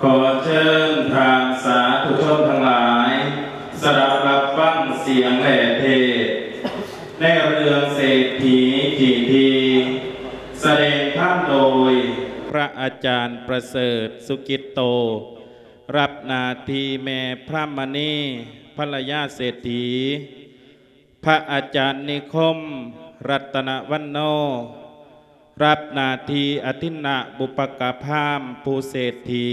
ຂໍເຊີນທ່ານສາທຸຊົນທັງຫຼາຍ ສະດັບຮັບຟັງສຽງແລ່ເທດ ໃນເລື່ອງເສດຖີຂີ້ຖີ່ ສະແດງທຳໂດຍ ພະອາຈານປະເສີດ ສຸກິດໂຕ ຮັບໜ້າທີ່ແມ່ພຣາມະນີ ພັນລະຍາເສດຖີ. ພະອາຈານນິຄົມ ລັດຕະນະວັນໂນ ຮັບໜ້າທີ່ອະທິນນະບຸບພະກະພາມ ຜູ້ເສດຖີ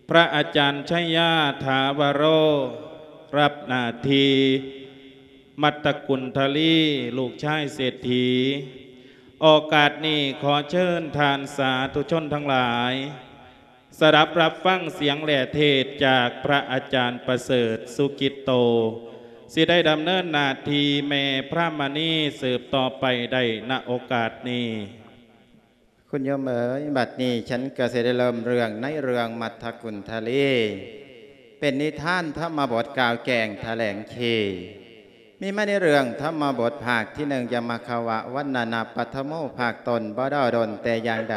ພະອາຈານໄຊຍາ ຖາວະໂຣ ຮັບໜ້າທີ່ມັດຕະກຸນທະລີ ລູກຊາຍເສດຖີ. ໂອກາດນີ້ ຂໍເຊີນທ່ານສາທຸຊົນທັງຫຼາຍ ສະດັບຮັບຟັງສຽງແລ່ເທດຈາກພະອາຈານປະເສີດ ສຸກິດໂຕ ຊິໄດ້ດຳເນີນໜ້າທີ່ແມ່ພຣາມະນີສືບຕໍ່ໄປໄດ້ ນະໂອກາດນີ້. ຄຸນໂຍມເອີຍ, ບັດນີ້ ສັນກໍຊິໄດ້ເລີ່ມເລື່ອງໃນເລື່ອງມັດຕະກຸນທະລີ ເປັນນິທານທຳມະບົດກ່າວແກ່ງຖະແຫຼງຄີ ມີມາໃນເລື່ອງທຳມະບົດພາກທີໜຶ່ງ ຍະມະຄະວະວັນນະນະປັດຖະໂມ ພາກຕົ້ນ ບໍ່ດົນແຕ່ຢ່າງໃດ.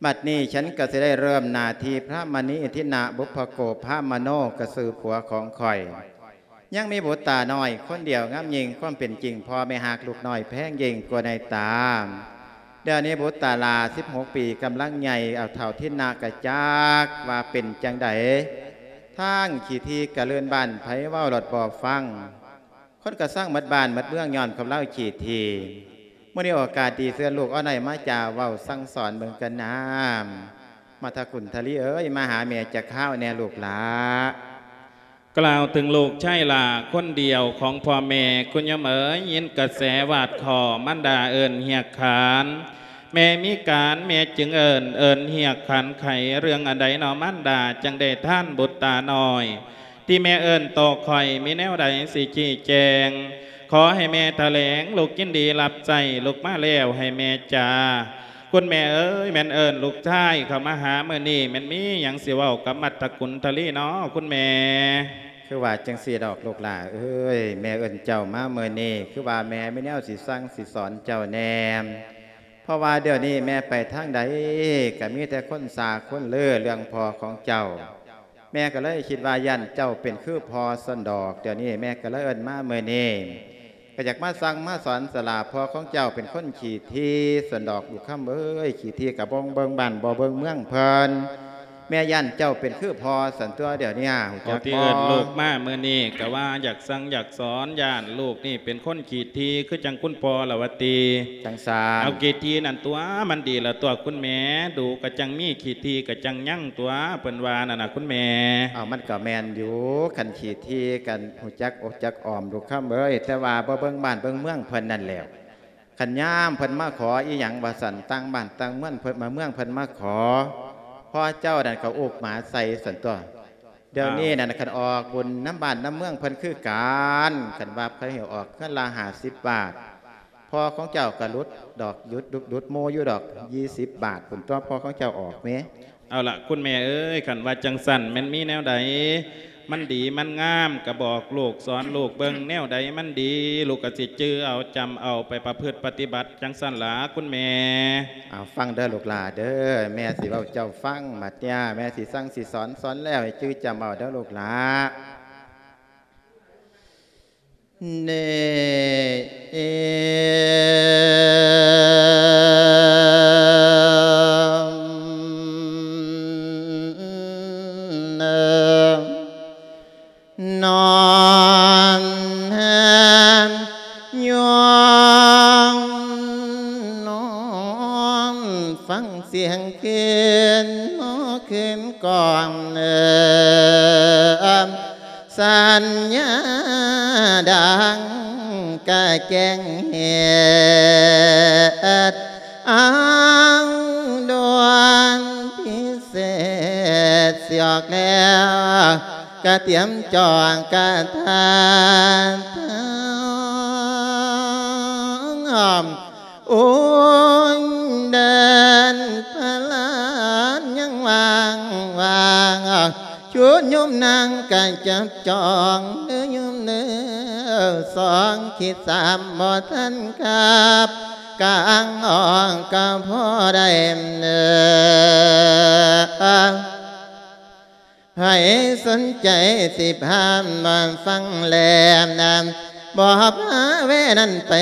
ບັດນີ້ ສັນກໍຊິໄດ້ເລີ່ມໜ້າທີ່ພຣາມະນີ ທິນະບຸບພະໂກພາມະໂນ ກໍຊື່ຜົວຂອງຂ້ອຍ ຍັງມີບຸດຕານ້ອຍຄົນດຽວງາມຍິ່ງ ຄວາມເປັນຈິງພໍ່ແມ່ຮັກລູກນ້ອຍແພງຍິ່ງກວ່າໃນຕາ. ດຽວນີ້ບຸດຕາຫຼ້າສິບຫົກປີ ກຳລັງໃຫຍ່ ເອົາເຖົ້າທິນນະກະຈັກວ່າເປັນຈັ່ງໃດ ທາງຂີ້ຖີ່ກະລື່ນບ້ານ ໃຜເວົ້າລອດບໍ່ຟັງ. ຄົນກະຊັງໝົດບ້ານໝົດເມືອງ ຍ້ອນຄວາມລາວຂີ້ຖີ່. ມື້ນີ້ໂອກາດດີ ເຊີນລູກອອນໄອມາຈາເວົ້າສັ່ງສອນເບິ່ງກັນນາ. ມັດຕະກຸນທະລີເອີຍ, ມາຫາແມ່ຈັກຄາວແດ່ລູກຫຼ້າ. ກ່າວເຖິງລູກຊາຍຫຼ້າຄົນດຽວຂອງພໍ່ແມ່, ຄຸນໂຍມເອີຍ, ຍິນກະແສວາດຄໍ່ ມັນດາເອີ້ນຮຽກຂານ. ແມ່ມີການ ແມ່ຈຶ່ງເອີ້ນ, ເອີ້ນຮຽກຂັນໄຂ ເລື່ອງອັນໃດນໍມັນດາ ຈັ່ງໄດ້ທານບຸດຕານ້ອຍ ທີ່ແມ່ເອີ້ນຕໍ່ຂ້ອຍ ມີແນວໃດຊິຊີ້ແຈງ ຂໍໃຫ້ແມ່ຖະແຫຼງ ລູກຍິນດີຮັບໃຊ້ ລູກມາແລ້ວໃຫ້ແມ່ຈາ. ຄຸນແມ່ເອີຍ, ແມ່ນເອີ້ນລູກຊາຍເຂົ້າມາຫາມື້ນີ້ ແມ່ນມີຫຍັງຊິເວົ້າກັບມັດຕະກຸນທະລີນໍຄຸນແມ່? ຄືວ່າຈັ່ງຊີ້ດອກລູກຫຼ້າເອີຍ, ແມ່ເອີ້ນເຈົ້າມາມື້ນີ້ ຄືວ່າແມ່ມີແນວຊິສັ່ງຊິສອນເຈົ້າແດ່. ເພາະວ່າດຽວນີ້ແມ່ໄປທາງໃດ ກະມີແຕ່ຄົນຊ່າຄົນລືເລື່ອງພໍ່ຂອງເຈົ້າ. ແມ່ກໍເລີຍຄິດວ່າຢ້ານເຈົ້າເປັນຄືພໍ່ຊັ້ນດອກ. ດຽວນີ້ແມ່ກໍເລີຍເອີ້ນມາມື້ນີ້ ກໍຢາກມາສັ່ງມາສອນສະຫຼາ ພໍ່ຂອງເຈົ້າເປັນຄົນຂີ້ຖີ່ຊັ້ນດອກ ລູກຄຳເອີຍ, ຂີ້ຖີ່ກະບໍ່ເບິ່ງບ້ານບໍ່ເບິ່ງເມືອງເພິ່ນ. ແມ່ຢ້ານເຈົ້າເປັນຄືພໍ່ຊັ້ນຕົວະ ດຽວນີ້ຮູ້ຈັກບໍ່? ທີ່ເອີ້ນລູກມາມື້ນີ້ ກະວ່າຢາກສັ່ງຢາກສອນ, ຢ້ານລູກນີ້ເປັນຄົນຂີ້ຖີ່ຄືຈັ່ງຄຸນພໍ່ລະວ່າຕິ. ຈັ່ງຊັ້ນ ເອົາຂີ້ຖີ່ນັ້ນຕົວະ ມັນດີລະຕົວະຄຸນແມ່, ດູກະຈັ່ງມີ ຂີ້ຖີ່ກະຈັ່ງຍັງຕົວະ ເພິ່ນວ່ານັ້ນນະຄຸນແມ່. ເອົາ ມັນກະແມ່ນຢູ່, ຄັນຂີ້ຖີ່ກະຮູ້ຈັກອົບຈັກອ້ອມ ລູກຄຳເອີຍ, ແຕ່ວ່າບໍ່ເບິ່ງບ້ານເບິ່ງເມືອງເພິ່ນນັ້ນແຫຼ້ວ. ຄັນຍາມເພິ່ນມາຂໍອີ່ຫຍັງວ່າຊັ້ນ ຕ່າງບ້ານຕ່າງເມືອງເພິ່ນມາ ເມືອງເພິ່ນມາຂໍ ພໍ່ເຈົ້ານັ້ນກໍອຸບໝາໃສ່ຊັ້ນຕົວະ. ດຽວນີ້ນັ້ນ ອ້າວ ຄັນອອກບຸນນຳບ້ານນຳເມືອງເພິ່ນຄືກັນ, ຄັນວ່າເພິ່ນໃຫ້ອອກເຮືອນລະຫ້າສິບບາດ ພໍ່ຂອງເຈົ້າກໍຫຼຸດດອກ ຢຸດ ຫຼຸດ ຫຼຸດໂມຢູ່ດອກ ຊາວບາດພຸ້ນຕົວະ ພໍ່ຂອງເຈົ້າອອກແມ. ເອົາລະ ຄຸນແມ່ເອີຍ, ຄັນວ່າຈັ່ງຊັ້ນ ແມ່ນມີແນວໃດມັນດີມັນງາມ ກະບອກລູກສອນລູກເບິ່ງ, ແນວໃດມັນດີ ລູກກະຊິຈື່ເອົາຈຳເອົາ ໄປປະພຶດປະຕິບັດ ຈັ່ງຊັ້ນລະຄຸນແມ່. ເອົາ ຟັງເດີລູກຫຼ້າເດີ, ແມ່ຊິເວົ້າເຈົ້າຟັງ. ບັດນີ້ແມ່ຊິສັ່ງຊິສອນ, ສອນແລ້ວໃຫ້ຈື່ຈຳເອົາເດີລູກຫຼ້າ. ເນ ເອ ນອນແຮມຍອງ ນອນຟັງສຽງຄືນ ນອນຄືນກ່ອນ ເອີ ສັນຍາດັງກະແຈ້ງເຫດ ເອົາດວນພິເສດ ຊິອອກແລ້ວ ກະຕຽມຈອງກະທານ ໂອ້ຍ ເດີນພະລານຍັງວ່າງໆ ຊຸດໂຍມນາງກະຈັບຈອງ ເດີໂຍມເດີ ສອງຂີດສາມບໍ່ທັນກັບ ກາງອອກກະພໍໄດ້ເດີ. ໃຜສົນໃຈຊິພາມາຟັງແລ ບໍ່ພາແວະນັ້ນໄປ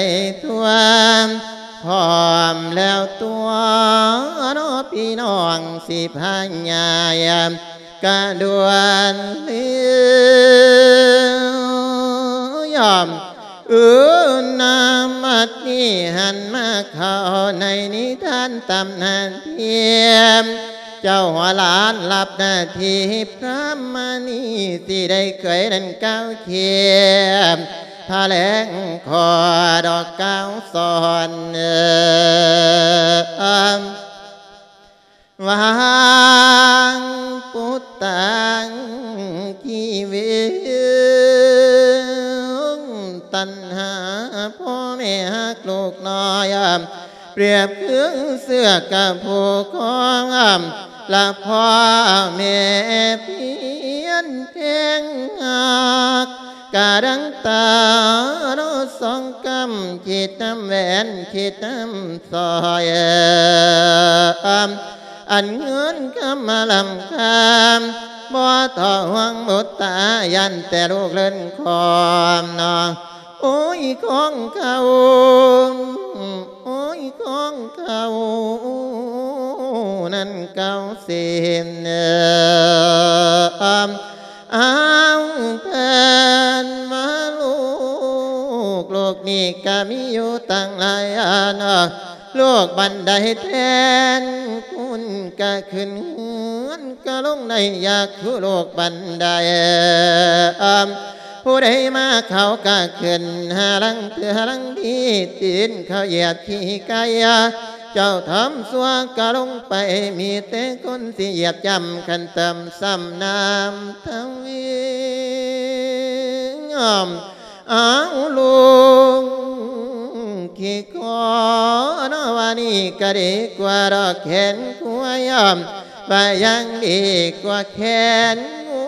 ທົ່ວ ພ້ອມແລ້ວຕົວະເນາະ ພີ່ນ້ອງຊິພາຍາຍ ກະດ່ວນເລີຍ ເອີ ນາມບັດນີ້ຫັນມາເຂົ້າໃນນິທານຕຳນານພຽມ ເຈົ້າຫົວຫຼານຮັບໜ້າທີ່ພຣາມະນີ ຊິໄດ້ເຄີຍນັ້ນກ່າວຄຽມ ພະແລງຂໍດອກກ່າວສອນ ວາງປຸດຕັງຊີວິງ ຕັນຫາພໍ່ແມ່ຮັກລູກນ້ອຍ ປຽບຄືເຊືອກກັບຜູ້ຄອງ ລະພໍ່ແມ່ພຽນແພງຮັກ ກະດັງຕາເນາະສອງກຳ ຄິດນຳແຫວນ ຄິດນຳ ຊອຍ ອັນເງິນຄຳມາລ້ຳຄ່າ ບໍ່ຕ້ອງຫ່ວງບຸດຕາ ຢ້ານແຕ່ລູກເລີນຄອມເນາະ ໂອ້ຍ ຂອງເກົ່າ ໂອ້ຍ ຂອງເກົ່ານັ້ນເກົ່າເສນ ອ້າວ ເພິ່ນວ່າລູກ ໂລກນີ້ກະມີຢູ່ຕັ້ງຫຼາຍອັນ ໂລກບັນໄດແທນ ຄຸນກະຂຶ້ນເຮືອນກະລົງໄດ້ ຢາກຄືໂລກບັນໄດ ຜູ້ໃດມາເຂົາກະຂຶ້ນ ຫາລັງເທື່ອລັງດີ ຕີນເຂົາຢຽບຂີ້ໄກ່ ເຈົ້າທຳຊົ່ວກະລົງໄປ ມີແຕ່ຄົນຊິຢຽບຢຳ ຄັນເຕີມຊ້ຳນ້ຳທະວີ ອ້າວ ລຸງຂີ້ຂໍເນາະ ວ່ານີ້ກະດີກວ່າດອກແຂນຄວາຍ ບໍ່ຍັງດີກວ່າແຂນງົ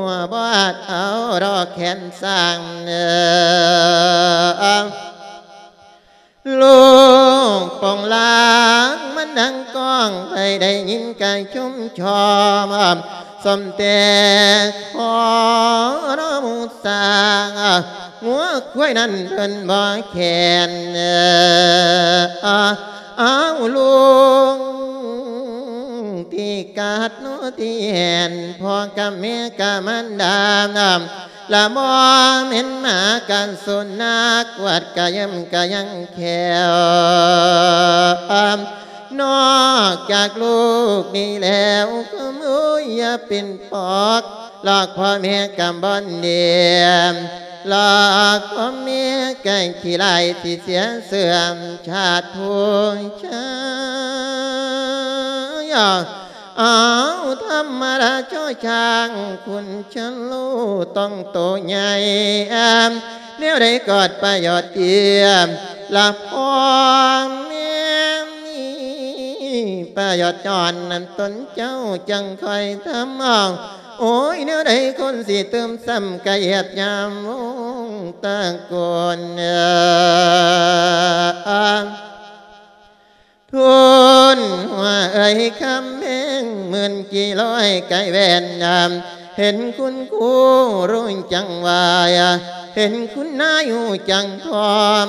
ວ ບໍ່ອາດເອົາດອກແຂນຊ້າງ ລູກໂປ່ງລາງມັນດັງກ້ອງ ໃຜໄດ້ຍິນກະຊົມຊອມ ສົມແຕ່ຂໍເນາະໝູ່ຊ້າງ ງົວຄວາຍນັ້ນເພິ່ນບໍ່ແຄນ ອ້າວ ລຸງທີ່ກາດເນາະທີ່ແຫນ ພໍ່ກັບແມ່ກັບມານດາ ລະບໍ່ແມ່ນໝາກັນສຸນັກ ກວາດກະຢ້ຳກະຍັງແຂ້ວ ນອກຈາກລູກນີ້ແລ້ວ ໂອ້ຍ ຢ່າເປັນປອກ ລອກພໍ່ແມ່ກະບ່ອນດຽມ ລອກພໍ່ແມ່ກະຂີ້ລ້າຍ ຊິເສຍເສື່ອມຊາດຜູ້ຊາຍ ອ້າວ ທຳມະດາ ຊໍຊ້າງ ຄຸນຊະໂລ ຕ້ອງໂຕໃຫຍ່ ແນວໃດກອດປະໂຫຍດຕຽມ ລະພໍ່ແມ່ມີປະໂຫຍດຍ້ອນນັ້ນຕົນເຈົ້າຈັ່ງຄ່ອຍທຳເອົາ ໂອ້ຍ ແນວໃດຄົນຊິຕື່ມຊ້ຳກະຫຽບຍາມວົງຕະໂກນ ທຸນຫົວເອີຍຄຳແພງ ໝື່ນກີລອຍໄກແວ່ນ ເຫັນຄຸນຄູຮູ້ຈັກໄຫວ້ ເຫັນຄຸນນາຍຮູ້ຈັກພ້ອມ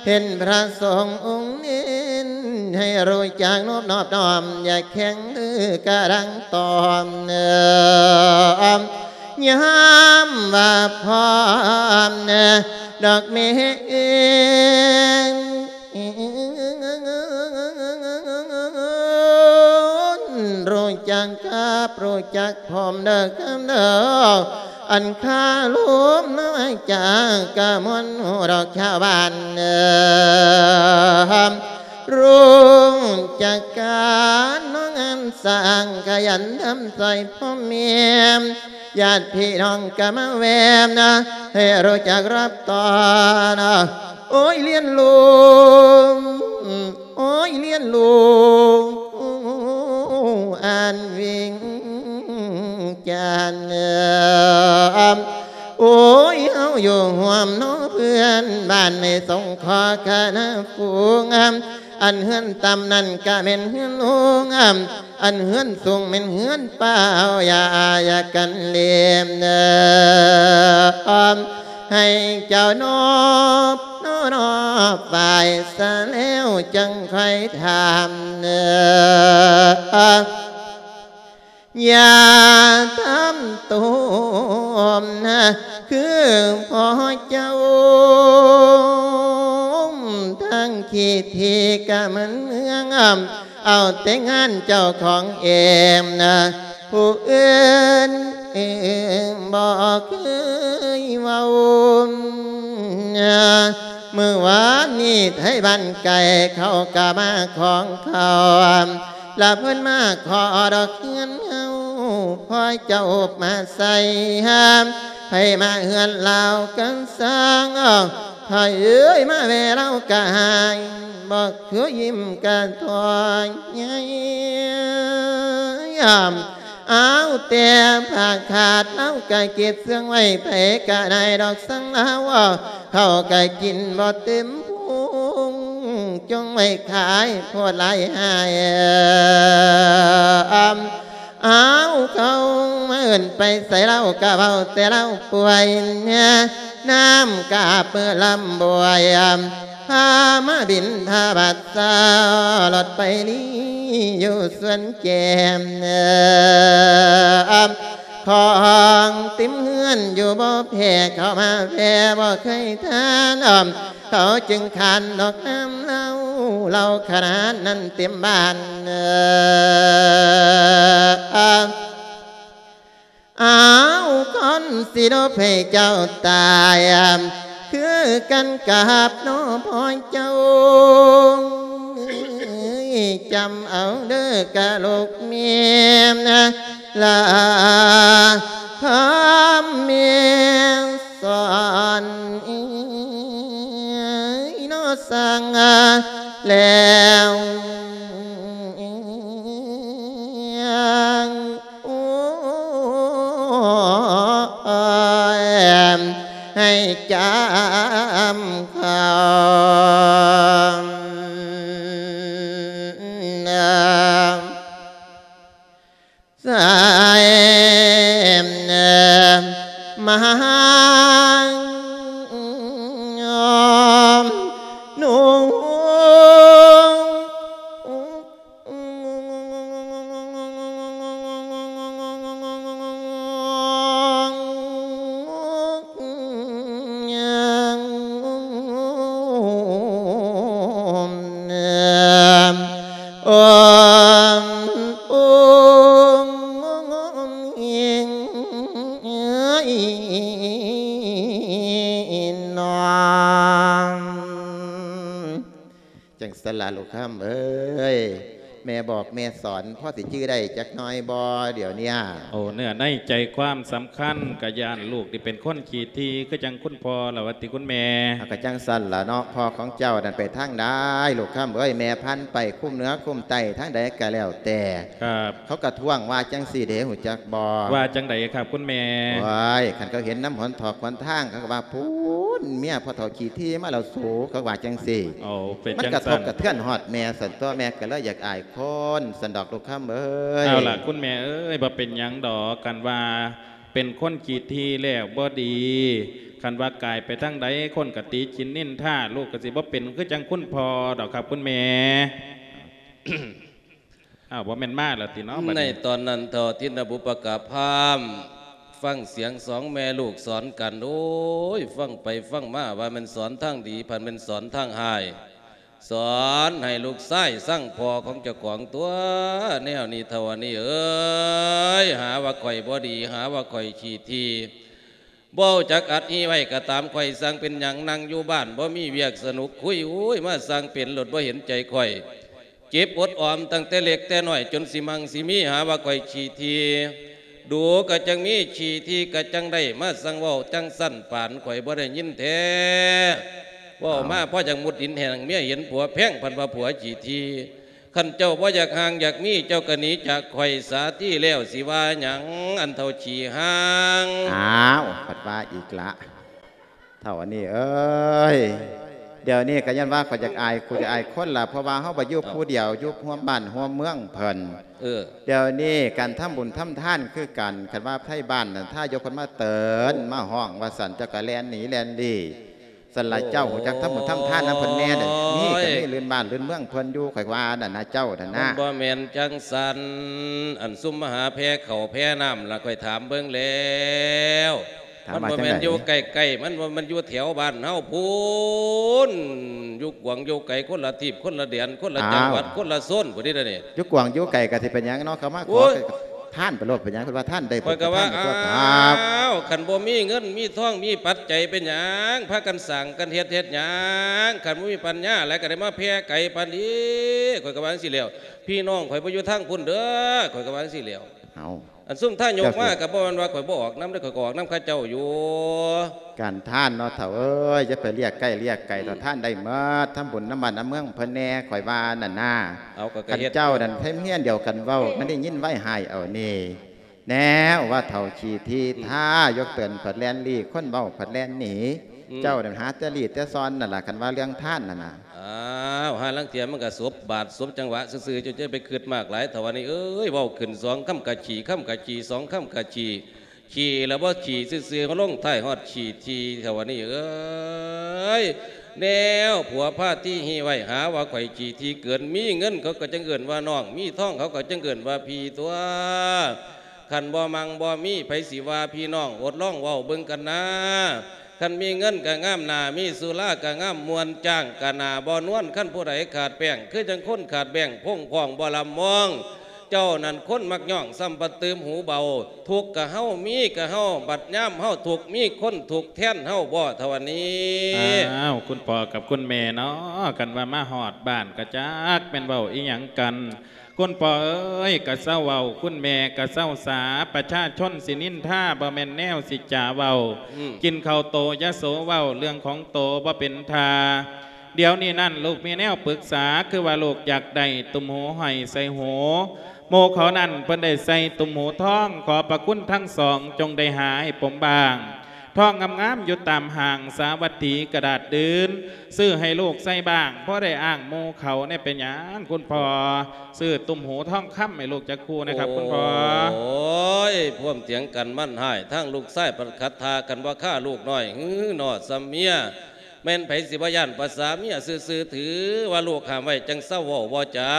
ເຫັນພະສົງອົງເນັ້ນ ໃຫ້ຮູ້ຈັກນອບນອບນ້ອມ ຢ່າແຂງຫຼືກະດັງຕອມ ຍາມວ່າພ້ອມ ດອກແມ່ເອີຍ ຮູ້ຈັກກັບ ຮູ້ຈັກພ້ອມເດີຄຳເດີ ອັນຄາລົມມາຈາກກະມວນຮູ້ດອກຊາວບ້ານ ຮູ້ຈັກກັນເນາະງານສ້າງ ຂະຫຍັນທຳຊ່ອຍພໍ່ແມ່ ຍາດພີ່ນ້ອງກະມາແວ່ນ ໃຫ້ຮູ້ຈັກຮັບຕ້ອນ ໂອ້ຍ ລຽນຮູ້ ໂອ້ຍ ລຽນຮູ້ ອັນວິງຈັນ ໂອ້ຍ ເຮົາຢູ່ຮ່ວມເນາະເພື່ອນບ້ານ ໃຫ້ສົງເຄາະຄະນະຝູງ ອັນເຮືອນຕ່ຳນັ້ນກະແມ່ນເຮືອນໂຮງ ອັນເຮືອນສູງແມ່ນເຮືອນປ່າ ເອົາຢ່າ ຢ່າກັນເລມເດີ ໃຫ້ເຈົ້ານອບ ນອບໄຫວ້ສາແລ້ວ ຈັ່ງຄ່ອຍຖາມເດີ ຢ່າທຳໂຕນະ ຄືພໍ່ເຈົ້າ ທາງຂີ້ຖີ້ກະມັນເມືອງ ເອົາແຕ່ງານເຈົ້າຂອງເອງນະ ຜູ້ອື່ນບໍ່ເຄີຍເວົ້າ ມື້ວານນີ້ໄທບ້ານໄກເຂົາກະມາຂອງເຂົາ ລະເພິ່ນມາຂໍດອກເຮືອນເຮົາ ພໍ່ເຈົ້າອົບມາໃສ່ ໃຜມາເຮືອນລາວກະຊ່າງ ພໍ່ເອີຍ ມາແວ່ລາວກະຫາຍ ບໍ່ຄືຍິ້ມກະຖອຍໃຫຍ່ ອ້າວ ແຕ່ຜ້າຂາດລາວກະເກັບເຊື່ອງໄວ້ ໃຜກະໄດ້ດອກສັງລາວ ເຂົ້າກະກິນບໍ່ເຕັມພຸງ ຈົ່ງໄວ້ຂາຍໂພດຫຼາຍຫາຍ ອ້າວ ເຂົາມາເອີ້ນໄປໃສລາວກະເວົ້າແຕ່ລາວປ່ວຍ ນ້ຳກະເປີດລຳບວຍ ພາມາບິນທະບາດ ສາລົດໄປລີຢູ່ສວນແຈມ ຂອງເຕັມເຮືອນຢູ່ບໍ່ແພ້ ເຂົ້າມາແວ່ບໍ່ເຄີຍທານ ເຂົາຈຶ່ງຂານດອກນ້ຳເຫຼົ້າ ເຫຼົ້າຂະໜາດນັ້ນເຕັມບ້ານ ອ້າວ ຄົນຊິລົບໃຫ້ເຈົ້າຕາຍ ຄືກັນກັບນ້ອງພໍ່ເຈົ້າ ຈຳເອົາເດີກະລູກແມ່ນ ລາຄຳແມ່ສອນ ເອີຍ ເນາະ ສັ່ງແລ້ວ ໂອ້ຍ ໃຫ້ຈຳຄຳ ສາຍມາຫາຍອມນຸ່ງ ຈັ່ງຊັ້ນລະລູກຄຳເອີຍ ແມ່ບອກແມ່ສອນພໍຊິຈື່ໄດ້ຈັກໜ້ອຍບໍ່ດຽວເນີ້ຍ? ໂອ້ ເນື້ອໃນໃຈຄວາມສຳຄັນ ກະຢ້ານລູກນີ້ເປັນຄົນຂີ້ຖີ່ຄືຈັ່ງຄຸນພໍ່ລະວ່າຕິຄຸນແມ່. ເອົາ ກະຈັ່ງຊັ້ນລະເນາະ ພໍ່ຂອງເຈົ້ານັ້ນໄປທາງໃດລູກຄຳເອີຍ ແມ່ພັນໄປຄຸ້ມເໜືອຄຸ້ມໃຕ້ທາງໃດກະແລ້ວແຕ່ ຄັບ ເຂົາກະທ້ວງວ່າຈັ່ງຊີ້ເດ້ ຮູ້ຈັກບໍ່? ວ່າຈັ່ງໃດຄັບຄຸນແມ່? ໂອ້ຍ ຄັນເຂົາເຫັນນຳຫົນຖອກຫົນທາງ ເຂົາກະວ່າ ພຸ້ນ ເມຍພໍ່ເຖົ້າຂີ້ຖີ່ມາແລ້ວສູ ເຂົາວ່າຈັ່ງຊີ້. ໂອ້ ເປັນ ມັນກະທົບກະເທືອນຮອດແມ່ຊັ້ນຕົວະ ແມ່ກະເລີຍຢາກອາຍຄົນຊັ້ນດອກລູກຄຳເອີຍ. ເອົາລະຄຸນແມ່ເອີຍ ບໍ່ເປັນຫຍັງດອກ ຄັນວ່າເປັນຄົນຂີ້ຖີ່ແລ້ວບໍ່ດີ ຄັນວ່າກາຍໄປທາງໃດຄົນກະຕິຊິນນິນທາ ລູກກະຊິບໍ່ເປັນຄືຈັ່ງຄຸນພໍ່ດອກຄັບຄຸນແມ່. ອ້າວ ບໍ່ແມ່ນມາແລ້ວຕິເນາະ ໃນຕອນນັ້ນເຖົ້າທິນນະບຸບປະກະພາມ ຟັງສຽງສອງແມ່ລູກສອນກັນ ໂອ້ຍ ຟັງໄປຟັງມາວ່າແມ່ນສອນທາງດີ ພັດແມ່ນສອນທາງຮ້າຍ ສອນໃຫ້ລູກຊາຍຊັງພໍ່ຂອງເຈົ້າຂອງຕົວະ ແນວນີ້ເຖົ້າອັນນີ້ເອີຍ ຫາວ່າຂ້ອຍບໍ່ດີ ຫາວ່າຂ້ອຍຂີ້ຖີ່ ບໍ່ຮູ້ຈັກອັດຮີໄວ້ກະຕາມ ຂ້ອຍຊ່າງເປັນຫຍັງ ນັ່ງຢູ່ບ້ານບໍ່ມີວຽກສະໜຸກຄຸຍ ໂອ້ຍ ມາຊ່າງເປັນໂລດ ບໍ່ເຫັນໃຈຂ້ອຍ ເກັບອົດອອມຕັ້ງແຕ່ເລັກແຕ່ນ້ອຍ ຈົນຊິໝັ່ງຊິມີ ຫາວ່າຂ້ອຍຂີ້ຖີ່ ດູກະຈັ່ງມີ ຂີ້ຖີ່ກະຈັ່ງໄດ້ ມາຊ່າງເວົ້າຈັ່ງຊັ້ນ ປານຂ້ອຍບໍ່ໄດ້ຍິນແທ້ ເວົ້າມາພໍຢາກມຸດດິນແຫ້ງ ເມຍເຫັນຜົວແພງ ພັດວ່າຜົວຂີ້ຖີ່. ຄັນເຈົ້າບໍ່ຢາກຮ່າງຢາກມີ ເຈົ້າກະໜີຈາກຂ້ອຍສາທີແລ້ວ ຊິວ່າຫຍັງ ອັນເຖົ້າຂີ້ຮ່າງ. ອ້າວ ພັດວ່າອີກລະ ເຖົ້າອັນນີ້ເອີຍ ດຽວນີ້ກໍຍ້ອນວ່າຂ້ອຍຢາກອາຍຄູ່ຢາກອາຍຄົນລະ ເພາະວ່າເຮົາບໍ່ຢູ່ຜູ້ດຽວ ຢູ່ຮ່ວມບ້ານຮ່ວມເມືອງເພິ່ນ. ເອີ ດຽວນີ້ການທຳບຸນທຳທານຄືກັນ ຄັນວ່າໄທບ້ານນັ້ນ ຖ້າຢົກຄົນມາເຕີນມາຮ້ອງວ່າຊັ້ນ ເຈົ້າກໍແລ່ນໜີແລ່ນຫຼີ້. ຊັ້ນລະເຈົ້າຮູ້ຈັກທຳບຸນທຳທານນຳເພິ່ນແດ່ເດີ້ ມີກໍມີລື່ນບ້ານລື່ນເມືອງເພິ່ນຢູ່ ຂ້ອຍວ່ານັ້ນນະ ເຈົ້ານັ້ນນະ. ມັນບໍ່ແມ່ນຈັ່ງຊັ້ນ ອັນຊຸມມະຫາແພເຂົ້າແພນ້ຳລະ ຂ້ອຍຖາມເບິ່ງແລ້ວ ຖາມວ່າ ມັນບໍ່ແມ່ນຢູ່ໃກ້ໆ ມັນບໍ່ແມ່ນຢູ່ແຖວບ້ານເຮົາພຸ້ນ ຢູ່ກວາງຢູ່ໄກ ຄົນລະທີບ ຄົນລະແດນ ຄົນລະຈັງຫວັດ ອ້າວ ຄົນລະໂຊນພຸ້ນເດ້ນີ້. ຢູ່ກວາງຢູ່ໄກກໍຊິເປັນຫຍັງເນາະ ເຂົາມາຂໍ ໂອ້ຍ ທານໄປໂລດ ເປັນຫຍັງ ເພິ່ນວ່າທານໄດ້ ຂ້ອຍກໍວ່າ ເພິ່ນກໍທານໄປຕົວະ ອ້າວ ຄັນບໍ່ມີເງິນມີທອງມີປັດໄຈເປັນຫຍັງ ພາກັນສ້າງກັນເຮັດ ເຮັດຫຍັງ ຄັນບໍ່ມີປັນຍາຫຼາຍກໍໄດ້ມາແຜ່ໄກປານນີ້ ຂ້ອຍກໍວ່າຈັ່ງຊີ້ແລ້ວ. ພີ່ນ້ອງຂ້ອຍບໍ່ຢູ່ທາງພຸ້ນເດີ້ ຂ້ອຍກໍວ່າຈັ່ງຊີ້ແລ້ວ. ເອົ້າ ອັນຊຸມທານຍົກມາ ເຈົ້າຊິ ກໍບໍ່ແມ່ນວ່າຂ້ອຍບໍ່ອອກນຳເດ້ ຂ້ອຍກໍອອກນຳເຂົາເຈົ້າຢູ່. ການທານເນາະ ເຖົ້າເອີຍ ຢ່າໄປລຽກໃກ້ລຽກໄກ ອືມ ເຖົ້າ ທານໄດ້ໝົດ ທຳບຸນນຳບ້ານນຳເມືອງເພິ່ນແດ່ ຂ້ອຍວ່ານັ້ນນາ. ເອົາ ກໍ ກໍ ຄັນ ເຮັດ ເຈົ້ານັ້ນ ໃຜເຮັດດຽວກັນເວົ້າ ມັນໄດ້ຍິນໄວຫາຍເອົານີ້ ແນວວ່າເຖົ້າຂີ້ທີທ່າ ຢົກເຕີນພັດແລ່ນຫຼີ້ ຄົນເວົ້າພັດແລ່ນໜີ. ອືມ ເຈົ້ານັ້ນຫາແຕ່ລີ້ແຕ່ຊອນນັ້ນລະ ຄັນວ່າເລື່ອງທານນັ້ນນະ. ອ້າວ ຫາລາງເທື່ອມັນກໍສົບບາດສົບຈັງຫວະຊື່ໆ ເຈົ້າຈະໄປຄຶດມາກຫຼາຍ ເຖົ້າວ່ານີ້ເອີຍ ເວົ້າຂຶ້ນສອງຄຳກະຂີ້ ຄຳກະຂີ້ ສອງຄຳກະຂີ້ ຂີ້ລະບໍ່ຂີ້ຊື່ໆ ມາລົງທ້າຍຮອດຂີ້ທີ ເຖົ້າວ່ານີ້ເອີຍ. ແນວຜົວພາທີຮີໄວ້ ຫາວ່າຂ້ອຍຂີ້ທີເກີນ ມີເງິນເຂົາກໍຈັ່ງເອີ້ນວ່ານ້ອງ ມີທອງເຂົາກໍຈັ່ງເອີ້ນວ່າພີ່ຕົວະ. ຄັນບໍ່ມັ່ງບໍ່ມີ ໃຜຊິວ່າພີ່ນ້ອງ ອົດລອງເວົ້າເບິ່ງກັນນາ. ຄັນມີເງິນກະງາມໜ້າ ມີສຸລາກະງາມມ່ວນ ຈ້າງກະໜ້າບໍ່ນວນ. ຄັນຜູ້ໃດຂາດແປ້ງ ຄືຈັ່ງຄົນຂາດແບ້ງ ພົງພອງບໍ່ລຳມອງ. ເຈົ້ານັ້ນຄົນມັກຍ້ອງ ຊ້ຳປະຕື່ມຫູເບົາ. ທຸກກະເຮົາ ມີກະເຮົາ ບັດຍາມເຮົາທຸກ ມີຄົນທຸກແທນເຮົາບໍ່ ເຖົ້າວ່ານີ້. ອ້າວ ຄຸນພໍ່ກັບຄຸນແມ່ເນາະ ຄັນວ່າມາຮອດບ້ານກະຈັກແມ່ນເວົ້າອີ່ຫຍັງກັນ. ຄຸນພໍ່ເອີຍ ກະເຊົາເວົ້າ ຄຸນແມ່ກະເຊົາສາ ປະຊາຊົນຊິນິນທາ ບໍ່ແມ່ນແນວຊິຈາເວົ້າ. ອືມ ກິນເຂົ້າໂຕຢ່າໂສເວົ້າ ເລື່ອງຂອງໂຕບໍ່ເປັນທ່າ. ດຽວນີ້ນັ້ນລູກມີແນວປຶກສາ ຄືວ່າລູກຢາກໄດ້ຕຸ້ມຫູຫ້ອຍໃສ່ຫູ ໝູ່ເຂົານັ້ນເພິ່ນໄດ້ໃສ່ຕຸ້ມຫູທອງ ຂໍພະຄຸນທັງສອງ ຈົ່ງໄດ້ຫາໃຫ້ຜົມບາງ ທອງງາມໆ ຢູ່ຕາມຫ້າງ ສາວັດຖີກະດາດດື່ນ ຊື້ໃຫ້ລູກໃສ່ບ້າງ ພໍໄດ້ອ້າງໝູ່ເຂົາແດ່. ເປັນຫຍັງຄຸນພໍ່ ຊື້ຕຸ້ມຫູທອງຄຳໃຫ້ລູກຈັກຄູ່ແດ່ຄັບຄຸນພໍ່. ໂອ້ຍ ພວມຖຽງກັນມັນຮ້າຍ ທາງລູກຊາຍພັດຂັດທ່າກັນບໍ່ຄາລູກນ້ອຍ ຫື ໜໍ່ຊຳເມຍ. ແມ່ນໃຜຊິບໍ່ຢ້ານພາສາເມຍຊື່ໆ ຖືວ່າລູກຫ້າມໄວ້ ຈັ່ງເຊົາເວົ້າບໍ່ຈາ.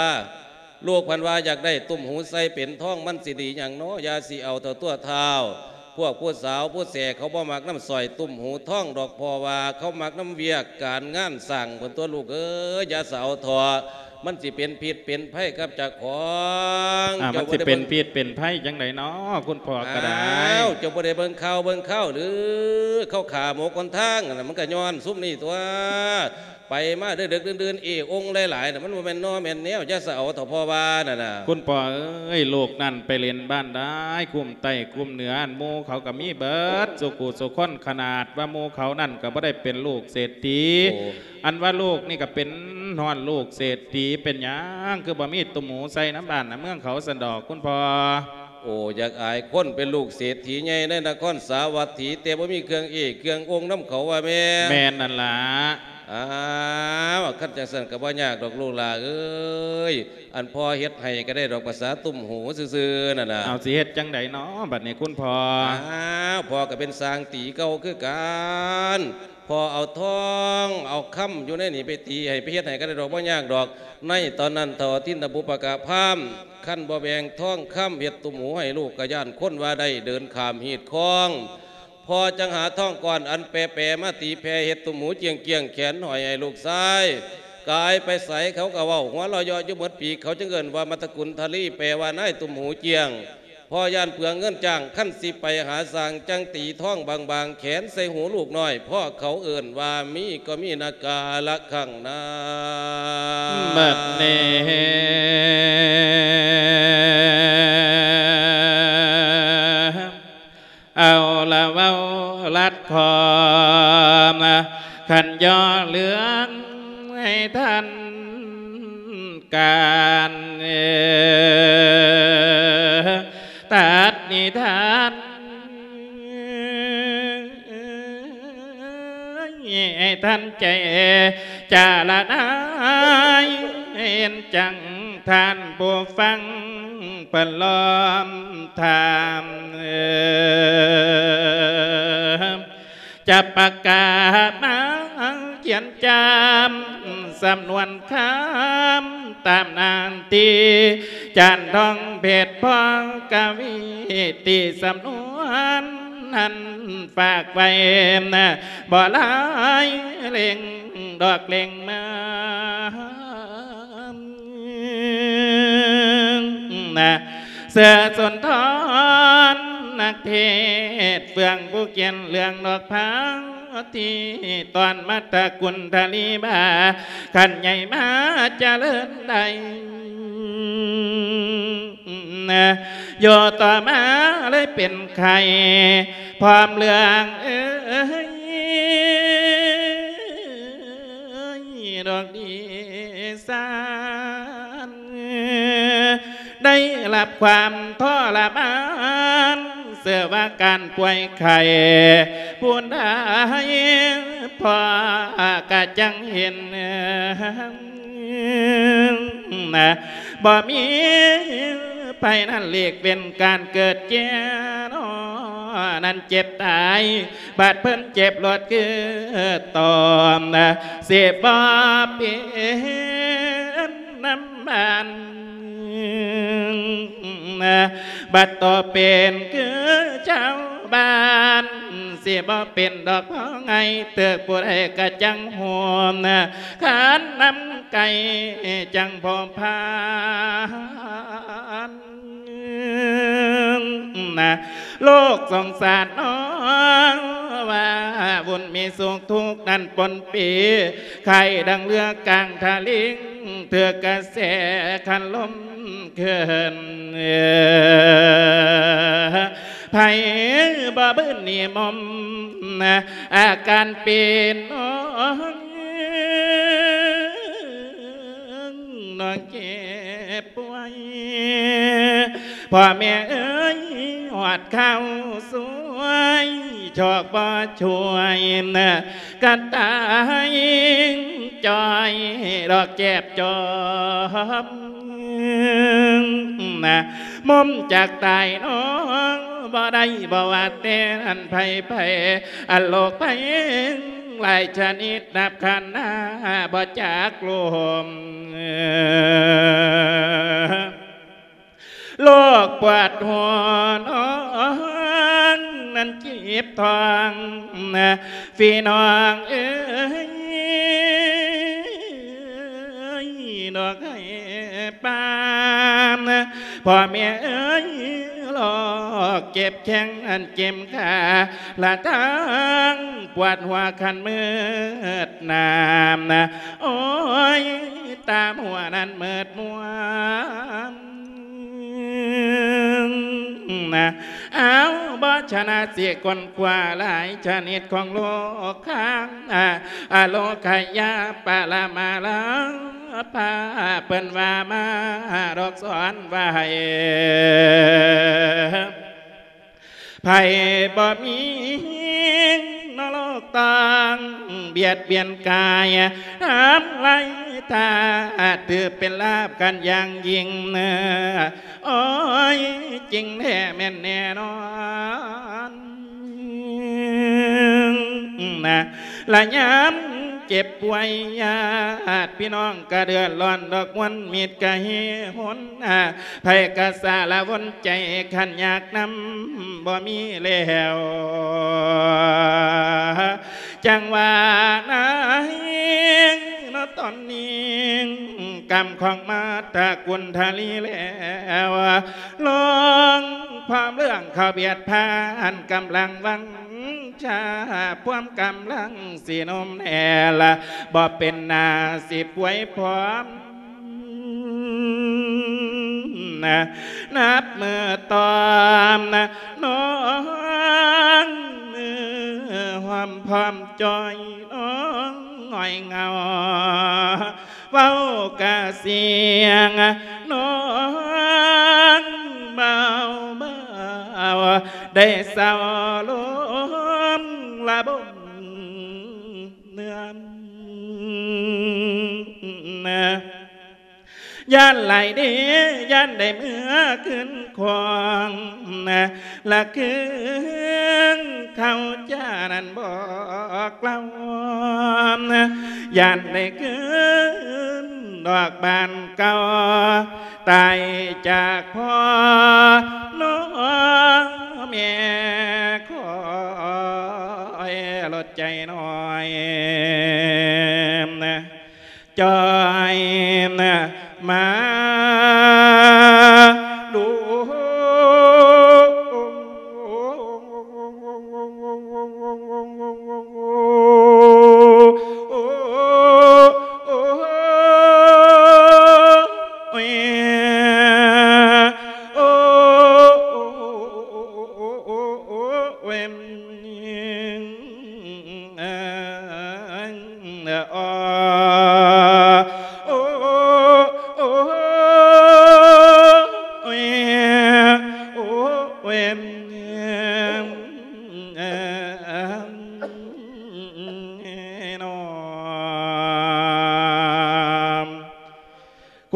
ລູກພັນວ່າຢາກໄດ້ຕຸ້ມຫູໃສ່ເປັນທອງ ມັນຊິດີຫຍັງນໍ ຢ່າຊິເອົາເຖົ້າຕົວະທ້າວ. ພວກຜູ້ສາວຜູ້ແສເຂົາບໍ່ມັກນຳສ້ອຍຕຸ້ມຫູທອງດອກ ເພາະວ່າເຂົາມັກນຳວຽກການງານສ້າງພຸ້ນຕົວະລູກເອີຍ ຢ່າສາເອົາເຖາະ ມັນຊິເປັນພິດເປັນໄພກັບເຈົ້າຂອງ. ອ່າ ເຈົ້າ ມັນຊິເປັນພິດເປັນໄພຈັ່ງໃດນໍ ຄຸນພໍ່ກໍໄດ້. ອ້າວ ເຈົ້າບໍ່ໄດ້ເບິ່ງຂ່າວເບິ່ງຄາວຫຼື ເຂົາຂ້າໝົກຫົນທາງຫັ້ນນະ ມັນກໍຍ້ອນຊຸມນີ້ຕົວະ. ໄປມາເດິກໆ ດື່ນໆ ເອອົງຫຼາຍໆ ນະ ມັນບໍ່ແມ່ນນໍແມ່ນແນວ ຢ່າສະເອົາເຖາະ ພໍ່ວ່ານັ້ນນະ. ຄຸນພໍ່ເອີຍ ລູກນັ້ນໄປຫຼິ້ນບ້ານໃດ ຄຸ້ມໃຕ້ຄຸ້ມເໜືອ ອັນໝູ່ເຂົາກໍມີເບິດ ສູ່ຄູ່ສູ່ຄົນ ຂະໜາດວ່າໝູ່ເຂົານັ້ນກໍບໍ່ໄດ້ເປັນລູກເສດຖີ. ໂອ້ ອັນວ່າລູກນີ້ກໍເປັນຮອດລູກເສດຖີ ເປັນຫຍັງຄືບໍ່ມີຕຸ້ມຫູໃສ່ນຳບ້ານນຳເມືອງເຂົາຊັ້ນດອກ ຄຸນພໍ່. ໂອ້ ຢາກອາຍຄົນ ເປັນລູກເສດຖີໃຫຍ່ໃນນະຄອນສາວັດຖີ ແຕ່ບໍ່ມີເຄື່ອງເອເຄື່ອງອົງນຳເຂົາວ່າແມ່. ແມ່ນນັ້ນລະ. ອ້າວ ຄັນຈັ່ງຊັ້ນກໍບໍ່ຍາກດອກລູກຫຼ້າເອີຍ ອັນພໍ່ເຮັດໃຫ້ກໍໄດ້ດອກ ພາສາຕຸ້ມຫູຊື່ໆ ນັ້ນນະ. ເອົາ ຊິເຮັດຈັ່ງໃດນໍບັດນີ້ຄຸນພໍ່? ອ້າວ ພໍ່ກໍເປັນຊ່າງຕີເກົ່າຄືກັນ ພໍ່ເອົາທອງເອົາຄຳຢູ່ໃນນີ້ໄປຕີໃຫ້ ໄປເຮັດໃຫ້ກໍໄດ້ດອກ ບໍ່ຍາກດອກ. ໃນຕອນນັ້ນເຖົ້າທິນນະບຸບປະກະພາມ ຄັນບໍ່ແບ່ງທອງຄຳເຮັດຕຸ້ມຫູໃຫ້ລູກ ກໍຢ້ານຄົນວ່າໄດ້ເດີນຂ້າມຮີດຄອງ. ພໍ່ຈັ່ງຫາທອງກ້ອນອັນແປໆ ມາຕີແຜ່ເຮັດຕຸ້ມຫູຈຽງໆ ແຂນຫ້ອຍໃຫ້ລູກຊາຍ. ກາຍໄປໃສເຂົາກໍເວົ້າ ຫົວເລາະເຍາະຢູ່ໝົດປີກ ເຂົາຈຶ່ງເອີ້ນວ່າມັດຕະກຸນທະລີ ແປວ່ານາຍຕຸ້ມຫູຈຽງ. ພໍ່ຢ້ານເປືອງເງິນຈ້າງ ຄັນຊິໄປຫາຊ່າງ ຈັ່ງຕີທອງບາງໆ ແຂນໃສ່ຫູລູກນ້ອຍ ເພາະເຂົາເອີ້ນວ່າມີກໍມີນະກາລະຄັງນາ. ບັດນີ້ ເອົາລະເວົ້າລັດຄອມ ຄັນຍໍເລື່ອງໃຫ້ທັນການ ຕັດນິທານໃຫ້ທັນໃຈ. ຈາລະນາຍເຫັນຈັ່ງທ່ານຜູ້ຟັງເພິ່ນລ້ອມຖາມ ຈະປະກາດມາຂຽນຈຳສຳນວນຄຳຕາມນານທີ່ ຈານທອງເພັດພໍ່ກະວີ ທີ່ສຳນວນນັ້ນຝາກໄວ້ ບໍ່ຫຼາຍເຫຼັ້ງດອກເຫຼັ້ງເມືອງ ນະ ເສືອສຸນທອນນັກເທດເຟືອງ ຜູ້ຂຽນເລື່ອງດອກພາ ທີ່ຕ້ອນມາຕະກຸນທະລີບາ ຂັ້ນໃຫຍ່ມາຈະເລີນໄດ້ ນະ ຢູ່ຕໍ່ມາເລີຍເປັນໄຂ້ ພ້ອມເລື່ອງເອີຍ ດອກດີຊານ ໄດ້ຮັບຄວາມທໍລະມານ ເຊື່ອວ່າການປ່ວຍໄຂ້ຜູ້ໃດ ພໍ່ກະຈັ່ງເຫັນ ນະ ບໍ່ມີໄຜນັ້ນຫຼີກເວັ້ນການເກີດແກ່ນໍ ນັ້ນເຈັບຕາຍ ບາດເພິ່ນເຈັບລວດຄືຕອມ ຊິບໍ່ເປັນນຳບ້ານ ບາດຕໍ່ເປັນຄືຊາວບ້ານ ຊິບໍ່ເປັນດອກພໍ່ໃຫຍ່ ເຕີກຜູ້ໃດກະຈັ່ງໂຮມ ຄັນນຳໄກ່ຈັ່ງພໍພານ ນະ ໂລກສົງສານນ້ອງ ວ່າວຸ່ນມີສຸກທຸກນັ້ນປົນປີ ໄຂ້ດັ່ງເຮືອກາງທະລິງ ຖືກກະແສຄັນລົມເຄື່ອນ ໃຜບໍ່ບືນໜີ່ມົມ ອາການເປັນນ້ອງ ນ້ອງເຈັບປ່ວຍ ພໍ່ແມ່ເອີຍ ຮອດຄາວສວຍ ຊອກບໍ່ຊ່ວຍ ກະຕາຍຈ່ອຍ ດອກແຈບຈອມ ນະ ມຸມຈາກຕາຍນ້ອງ ບໍ່ໄດ້ບໍ່ວ່າແຕ່ນັ້ນໃຜໆ ອັນໂລກໄພ ຫຼາຍຊະນິດນັບຂັນຫ້າ ບໍ່ຈັກລົມ ໂລກປວດຫົວນ້ອງ ນັ້ນເຈັບທ້ອງ ພີ່ນ້ອງເອີຍ ດອກໄຫ້ປາມ ພໍ່ແມ່ເອີຍ ໂລກເຈັບແຂ້ງ ອັນເຈັບຂາ ລະທັງປວດຫົວຄັນມືດໜາມ ໂອ້ຍ ຕາຫົວນັ້ນມືດມົວ ນະ ເອົາ ບໍ່ຊະນະຊິຄົ້ນຄວ້າຫຼາຍຊະນິດຂອງໂລກຄາ ອາ ອາໂລຄະຍາປະລະມາລາພາ ເພິ່ນວ່າມາດອກສອນໄວ້ ໃຜບໍ່ມີເນາະໂລກຕ້ອງບຽດບຽນກາຍ ທຳລາຍທາດ ຖືເປັນລາບຂັ້ນຢ່າງຍິ່ງ ໂອ້ຍ ຈິງແທ້ແມ່ນແນ່ນອນ ນະ ລະຍາມເຈັບປ່ວຍຍາດພີ່ນ້ອງກະເດືອດຮ້ອນ ດອກມວນມິດກະເຮຫົນ ໃຜກະສາລະວົນໃຈ ຄັນຍາກນຳບໍ່ມີແລ້ວ ຈັ່ງວ່ານາຍເນາະຕອນນີ້ ກຳຂອງມາດຕະກຸນທະລີແລ້ວ ລອງຄວາມເລື່ອງເຂົ້າບຽດຜ່ານ ກຳລັງວັງຊາ ພວມກຳລັງຊິໜຸ່ມແນ່ລະ ບໍ່ເປັນໜ້າຊິປ່ວຍພ້ອມ ນະ ນັບມື້ຕອມນະ ນ້ອງມືຫອມພ້ອມຈ່ອຍ ນ້ອງຫງອຍເຫງົາ ເວົ້າກະສຽງນ້ອງເບົາໆ ໄດ້ເສົ້າລົມລະບົມເໜືອມ. ຢ້ານຫຼາຍເດ້ ຢ້ານໄດ້ເມືອຄືນຄວາມ ລະຄືນເຂົ້າຈານັ້ນບອກເລົ່າ ຢ້ານໄດ້ຄືນດອກບານເກົ່າ ຕາຍຈາກພໍ່ນ້ອງແມ່ ຄອຍລົດໃຈນ້ອຍ ຈ່ອຍມາດູ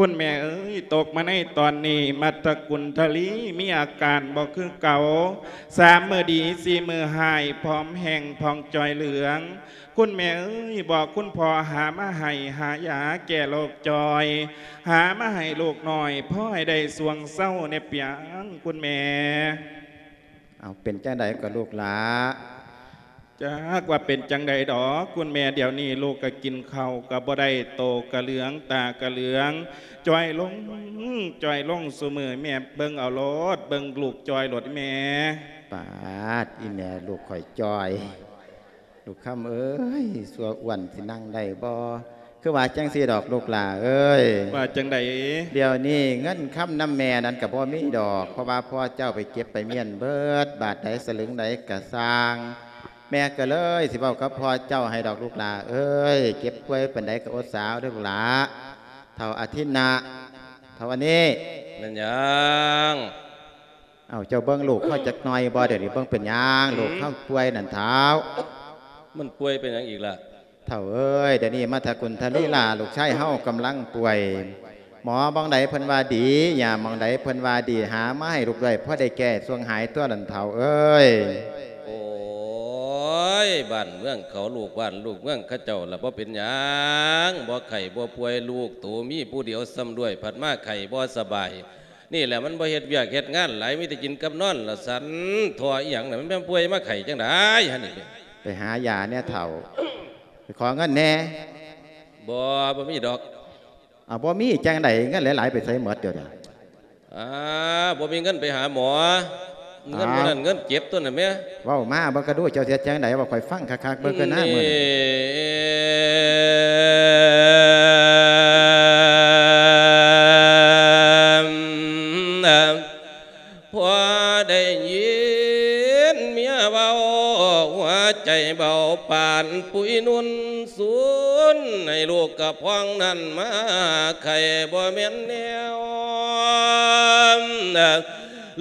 ຄຸນແມ່ເອີຍ ຕົກມາໃນຕອນນີ້ ມັດຕະກຸນທະລີມີອາການບໍ່ຄືເກົ່າ ສາມມື້ດີ ສີ່ມື້ຮ້າຍ ຜອມແຫ້ງຜ່ອງຈ່ອຍເຫຼືອງ. ຄຸນແມ່ເອີຍ ບອກຄຸນພໍ່ຫາມາໃຫ້ ຫາຢາແກ້ໂລກຈ່ອຍ ຫາມາໃຫ້ລູກນ້ອຍ ພໍໃຫ້ໄດ້ຊ່ວງເຊົາແດ່ປຽງ ຄຸນແມ່. ເອົາ ເປັນຈັ່ງໃດກໍລູກຫຼ້າ? ຈັກວ່າເປັນຈັ່ງໃດດອກ ຄຸນແມ່ ດຽວນີ້ລູກກໍກິນເຂົ້າກໍບໍ່ໄດ້ ໂຕກໍເຫຼືອງ ຕາກໍເຫຼືອງ ຈ່ອຍລົງ ຈ່ອຍລົງຊຸມື້ ແມ່ເບິ່ງເອົາໂລດ ເບິ່ງລູກຈ່ອຍໂລດແມ່. ປາດ ອີແມ່ລູກຂ້ອຍຈ່ອຍ ລູກຄຳເອີຍ ຊົ່ວອ້ວນຊິນັ່ງໄດ້ບໍ່? ຄືວ່າຈັ່ງຊີ້ດອກລູກຫຼ້າເອີຍ. ວ່າຈັ່ງໃດ? ດຽວນີ້ເງິນຄຳນຳແມ່ນັ້ນກໍບໍ່ມີດອກ ເພາະວ່າພໍ່ເຈົ້າໄປເກັບໄປມ້ຽນເບິດ ບາດໃດສະລຶງໃດກໍຊ່າງ ແມ່ກໍເລີຍຊິເວົ້າກັບພໍ່ເຈົ້າໃຫ້ດອກລູກຫຼ້າເອີຍ. ເຈັບປ່ວຍປານໃດກໍອົດສາເອົາເດີ້ລູກຫຼ້າ. ເຖົ້າອາທິນນະ ເຖົ້າອັນນີ້ ແມ່ນຫຍັງ? ເອົາ ເຈົ້າເບິ່ງລູກເຮົາຈັກໜ່ອຍບໍ່? ດຽວນີ້ເບິ່ງເປັນຫຍັງ ອືມ ລູກເຮົາປ່ວຍນັ້ນເຖົ້າ. ມັນປ່ວຍເປັນຫຍັງອີກລະ? ເຖົ້າເອີຍ ດຽວນີ້ມາທະກຸນທະລີລາ ລູກຊາຍເຮົາກຳລັງປ່ວຍ ໝໍໝ່ອງໃດເພິ່ນວ່າດີ ຢາໝ່ອງໃດເພິ່ນວ່າດີ ຫາມາໃຫ້ລູກດ້ວຍ ພໍໄດ້ແກ້ຊ່ວງຫາຍຕົວະນັ້ນເຖົ້າເອີຍ. ໂອ້ຍ ບ້ານເມືອງເຂົາ ລູກບ້ານລູກເມືອງເຂົາເຈົ້າລະບໍ່ເປັນຫຍັງ ບໍ່ໄຂ້ບໍ່ປ່ວຍ ລູກໂຕມີຜູ້ດຽວຊ້ຳດ້ວຍ ພັດມາໄຂ້ບໍ່ສະບາຍ. ນີ້ແຫຼະ ມັນບໍ່ເຮັດວຽກເຮັດງານຫຼາຍ ມີແຕ່ກິນກັບນອນລະສັນ ທໍ່ອີ່ຫຍັງນະ ມັນແມ່ນປ່ວຍມາໄຂ້ຈັ່ງໃດຫັ້ນນີ້? ໄປຫາຢາແດ່ເຖົ້າ ໄປຂໍເງິນແດ່. ບໍ່ ບໍ່ມີດອກ. ເອົາ ບໍ່ມີຈັ່ງໃດ ເງິນຫຼາຍໆໄປໃສໝົດດຽວນີ້? ອ່າ ບໍ່ມີເງິນໄປຫາໝໍ. ເງິນ ອ້າວ ມື້ນັ້ນເງິນເຈັບຕົວນັ້ນແໝ. ເວົ້າມາເບິ່ງກະດູ ເຈົ້າຊິເຮັດຈັ່ງໃດ ເວົ້າຂ້ອຍຟັງຄັກໆເບິ່ງກະນາມື້ນີ້. ພໍໄດ້ຍິນເມຍເວົ້າ ຫົວໃຈເບົາປານປຸຍນຸ່ນສູນ ໃຫ້ລູກກະພອງນັ້ນມາໄຂ້ບໍ່ແມ່ນແນວ.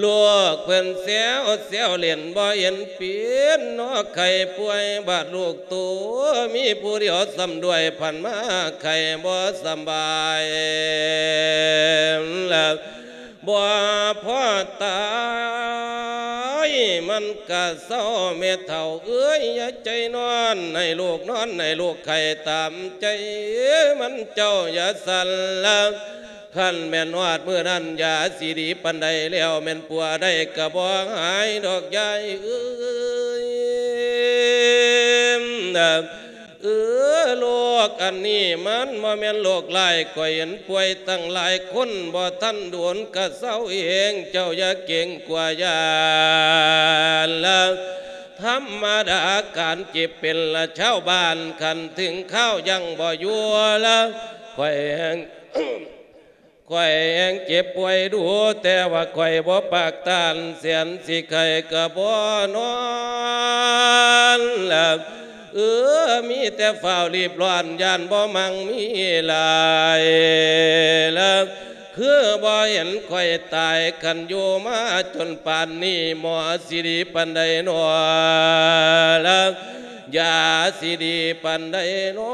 ລູກເພິ່ນແຊວແຊວຫຼິ້ນບໍ່ເຫັນເປັນ ເນາະໄຂ້ປ່ວຍບາດລູກໂຕ ມີຜູ້ດຽວຊ້ຳດ້ວຍ ພັດມາໄຂ້ບໍ່ສຳບາຍ ບໍ່ພໍຕາຍ ມັນກະເຊົາ ແມ່ເຖົ້າເອີຍ ຢ່າໃຈນອນ ໃຫ້ລູກນອນ ໃຫ້ລູກໄຂ້ຕາມໃຈມັນ ເຈົ້າຢ່າສັ່ນລະ. ຄັນແມ່ນຮອດມື້ນັ້ນ ຢາຊິດີປານໃດແລ້ວ ແມ່ນປົວໄດ້ກະບໍ່ຫາຍດອກຍາຍເອີຍ. ເອີ ໂລກອັນນີ້ມັນບໍ່ແມ່ນໂລກຮ້າຍ ຂ້ອຍເຫັນປ່ວຍຕັ້ງຫຼາຍຄົນ ບໍ່ທັນດົນກະເຊົາເອງ ເຈົ້າຢ່າເກງກົວຢ້ານລະ ທຳມະດາການເຈັບເປັນລະ ຊາວບ້ານຄັນເຖິງຄາວຍັງບໍ່ຢູ່ລະ ຂ້ອຍແຮ່ງ ຂ້ອຍແຮ່ງເຈັບປ່ວຍດູ ແຕ່ວ່າຂ້ອຍບໍ່ປາກຕານ ແສນຊິໄຂ້ກະບໍ່ນອນລະ ເອີ ມີແຕ່ຟ້າວລີບລ້ອນ ຢ້ານບໍ່ໝັ່ງມີຫຼາຍລະ ຄືບໍ່ເຫັນຂ້ອຍຕາຍ ຄັນຢູ່ມາຈົນປານນີ້ ໝໍຊິດີປານໃດນໍລະ ຢາຊິດີປານໃດນໍ.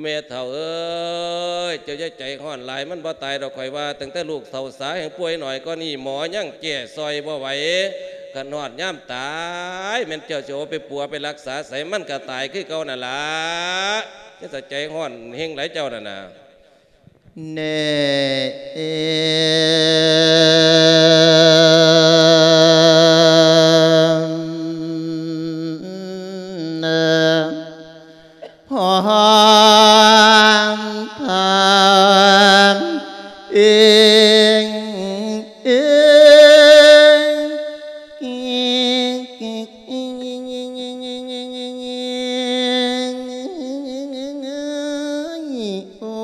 ແມ່ເຖົ້າເອີຍ ເຈົ້າຢ່າໃຈຮ້ອນຫຼາຍ ມັນບໍ່ຕາຍດອກ ຂ້ອຍວ່າ ຕັ້ງແຕ່ລູກເຖົ້າສາແຮ່ງປ່ວຍໜ້ອຍກວ່ານີ້ ໝໍຍັງແກ້ຊ່ອຍບໍ່ໄຫວ ຄັນຮອດຍາມຕາຍ ແມ່ນເຈົ້າຊິເອົາໄປປົວໄປລັກສາໃສ ມັນກໍຕາຍຄືເກົ່ານັ້ນລະ ຢ່າໃຈຮ້ອນແຮ່ງຫຼາຍເຈົ້ານັ້ນນະ. ແນ່ ເອີ ພອນທານເອງ ເອງ ໂອ້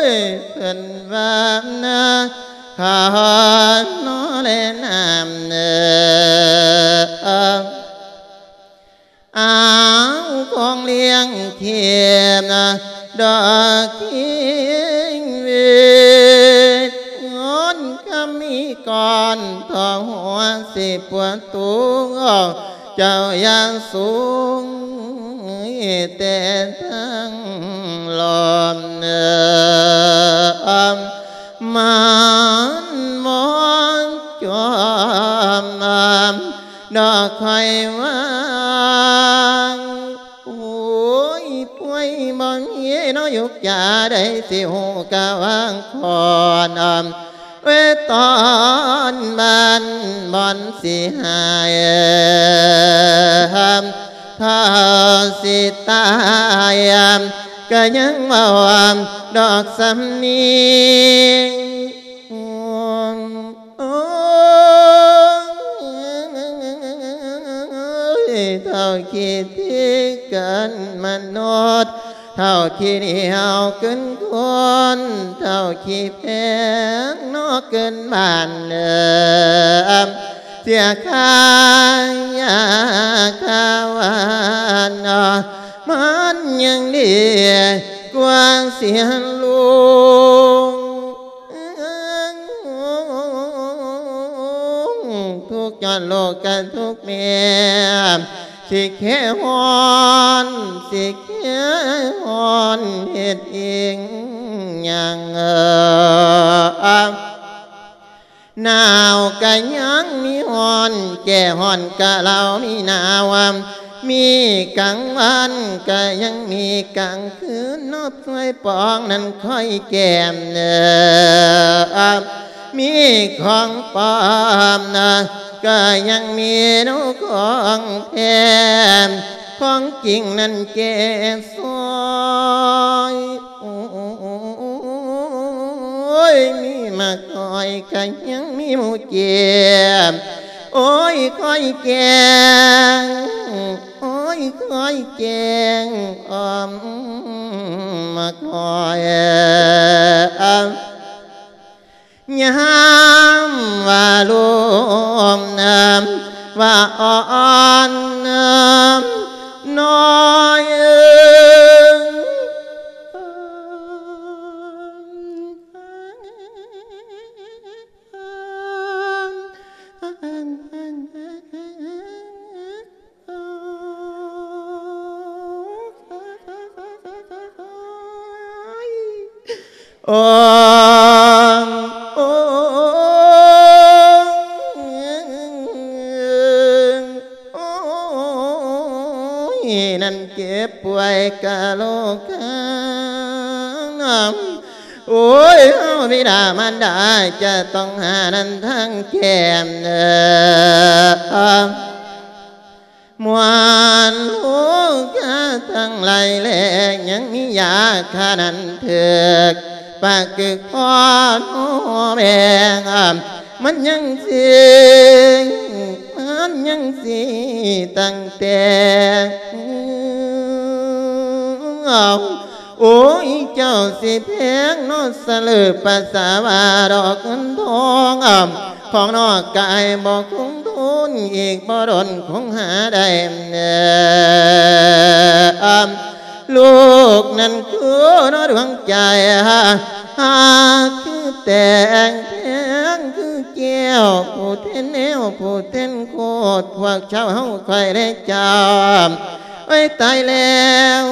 ຍ ເພິ່ນວ່ານະ ຂ້ານອແລນ້ຳເນີ ອາວ ຂອງລ້ຽງເຂມນະ ດອກເຄງເວດ ງອນຄຳມີກ່ອນ ເພາະຫົວຊິປວດຕູ ເຈົ້າຢ່າສູງ ແຕ່ທັງລອມເນີ ມັນມອງຈອມ ດອກຂ້ອຍວ່າ ໂອ້ຍ ປ່ວຍບໍ່ມີເນາະ ຢູ່ຈາໃດຊິຮູ້ກະວາງຄອນ ເວຕອນບ້ານບ່ອນຊິຫາຍ ຖ້າຊິຕາຍ ກະຍັງເວົ້າດອກສຳນຽງ ໂອ້ຍ ເທົ່າຄິດທີ່ກັນມະນຸດ ເທົ່າຂີ້ໜຽວກຶນຄົນ ເທົ່າຂີ້ແພງນອກກຶນບ້ານເດີ ເສຍຄ່າຢາຄ່າຫວານ ມັນຍັງດີກວ່າເສຍລູກ. ທຸກຍ້ອນລູກກະທຸກແມ່ ຊິແຄ່ຮ້ອນ ຊິແຄ່ຮ້ອນເຮັດອີ່ຫຍັງ. ໜາວກະຍັງມີຮ້ອນ ແກ້ຮ້ອນກະເລົ່າມີໜາວ ມີກາງວັນກະຍັງມີກາງຄືນ ນອບຊ່ວຍປອງນັ້ນຄ່ອຍແກ້ມ ມີຂອງປອມນະ ກະຍັງມີໜູຂອງແທ້ ຂອງຈິງນັ້ນແກ້ຊ່ອຍ. ໂອ້ຍ ມີໝາກອ້ອຍກະຍັງມີໝູເຈັບ ໂອ້ຍ ຄ່ອຍແກ້ງ ໂອ້ຍ ຄ່ອຍແກ້ງ ອ້ອມໝາກອ້ອຍ. ຍາມວ່າລົມນຳ ວ່າອ່ອນນຳ ນ້ອຍເອີຍ. ໂອ້ ໂອ້ຍ ນັ້ນເຈັບປ່ວຍກະໂລກາ ໂອ້ຍ ເຮົາບິດາມານດາຈະຕ້ອງຫານັ້ນທາງແກ້ມເດີ ມວນໂລກາທັງຫຼາຍແລ ຍັງມີຢາຂ້ານັ້ນຖືກ ປາກຶກພໍໂນແບງ ມັນຍັງຊິ ມັນຍັງຊິຕັ້ງແຕ່ ໂອ້ຍ ເຈົ້າຊິແພງເນາະ ສະເຫຼີປາສາວາດອກເງິນທອງ ຂອງນອກກາຍບໍ່ຄົງທົນ ອີກບໍ່ດົນຄົງຫາໄດ້ ລູກນັ້ນຄືເນາະດວງໃຈ ຫາກຄືແຕ່ງ ແພງຄືແກ້ວ ຜູ້ແທນແນວ ຜູ້ແທນໂຄດ ພວກເຈົ້າເຮົາຂ້ອຍແລເຈົ້າ ໂອ້ຍ ຕາຍແລ້ວ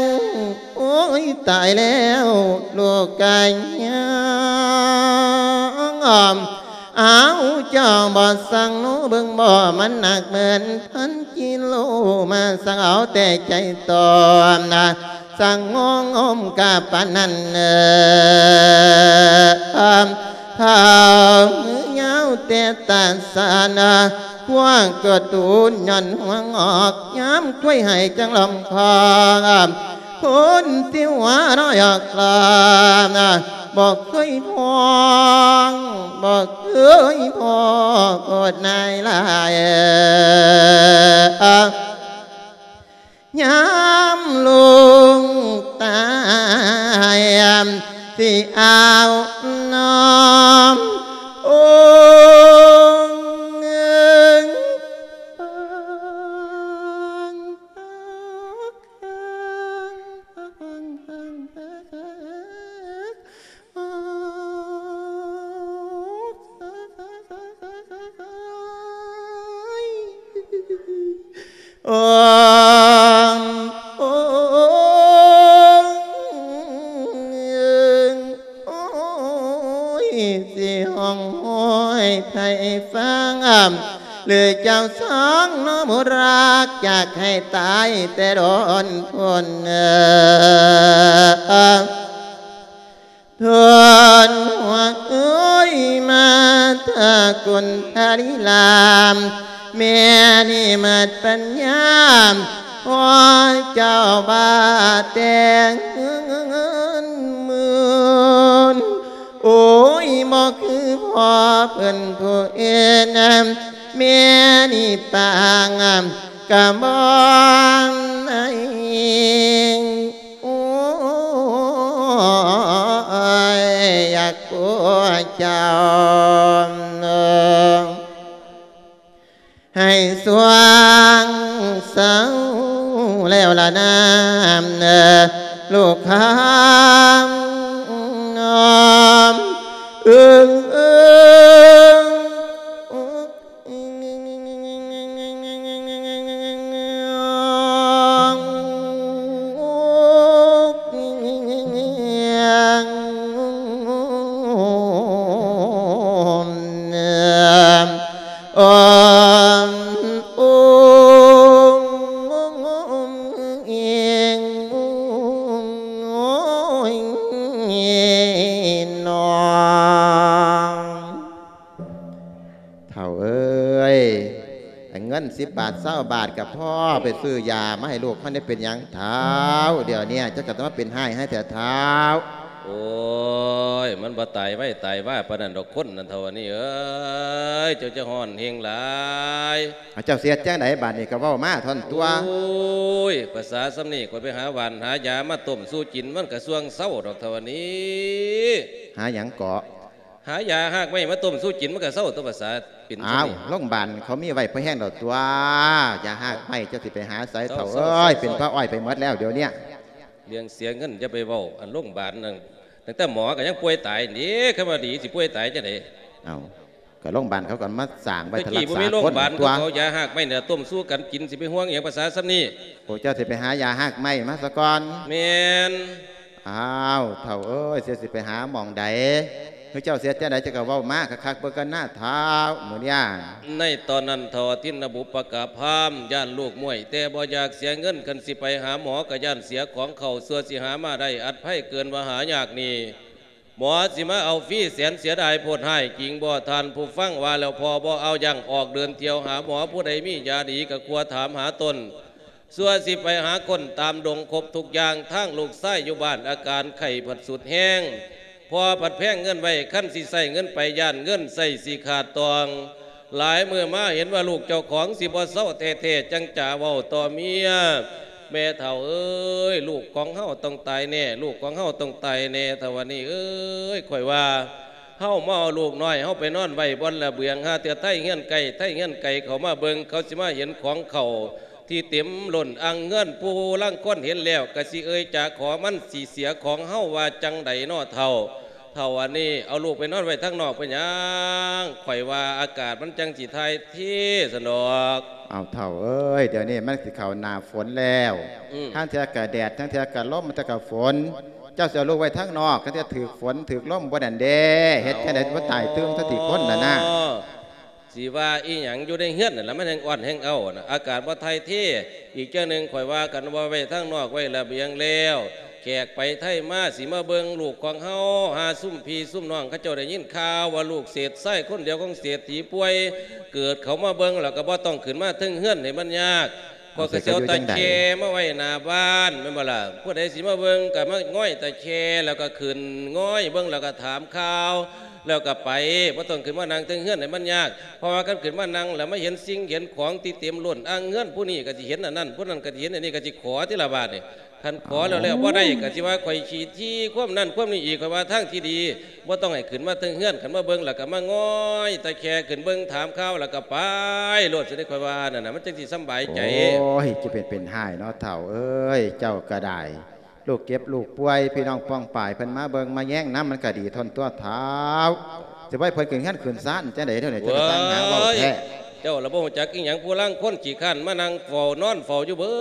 ໂອ້ຍ ຕາຍແລ້ວ ລູກກະຍັງ ອ້າວ ເຈົ້າບໍ່ສັງໂນເບິ່ງບໍ່ ມັນໜັກເໝືອນພັນກິໂລ ມາສັງເອົາແຕ່ໃຈຕອນນະ ສັງງອງອມກະປານນັ້ນເອີ ເຖົ້າມືຍາວແຕ່ຕາສານ ພວກກະຕູນຍ້ອນຫ່ວງອອກ ຍາມກ້ວຍໃຫ້ຈັ່ງລ້ອມຄອງ ຄົນທີ່ຫົວເນາະຢອກລາ ບໍ່ເຄີຍພ້ອງ ບໍ່ເຄີຍພໍ້ໂພດນາຍຫຼາຍ ຍາມລູກຕາຍ ຊິເອົານ້ອມອົງ ໂອ້ ໂອ້ ໂອ້ຍ ຊິຮ້ອງໂຫຍໃຜຟັງ ຫຼືເຈົ້າສອງເນາະໝູ່ຮັກ ຢາກໃຫ້ຕາຍແຕ່ດົນພຸ້ນ ເອີ ທົນຫົວເອີຍ ມາທາກຸນທະລິລາມ ແມ່ນີ້ໝົດປັນຍາ ພໍເຈົ້າບາແຕ່ງເງິນໝື່ນ ໂອ້ຍ ບໍ່ຄືພໍ່ເພິ່ນຜູ້ອື່ນ ແມ່ນີ້ປາງກະບໍ່ໄດ້ ໂອ້ຍ ຢາກຜົວເຈົ້າ ລະນາມ ລູກຄຳນ້ອມ ເອີງ ເອີງ ເຖົ້າເອີຍ ເງິນສິບບາດ ຊາວບາດ ກໍພໍໄປຊື້ຢາມາໃຫ້ລູກມັນໄດ້ເປັນຫຍັງເຖົ້າ. ດຽວນີ້ເຈົ້າກໍຕ້ອງມາເປັນຮ້າຍໃຫ້ແທ້ເຖົ້າ. ໂອ້ຍ ມັນບໍ່ຕາຍໄວຕາຍວາປານນັ້ນດອກຄົນນັ້ນເຖົ້າ ອັນນີ້ເອີຍ ເຈົ້າຈະຮ້ອນແຮງຫຼາຍ. ເອົາ ເຈົ້າຊິເຮັດຈັ່ງໃດບາດນີ້ ກໍເວົ້າມາທ່ອນຕົວະ. ໂອ້ຍ ພາສາສ່ຳນີ້ ຂ້ອຍໄປຫາຫວ່ານຫາຢາມາຕົ້ມສູ່ກິນ ມັນກໍຊ່ວງເຊົາດອກເຖົ້າ ອັນນີ້. ຫາຫຍັງເກາະ? ຫາຢາຮາກໄມ້ມາຕົ້ມສູ່ກິນ ມັນກໍເຊົາຕົວະ ພາສາເປັນສ່ຳນີ້. ອ້າວ ໂລງບານເຂົາມີໄວ້ພໍແຮງແລ້ວຕົວະ ຢາຮາກໄມ້ ເຈົ້າຊິໄປຫາໃສເຖົ້າເອີຍ ເປັນພະອ້ອຍໄປໝົດແລ້ວດຽວນີ້. ເລື່ອງເສຍເງິນຢ່າໄປເວົ້າ ອັນໂລງບານນັ້ນ ຕັ້ງແຕ່ໝໍກໍຍັງປ່ວຍຕາຍນີ້ ຄັນວ່າດີຊິປ່ວຍຕາຍຈັ່ງໃດ? ເອົ້າ ກໍໂລງບານເຂົາກໍມາສ້າງໄວ້ ແຕ່ກີ້ບໍ່ມີໂລງບານ ເຂົາກໍເອົາຢາຮາກໄມ້ນີ້ຕົ້ມສູ່ກັນກິນ ຊິໄປຫ່ວງຫຍັງພາສາສ່ຳນີ້? ໂອ້ ເຈົ້າຊິໄປຫາຢາຮາກໄມ້ມາສາກ່ອນ. ແມ່ນ. ອ້າວ ເຖົ້າເອີຍ ເຈົ້າຊິໄປຫາໝ່ອງໃດ? ຄືເຈົ້າຊິເຮັດຈັ່ງໃດ ເຈົ້າກໍເວົ້າມາຄັກໆເບິ່ງກັນນາເຖົ້າ ມື້ນີ້. ໃນຕອນນັ້ນເຖົ້າອະທິນນະບຸບປະກາພາມ ຢ້ານລູກມ້ວຍ ແຕ່ບໍ່ຢາກເສຍເງິນ ຄັນຊິໄປຫາໝໍກໍຢ້ານເສຍຂອງເຂົາ ຊົ່ວຊິຫາມາໄດ້ ອັດໄພເກີນວ່າຫາຍາກນີ້. ໝໍຊິມາເອົາຟຣີແສນເສຍດາຍໂພດຮ້າຍຈິງບໍ່ ທ່ານຜູ້ຟັງວ່າແລ້ວພໍບໍ່ເອົາຢັ້ງ ອອກເດີນທ່ຽວຫາໝໍ ຜູ້ໃດມີຢາດີກໍຄວາຖາມຫາຕົນ ຊົ່ວຊິໄປຫາຄົ້ນຕາມດົງຄົບທຸກຢ່າງ ທາງລູກຊາຍຢູ່ບ້ານອາການໄຂ້ພັດສຸດແຮງ ພໍ່ພັດແພງເງິນໄວ້ ຄັນຊິໃຊ້ເງິນໄປຢ້ານເງິນໃຊ້ຊິຂາດຕອງ ຫຼາຍມື້ມາເຫັນວ່າລູກເຈົ້າຂອງຊິບໍ່ເຊົາແທ້ໆ ຈັ່ງຈະເວົ້າຕໍ່ເມຍ ແມ່ເຖົ້າເອີຍ ລູກຂອງເຮົາຕ້ອງຕາຍແນ່ ລູກຂອງເຮົາຕ້ອງຕາຍແນ່ ເຖົ້າອັນນີ້ເອີຍ ຂ້ອຍວ່າ ເຮົາມາເອົາລູກນ້ອຍເຮົາໄປນອນໄວ້ບ່ອນລະເບືອງ ຫາເທື່ອໄທເຮືອນໃກ້ ໄທເຮືອນໄກເຂົາມາເບິ່ງ ເຂົາຊິມາເຫັນຂອງເຂົາທີ່ເຕັມລົ້ນອ່າງເຮືອນ ຜູ້ລາງຄົນເຫັນແລ້ວກໍຊິເອີຍຈາຂໍ ມັນຊິເສຍຂອງເຮົາ ວ່າຈັ່ງໃດນໍເຖົ້າ? ເຖົ້າອັນນີ້ເອົາລູກໄປນອນໄວ້ທາງນອກເປັນຫຍັງ? ຂ້ອຍວ່າອາກາດມັນຈັ່ງຊິຖ່າຍເທຊັ້ນດອກ. ອ້າວ ເຖົ້າເອີຍ ດຽວນີ້ມັນຊິເຂົ້າໜ້າຝົນແລ້ວ ອືມ ທາງເທື່ອກະແດດ ທາງເທື່ອກະລົມ ທາງເທື່ອກະຝົນ ເຈົ້າຊິເອົາລູກໄວ້ທາງນອກ ທາງເທື່ອຖືກຝົນຖືກລົມບໍ່ນັ້ນເດ້ ເຮັດຈັ່ງໃດບໍ່ຕາຍຕື່ມຊະຕິຄົນນັ້ນນະ. ຊິວ່າອີ່ຫຍັງ ຢູ່ໃນເຮືອນນັ້ນລະ ມັນແຮ່ງອ່ອນແຮ່ງເອົ້ານະ ອາກາດບໍ່ຖ່າຍເທ. ອີກຢ່າງໜຶ່ງ ຂ້ອຍວ່າກັນວ່າໄວ້ທາງນອກ ໄວ້ລະບຽງແລ້ວ ແຂກໄປໄທມາ ຊິມາເບິ່ງລູກຂອງເຮົາ ຫາຊຸມພີ່ຊຸມນ້ອງເຂົາເຈົ້າໄດ້ຍິນຂ່າວວ່າ ລູກເສດຊາຍຄົນດຽວຂອງເສດຖີປ່ວຍ ເກີດເຂົາມາເບິ່ງແລ້ວກໍບໍ່ຕ້ອງຂຶ້ນມາເທິງເຮືອນໃຫ້ມັນຍາກ. ເອົາ ຂ້ອຍກໍຊິເອົາຕາແຄມາໄວ້ໜ້າບ້ານ ແມ່ນບໍ່ລະ? ຜູ້ໃດຊິມາເບິ່ງກໍມາງອຍຕາແຄ ແລ້ວກໍຂຶ້ນງອຍເບິ່ງ ແລ້ວກໍຖາມຂ່າວ ແລ້ວກໍໄປ ບໍ່ຕ້ອງຂຶ້ນມານັ່ງເທິງເຮືອນໃຫ້ມັນຍາກ. ເພາະວ່າຄັນຂຶ້ນມານັ່ງແລ້ວມາເຫັນສິ່ງເຫັນຂອງທີ່ເຕັມລົ້ນອ່າງເຮືອນ ຜູ້ນີ້ກໍຊິເຫັນອັນນັ້ນ ຜູ້ນັ້ນກໍຊິເຫັນອັນນີ້ ກໍຊິຂໍຕິລະບາດນີ້. ຄັນຂໍແລ້ວແລ້ວບໍ່ໄດ້ ເອົ້າ ກໍຊິວ່າຂ້ອຍຂີ້ຖີ່ຄວາມນັ້ນຄວາມນີ້ອີກ. ຂ້ອຍວ່າທາງທີ່ດີ ບໍ່ຕ້ອງໃຫ້ຂຶ້ນມາເທິງເຮືອນ ຄັນມາເບິ່ງແລ້ວກໍມາງອຍຕາແຄຂຶ້ນເບິ່ງ ຖາມຂ່າວແລ້ວກໍໄປໂລດ ຊັ້ນເດ້ ຂ້ອຍວ່ານັ້ນນະ ມັນຈັ່ງຊິສຳບາຍໃຈ. ໂອ້ຍ ຈະເປັນເປັນຮ້າຍເນາະ ເຖົ້າເອີຍ ເຈົ້າກໍໄດ້. ລູກເຈັບລູກປ່ວຍ ພີ່ນ້ອງປ້ອງປາຍເພິ່ນມາເບິ່ງມາແຍງນຳ ມັນກໍດີທົ່ວນຕົວະ ເຖົ້າ. ຊິບໍ່ໃຫ້ເພິ່ນຂຶ້ນເຮືອນຂຶ້ນຊານຈັ່ງໃດເທື່ອນີ້ ເຈົ້າກໍຊ່າງຫາເວົ້າແທ້. ໂອ້ຍ ເຈົ້າລະບໍ່ຮູ້ຈັກອີ່ຫຍັງ ຜູ້ລາງຄົນຂີ້ຄ້ານມານັ່ງເຝົ້ານອນເຝົ້າຢູ່ເບິ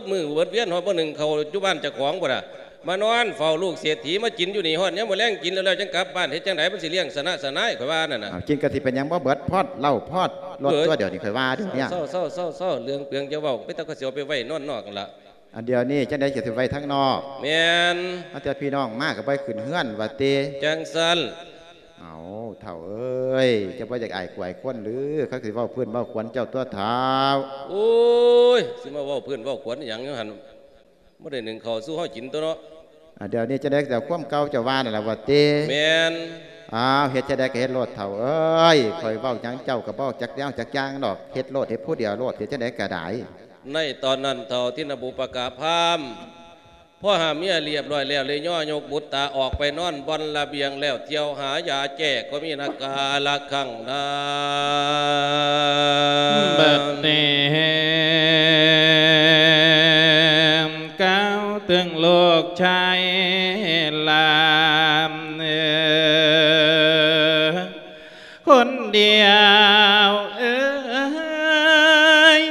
ດມື້ເບິດວຽນ ຮອດມື້ໜຶ່ງເຂົ້າຢູ່ບ້ານເຈົ້າຂອງພຸ້ນນະ ມານອນເຝົ້າລູກເສດຖີ ມາກິນຢູ່ນີ້ ຮອດຍາມມື້ແລງກິນແລ້ວໆ ຈັ່ງກັບບ້ານ ເຮັດຈັ່ງໃດມັນຊິລ້ຽງຊະນະຊະນາຍ ຂ້ອຍວ່ານັ້ນນະ. ເອົາ ກິນກໍຊິເປັນຫຍັງ ບໍ່ເບິດພອດເຫຼົ້າພອດລົດຕົວະ ດຽວນີ້ ຂ້ອຍວ່າດຽວນີ້. ເຊົາໆໆໆ ເລື່ອງເປືອງຢ່າເວົ້າ ໄປແຕ່ກໍຊິເອົາໄປໄວ້ນອນນອກຫັ້ນລະ. ອັນດຽວນີ້ຈັ່ງໃດຊິໄປໄວ້ທາງນອກ? ແມ່ນ. ເອົາ ແຕ່ພີ່ນ້ອງມາກໍບໍ່ໃຫ້ຂຶ້ນເຮືອນວ່າຕິ? ຈັ່ງຊັ້ນ. ເອົາ ເຖົ້າເອີຍ ເຈົ້າບໍ່ຢາກອາຍກວາຍຄົນຫຼື? ເຂົາຊິເວົ້າພື້ນເວົ້າຂວັນເຈົ້າຕົວະ ເຖົ້າ. ໂອ້ຍ ຊິມາເວົ້າພື້ນເວົ້າຂວັນອີ່ຫຍັງຢູ່ຫັ້ນ? ບໍ່ໄດ້ໜຶ້ງເຂົ້າສູ່ເຮົາກິນຕົວະເນາະ. ອາ ດຽວນີ້ຈັ່ງໃດກໍເອົາຄວາມເກົ່າເຈົ້າວ່ານັ້ນລະວ່າຕິ? ແມ່ນ. ອ້າວ ເຮັດຈັ່ງໃດກໍເຮັດໂລດ ເຖົ້າເອີຍ ຂ້ອຍເວົ້າຫຍັງເຈົ້າກໍບໍ່ຈັກແນວຈັກຢ່າງດອກ ເຮັດໂລດ ເຮັດຜູ້ດຽວໂລດ ເຮັດຈັ່ງໃດກໍໄດ້. ໃນຕອນນັ້ນເຖົ້າທິນນະບຸບປະກາພາມ ພໍຫາເມຍລຽບຮ້ອຍແລ້ວ ເລີຍຍໍຍົກບຸດຕາອອກໄປນອນບ່ອນລະບຽງແລ້ວ ທ່ຽວຫາຢາແກ້ກໍມີນາກາລະຄັງນາ ບັດນີ້. ຊາຍຫຼານເອີ ຄົນດຽວເອີຍ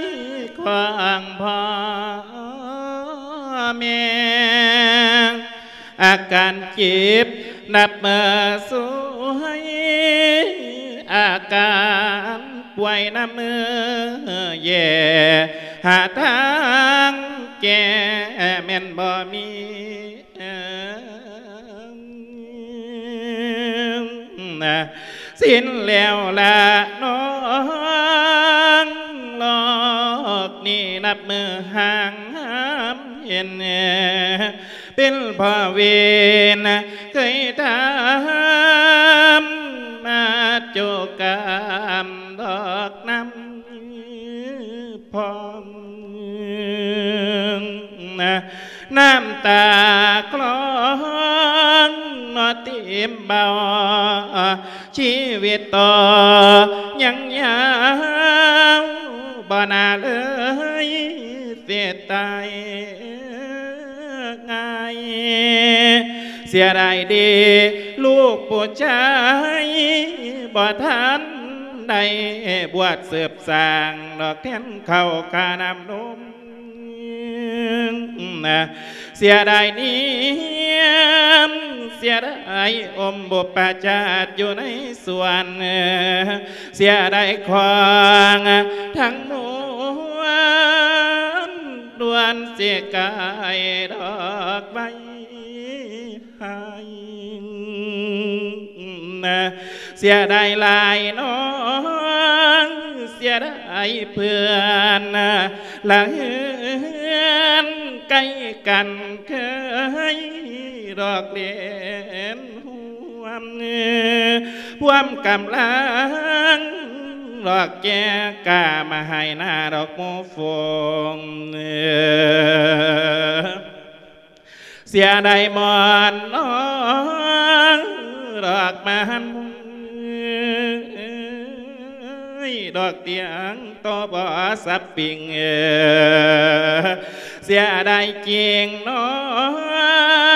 ຂອງພໍ່ແມ່ ອາການເຈັບນັບມື້ສວຍ ອາການປ່ວຍນຳມື້ແຍ່ ຫາທາງແກ້ແມ່ນບໍ່ມີ ສິ້ນແລ້ວລະນ້ອງ ລອກນີ້ນັບມື້ຫ່າງຫາມເຫັນ ເປັນເພາະເວນເຄີຍທຳມາຈຸກຳດອກນຳ ພ້ອມ ນ້ຳຕາຄລອງເນາະເຕັມເບົາ ຊີວິດຕໍ່ຍັງຍາວ ບໍ່ໜ້າເລີຍເສຍຕາຍງ່າຍ ເສຍດາຍເດ ລູກຜູ້ຊາຍ ບໍ່ທັນໄດ້ບວດສືບສ້າງ ດອກແທນເຂົ້າຄ່ານ້ຳນົມ ເສຍດາຍນຽມ ເສຍດາຍອົມບຸບປະຈາດຢູ່ໃນສວນ ເສຍດາຍຂອງທັງມວນ ດວນເສຍກາຍດອກໄມ້ ໃຫ້ ເສຍດາຍຫຼາຍນ້ອງ ເສຍດາຍເພື່ອນ ລະເຮືອນໃກ້ກັນເຄີຍດອກເລນຮ່ວມ ພວມກຳລັງດອກແກ່ກ້າມາໃຫ້ໜ້າດອກໝູ່ຝູງ ເສຍດາຍໝອນນ້ອງ ດອກມາຫັນ ດອກຕຽງໂຕບໍ່ສັບປິງ ເສຍດາຍຈິງນ້ອ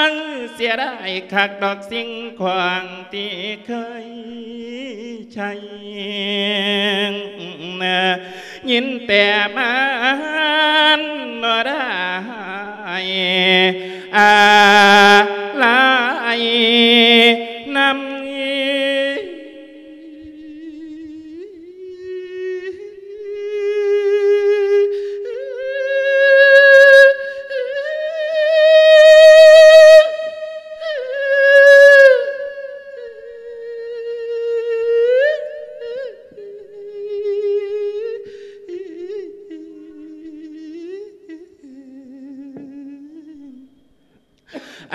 ງ ເສຍດາຍຄັກດອກສິ່ງຂອງທີ່ເຄີຍ ໄຊ ຍິນແຕ່ມານບໍ່ໄດ້ອາໄລນຳ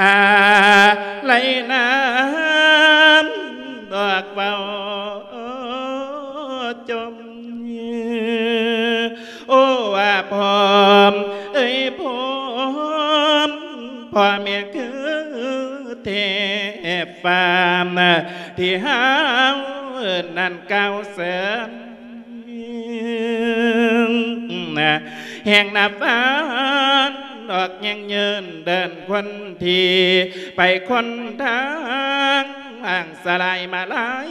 ອາໄລນຳດອກເວົ້າຈົມ ໂອ້ ວ່າພ້ອມເອີຍພ້ອມ ພໍ່ແມ່ຄືເທບຟ້າ ທີ່ເຮົານັ້ນກ່າວເຊີນ ແຫ່ງນັບວັນອອກຍັງເຍີນເດີນຄົນທີ່ໄປຄົນທາງ ອ່າງສະຫຼາຍມາລາຍ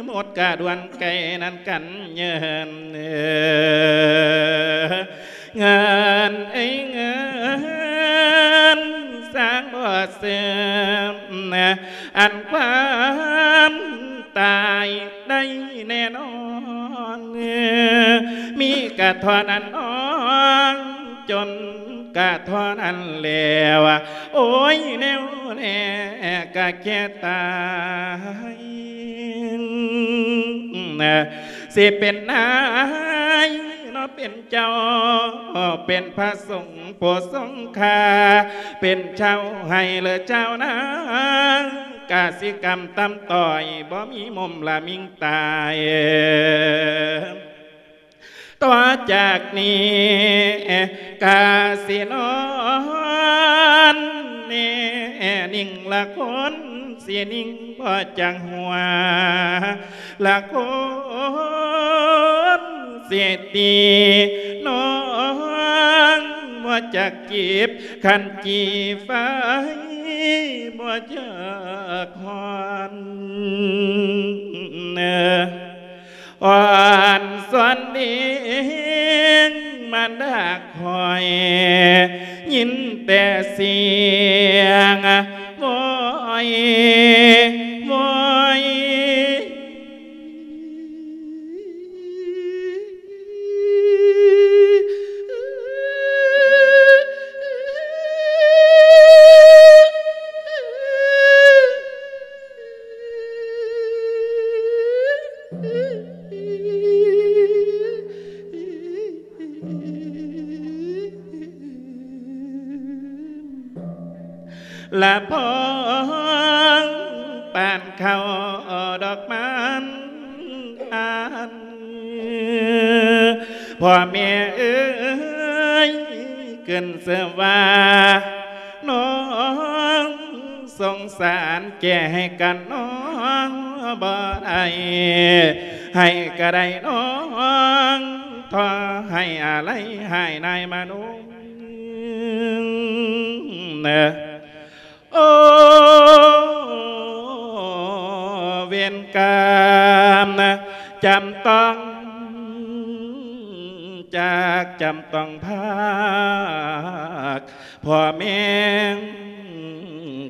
ໝົດກະດວນໄກນັ້ນກັນເຍີນ ເງິນເອີຍເງິນ ສ້າງບໍ່ເສື່ອມ ອັນຄວາມຕາຍໄດ້ແນ່ນອນ ມີກະເທົ່ານັ້ນນ້ອງ ຈົນກະເທົ່ານັ້ນແລ້ວ ໂອ້ຍ ແນວແນ່ກະແກ່ຕາຍ ຊິເປັນນາຍເນາະ ເປັນເຈົ້າ ເປັນພະສົງ ຜູ້ຊົງຄ່າ ເປັນເຈົ້າໃຫ້ ຫຼື ເຈົ້ານາ ກະສິກຳຕຳຕ້ອຍ ບໍ່ມີມຸມລະມິງຕາຍ ຕໍ່ຈາກນີ້ກະຊິນອນແນ່ນິ່ງ ລະຄົນຊິນິ່ງບໍ່ຈັກຫົວ ລະຄົນຊິຕີນ້ອງ ຈັກຈີບ ຄັນຈີໄຟບໍ່ຈັກຮ້ອນ. ອ່ອນສອນເດງມານດາຂ້ອຍ ຍິນແຕ່ສຽງໂວຍໂວຍ. ລະພອງປານເຂົ້າດອກມັນອັນ ພໍ່ແມ່ເອີຍ ຂຶ້ນຊື່ວ່ານ້ອງ ສົງສານແກ່ໃຫ້ກັນນ້ອງບໍ່ໄດ້ ໃຫ້ກະໄດ້ນ້ອງ ຂໍໃຫ້ອາໄລຫາຍນາຍມະນຸ ໂອ ເວນກຳ ຈຳຕ້ອງຈາກ ຈຳຕ້ອງພາກ ພໍ່ແມ່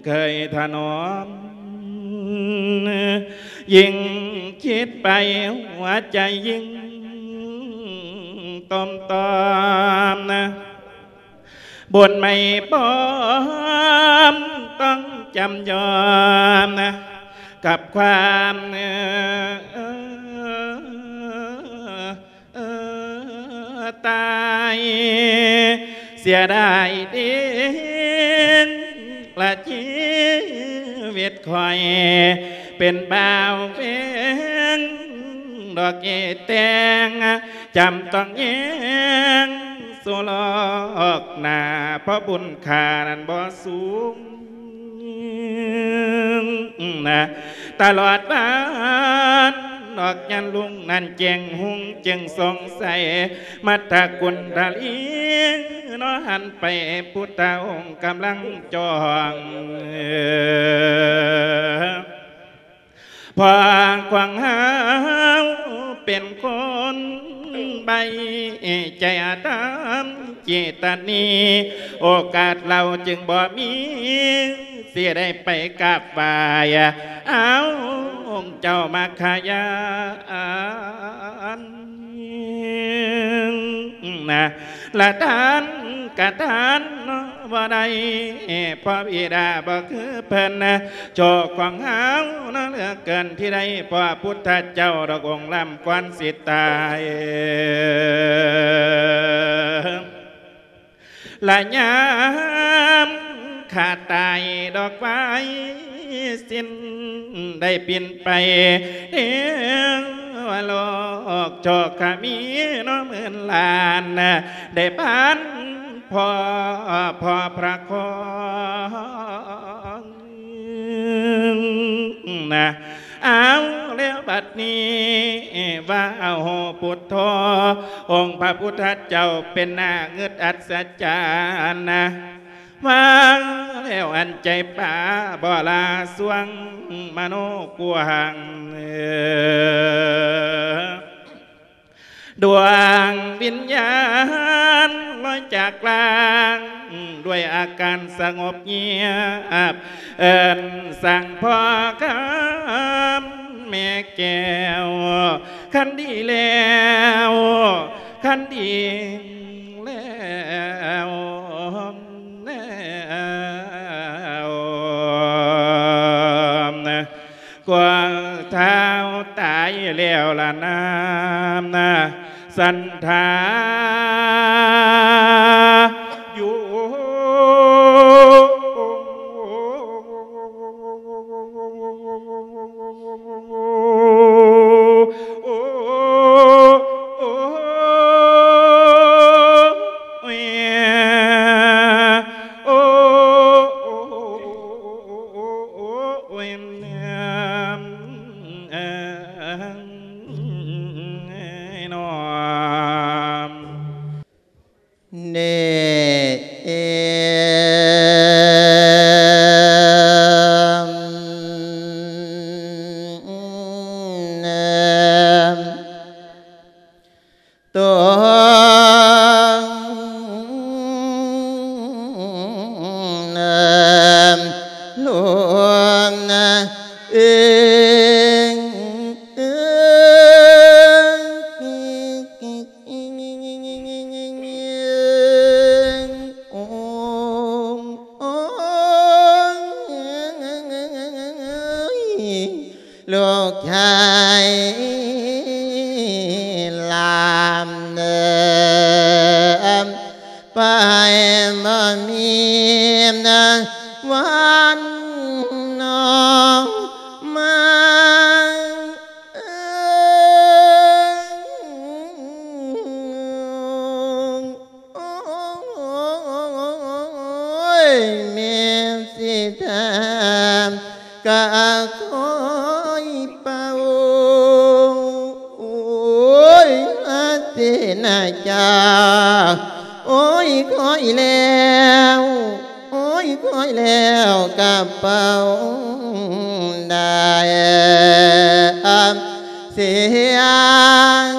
ເຄີຍຖະໜອມ ຍິ່ງຄິດໄປຫົວໃຈຍິ່ງຕົມຕອມ ບົນໄມ້ປ້ອມຕ້ອງຈຳຍອມ ກັບຄວາມ ເອີ ເອີ ຕາຍ ເສຍດາຍເດ ລະຊີວິດຂ້ອຍ ເປັນບ່າວແພງດອກເອແຕ່ງ ຈຳຕ້ອງແຍງສູ່ລອກໜ້າ ເພາະບຸນຄ່ານັ້ນບໍ່ສູງ ນະ ຕະຫຼອດວັນອອກຍາມລຸງນັ້ນແຈ້ງຮຸ່ງຈຶ່ງສ່ອງໃສ ມັດຕະກຸນທະລີເນາະ ຫັນໄປພຸດທະອົງກຳລັງຈ້ອງ ເອີ ເພາະຂອງເຮົາເປັນຄົນໃບໃຈອະທຳເຈຕະນີ ໂອກາດເຫຼົ່າຈຶ່ງບໍ່ມີ ຊິໄດ້ໄປກາບໄຫວ້ ເອົາ ອົງເຈົ້າມາຂະຍານ ນະ ລະທ່ານກະທ່ານບໍ່ໄດ້ ເພາະບິດາບໍ່ຄືເພິ່ນ ໂຊກຂອງເຮົານະເຫຼືອເກີນທີ່ໄດ້ພໍ້ພຸດທະເຈົ້າດອກອົງລ້ຳກວ່ານຊິຕາຍ ລະຍາມຂ້າຕາຍດອກໄວສິ້ນໄດ້ປິ່ນໄປເທວະໂລກ ໂຊກກະມີເນາະໝື່ນລ້ານ ໄດ້ພັນພໍ້ ພໍ້ພະຄອງ ນະ ເອົາແລ້ວບັດນີ້ ວ່າເອົາໂຫພຸດໂທ ອົງພະພຸດທະເຈົ້າເປັນໜ້າງຶດອັດສະຈັນນະ ວ່າແລ້ວອັນໃຈປາບໍ່ລາຊ່ວງມະໂນກວ້າງ ເອີ ດວງວິນຍານລອຍຈາກລ່າງ ດ້ວຍອາການສະຫງົບງຽບ ເອີ້ນສັ່ງພໍ່ຄຳແມ່ແກ້ວ ຄັນດີແລ້ວ ຄັນດີແລ້ວ ແລ້ວ ກວ່າທ້າວຕາຍແລ້ວລະນາ ສັນທາຢູ່ ໂອ້ ໂອ້ ໂອ້ ໂອ້ ໂອ້ ໂອ້ຍ ເອີ ເອີ ເອີ ເອີ ເອີ ເອີ ເອີ ເອີ ເອີ ເອີ ເອີ ເອີ ເອີ ເອີ ລູກຊາຍຫຼານເອີ ໄປບໍ່ມີວັນອອກມາ. ໂອ້ຍ ແມ່ຊິຖາມກະຄອຍເປົ່າ ໂອ້ຍ ອາເສນະຈາ ໂອ້ຍ ຄອຍແລ້ວ ໂອ້ຍ ຄອຍແລ້ວກະເປົ່າໄດ້ສຽງ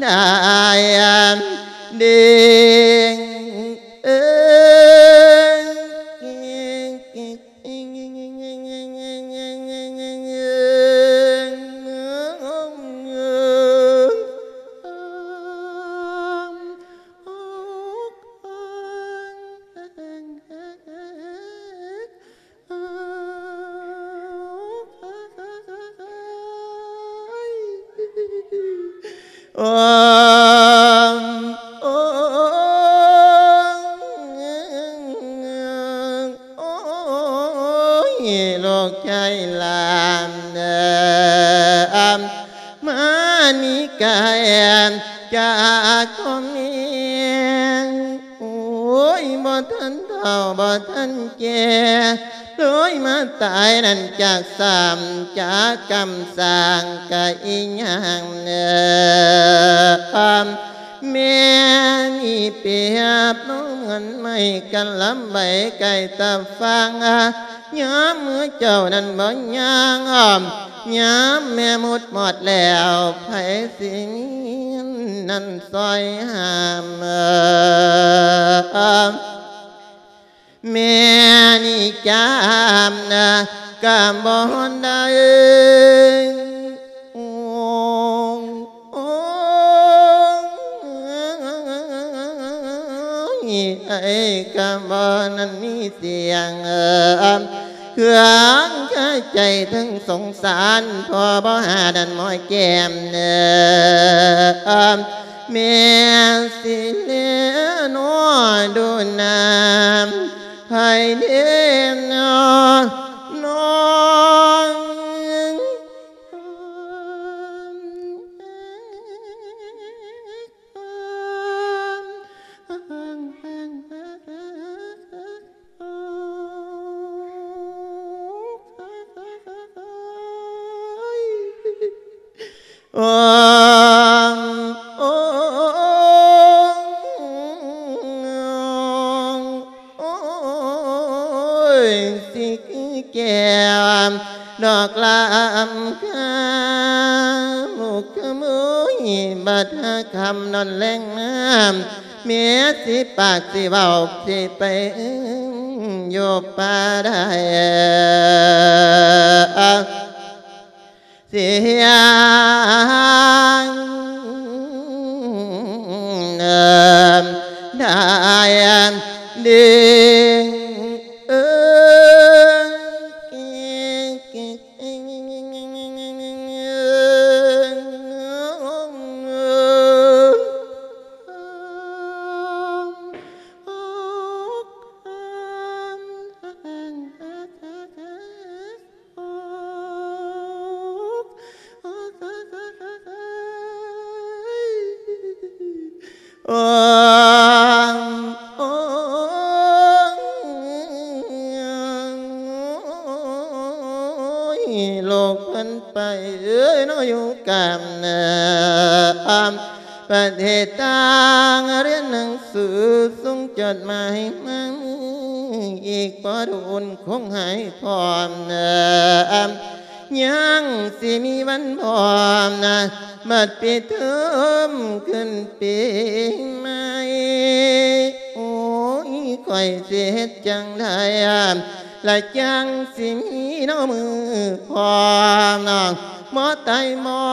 ໄດ້ເດ້ງ ເອີ ໂອ້ ໂອ້ ໂອ້ຍ ລູກຊາຍຫຼານເອີ ມານີ້ກາຍຈາກຄວາມເມງ ໂອ້ຍ ບໍ່ທັນເຖົ້າ ບໍ່ທັນແກ່ ເລີຍມາຕາຍນັ້ນຈາກສາມ ຈາກກຳສ້າງກະອີຫຍັງເນີ ແມ່ນີ້ປຽບນ້ອງເງິນໄມ້ກະລຳໃບໄກຕາຟັງ ຍາມເມື່ອເຈົ້ານັ້ນບໍ່ຍ່າງອ້ອມ ຍາມແມ່ໝົດໝອດແລ້ວ ໃຜຊິມີເງິນນັ້ນຊ່ອຍຫ້າມ ແມ່ນີ້ຈາມນະກະບໍ່ໄດ້ ໂອ້ຍ ໄອ້ກະບໍ່ນັ້ນມີສຽງ ເຄື່ອງຄາໃຈເຖິງສົງສານ ພໍ່ບໍ່ຫານັ້ນໝອຍແກ້ມ ແມ່ຊິແລນອດູນາມ ໃຜເດນອ ນ້ອງ ໂອ້ ໂອ້ ໂອ້ຍ ຊິຄືແກ້ວດອກລຳຄາ ໝູກຂະໂມຍບັດຫາຄ່ຳນອນແລງມາ ແມ່ຊິປາກຊິເວົ້າ ຊິໄປຢູ່ປ່າໃດ ສຽງໄດ້ຍິນ ໂອ້ຍ ໂລກເພິ່ນໄປເອີຍ ເນາະ ຢູ່ກາມນາ ປະເທດຕ່າງ ຮຽນໜັງສື ສົ່ງຈົດໝາຍມາອີກບໍ່ດົນ ຄົງຫາຍພ້ອມນາ ຍັງຊິມີວັນພ້ອມນາ ບັດປິດເທີມຂຶ້ນປີໃໝ່ ໂອ້ຍ ຂ້ອຍຊິເຮັດຈັ່ງໃດ ລະຈັ່ງຊິມີເນາະມື້ພ້ອມ ບໍ່ຕາຍບໍ່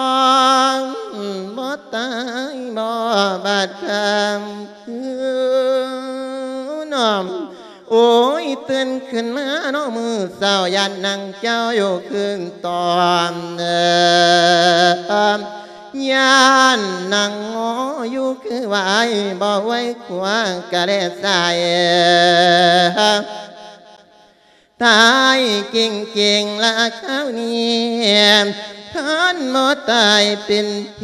ບໍ່ຕາຍບໍ່ ບາດຄ່ຳຄືນອມ ໂອ້ຍ ຕື່ນຂຶ້ນມາເນາະມື້ເຊົ້າ ຢ້ານນາງເຈົ້າຢູ່ຄືນຕອນ ຢ້ານນາງງໍຢູ່ຄືວາຍ ບໍ່ໄຫວຄວ້າກະແລໃສ່ ຕາຍເກັ່ງໆລະຄາວນີ້ ຄັນບໍ່ຕາຍເປັນເພ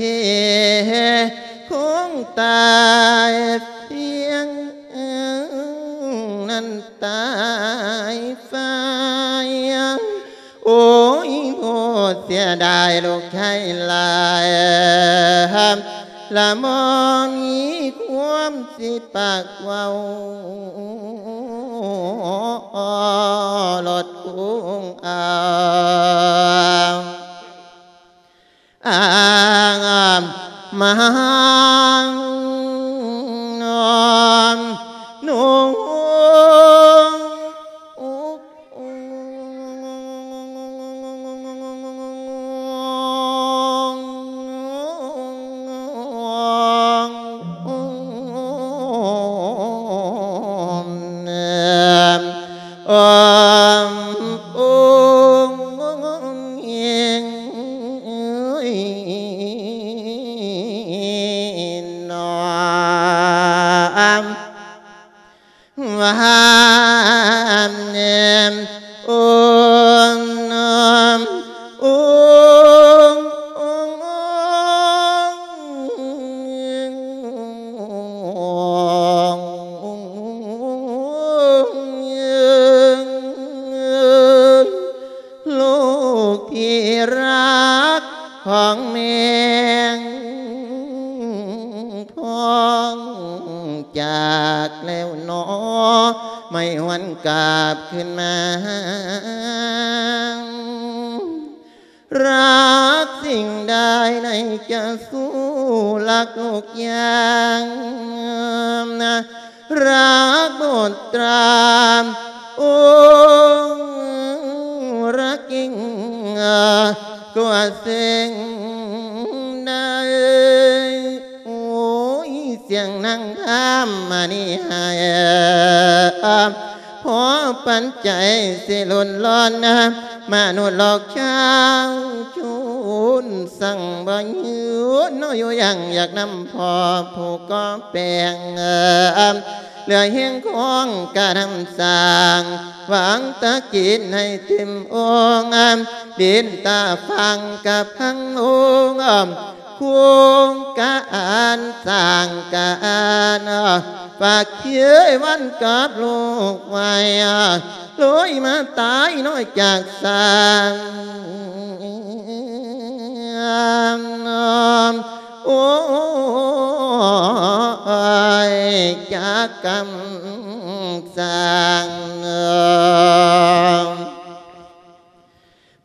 ຄົງຕາຍພຽງນັ້ນຕາຍໄປ. ໂອ້ຍ ໂພດເສຍດາຍລູກຊາຍຫຼາຍ ລະບໍ່ມີຄວາມຊິປາກເວົ້າ ໂລດກຸງອາງ ອາງມາງນອມນຸງ ລູກທີ່ຮັກຂອງແມ່ ພ້ອງຈາກແລ້ວໜໍ ໄມ່ຫວນກັບຄືນມາ. ລັກສິ່ງໃດໃນຈະສູ້ ລັກທຸກຢ່າງ ລັກບຸດຕາ ອົງລະກິ່ງ ກວ່າສິ່ງໃດ. ໂອ້ຍ ສຽງນາງທຳມະນີໃຫ້ ພໍປັນໃຈຊິລຸນລອນ ມະນຸດໂລກຊາວຊົນ ສັ່ງບໍ່ຍືນເນາະຢູ່ຢ່າງ ຢາກນຳພໍ່ຜູ້ກໍ່ແປງ ເຫຼືອແຮງຂອງການນຳສ້າງ ຫວັງຕະກິນໃຫ້ເຕັມອົງ ດິນຕາຝັ່ງກະພັງລົງ ໂຄງການສ້າງການ ຝາກເຄີຍວັນກັບລູກໄວ້ ໂລຍມາຕາຍນ້ອຍຈາກສາງ ໂອ້ຍ ຈາກກຳສ້າງ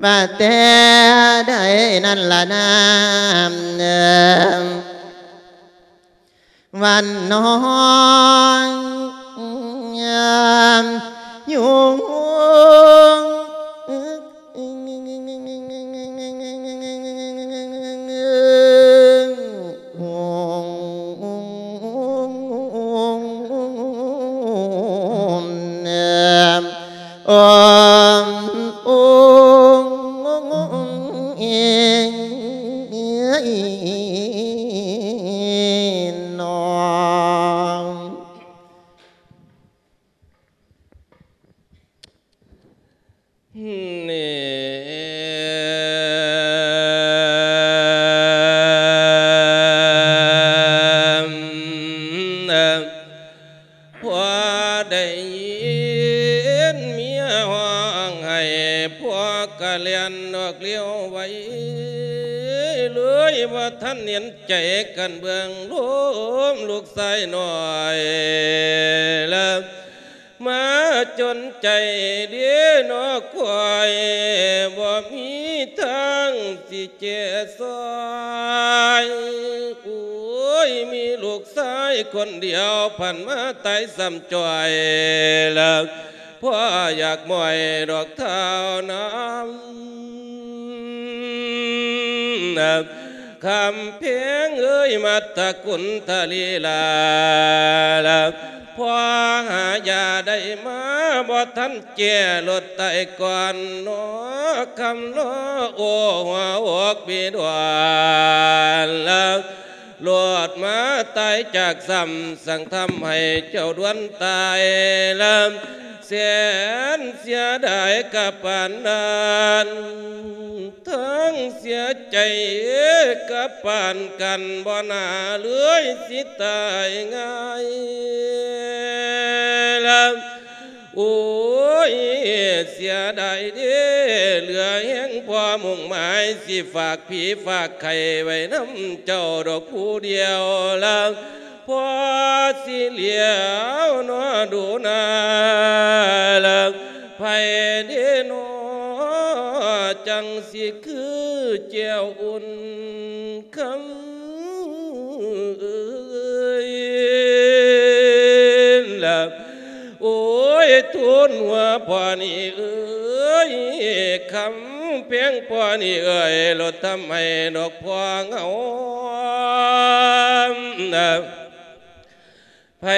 ວ່າແຕ່ໃດນັ້ນລະນາ ວັນນ້ອຍຢູ່ ຜົວໄດ້ຍິນເມຍຮ້ອງໄຫ້ ຜົວກະແລ່ນອອກລ້ຽວໄວ ເລີຍບໍ່ທັນເຫັນໃຈກັນເບິ່ງລົມລູກຊາຍນ້ອຍ ລະ ມາຈົນໃຈເດ້ເນາະຂ້ອຍ ບໍ່ມີທາງຊິແຈຊ່ອຍ ໂອ້ຍ ມີລູກຊາຍຄົນດຽວ ພັນມາຕາຍຊ້ຳຈ້ອຍ ລະພໍ່ຢາກມ້ອຍດອກທ້າວນາ ຄຳແພງເອີຍ ມາດຕະກຸນທະລີລາ ລະ ພໍຫາຢາໄດ້ມາບໍ່ທັນແກ່ ລົດຕາຍກ່ອນເນາະ ຄຳເນາະ ໂອ້ ຫົວອົກບີດວນລະ ໂລດມາຕາຍຈາກຊ້ຳ ສັ່ງທຳໃຫ້ເຈົ້າດວນຕາຍລະ ແສນເສຍດາຍກະປານນັ້ນ ທັງເສຍໃຈກະປານກັນ ບໍ່ໜ້າເລີຍຊິຕາຍງ່າຍລະ ໂອ້ຍ ເສຍດາຍເດ້ ເຫຼືອແຮງພໍມຸ່ງໝາຍ ຊິຝາກຜີຝາກໄຂ້ໄວ້ນຳເຈົ້າດອກຜູ້ດຽວລະ ພໍຊິຫຼຽວເນາະດູໜ້າລະ ໃຜເດ້ເນາະ ຈັ່ງຊິຄືແຈ່ວອຸ່ນ ຄຳເອີຍລະ ໂອ້ຍ ທູນຫົວພໍ່ນີ້ເອີຍ ຄຳແພງພໍ່ນີ້ເອີຍ ລົດທຳໃຫ້ດອກພໍ່ເຮົານະ ໃຜ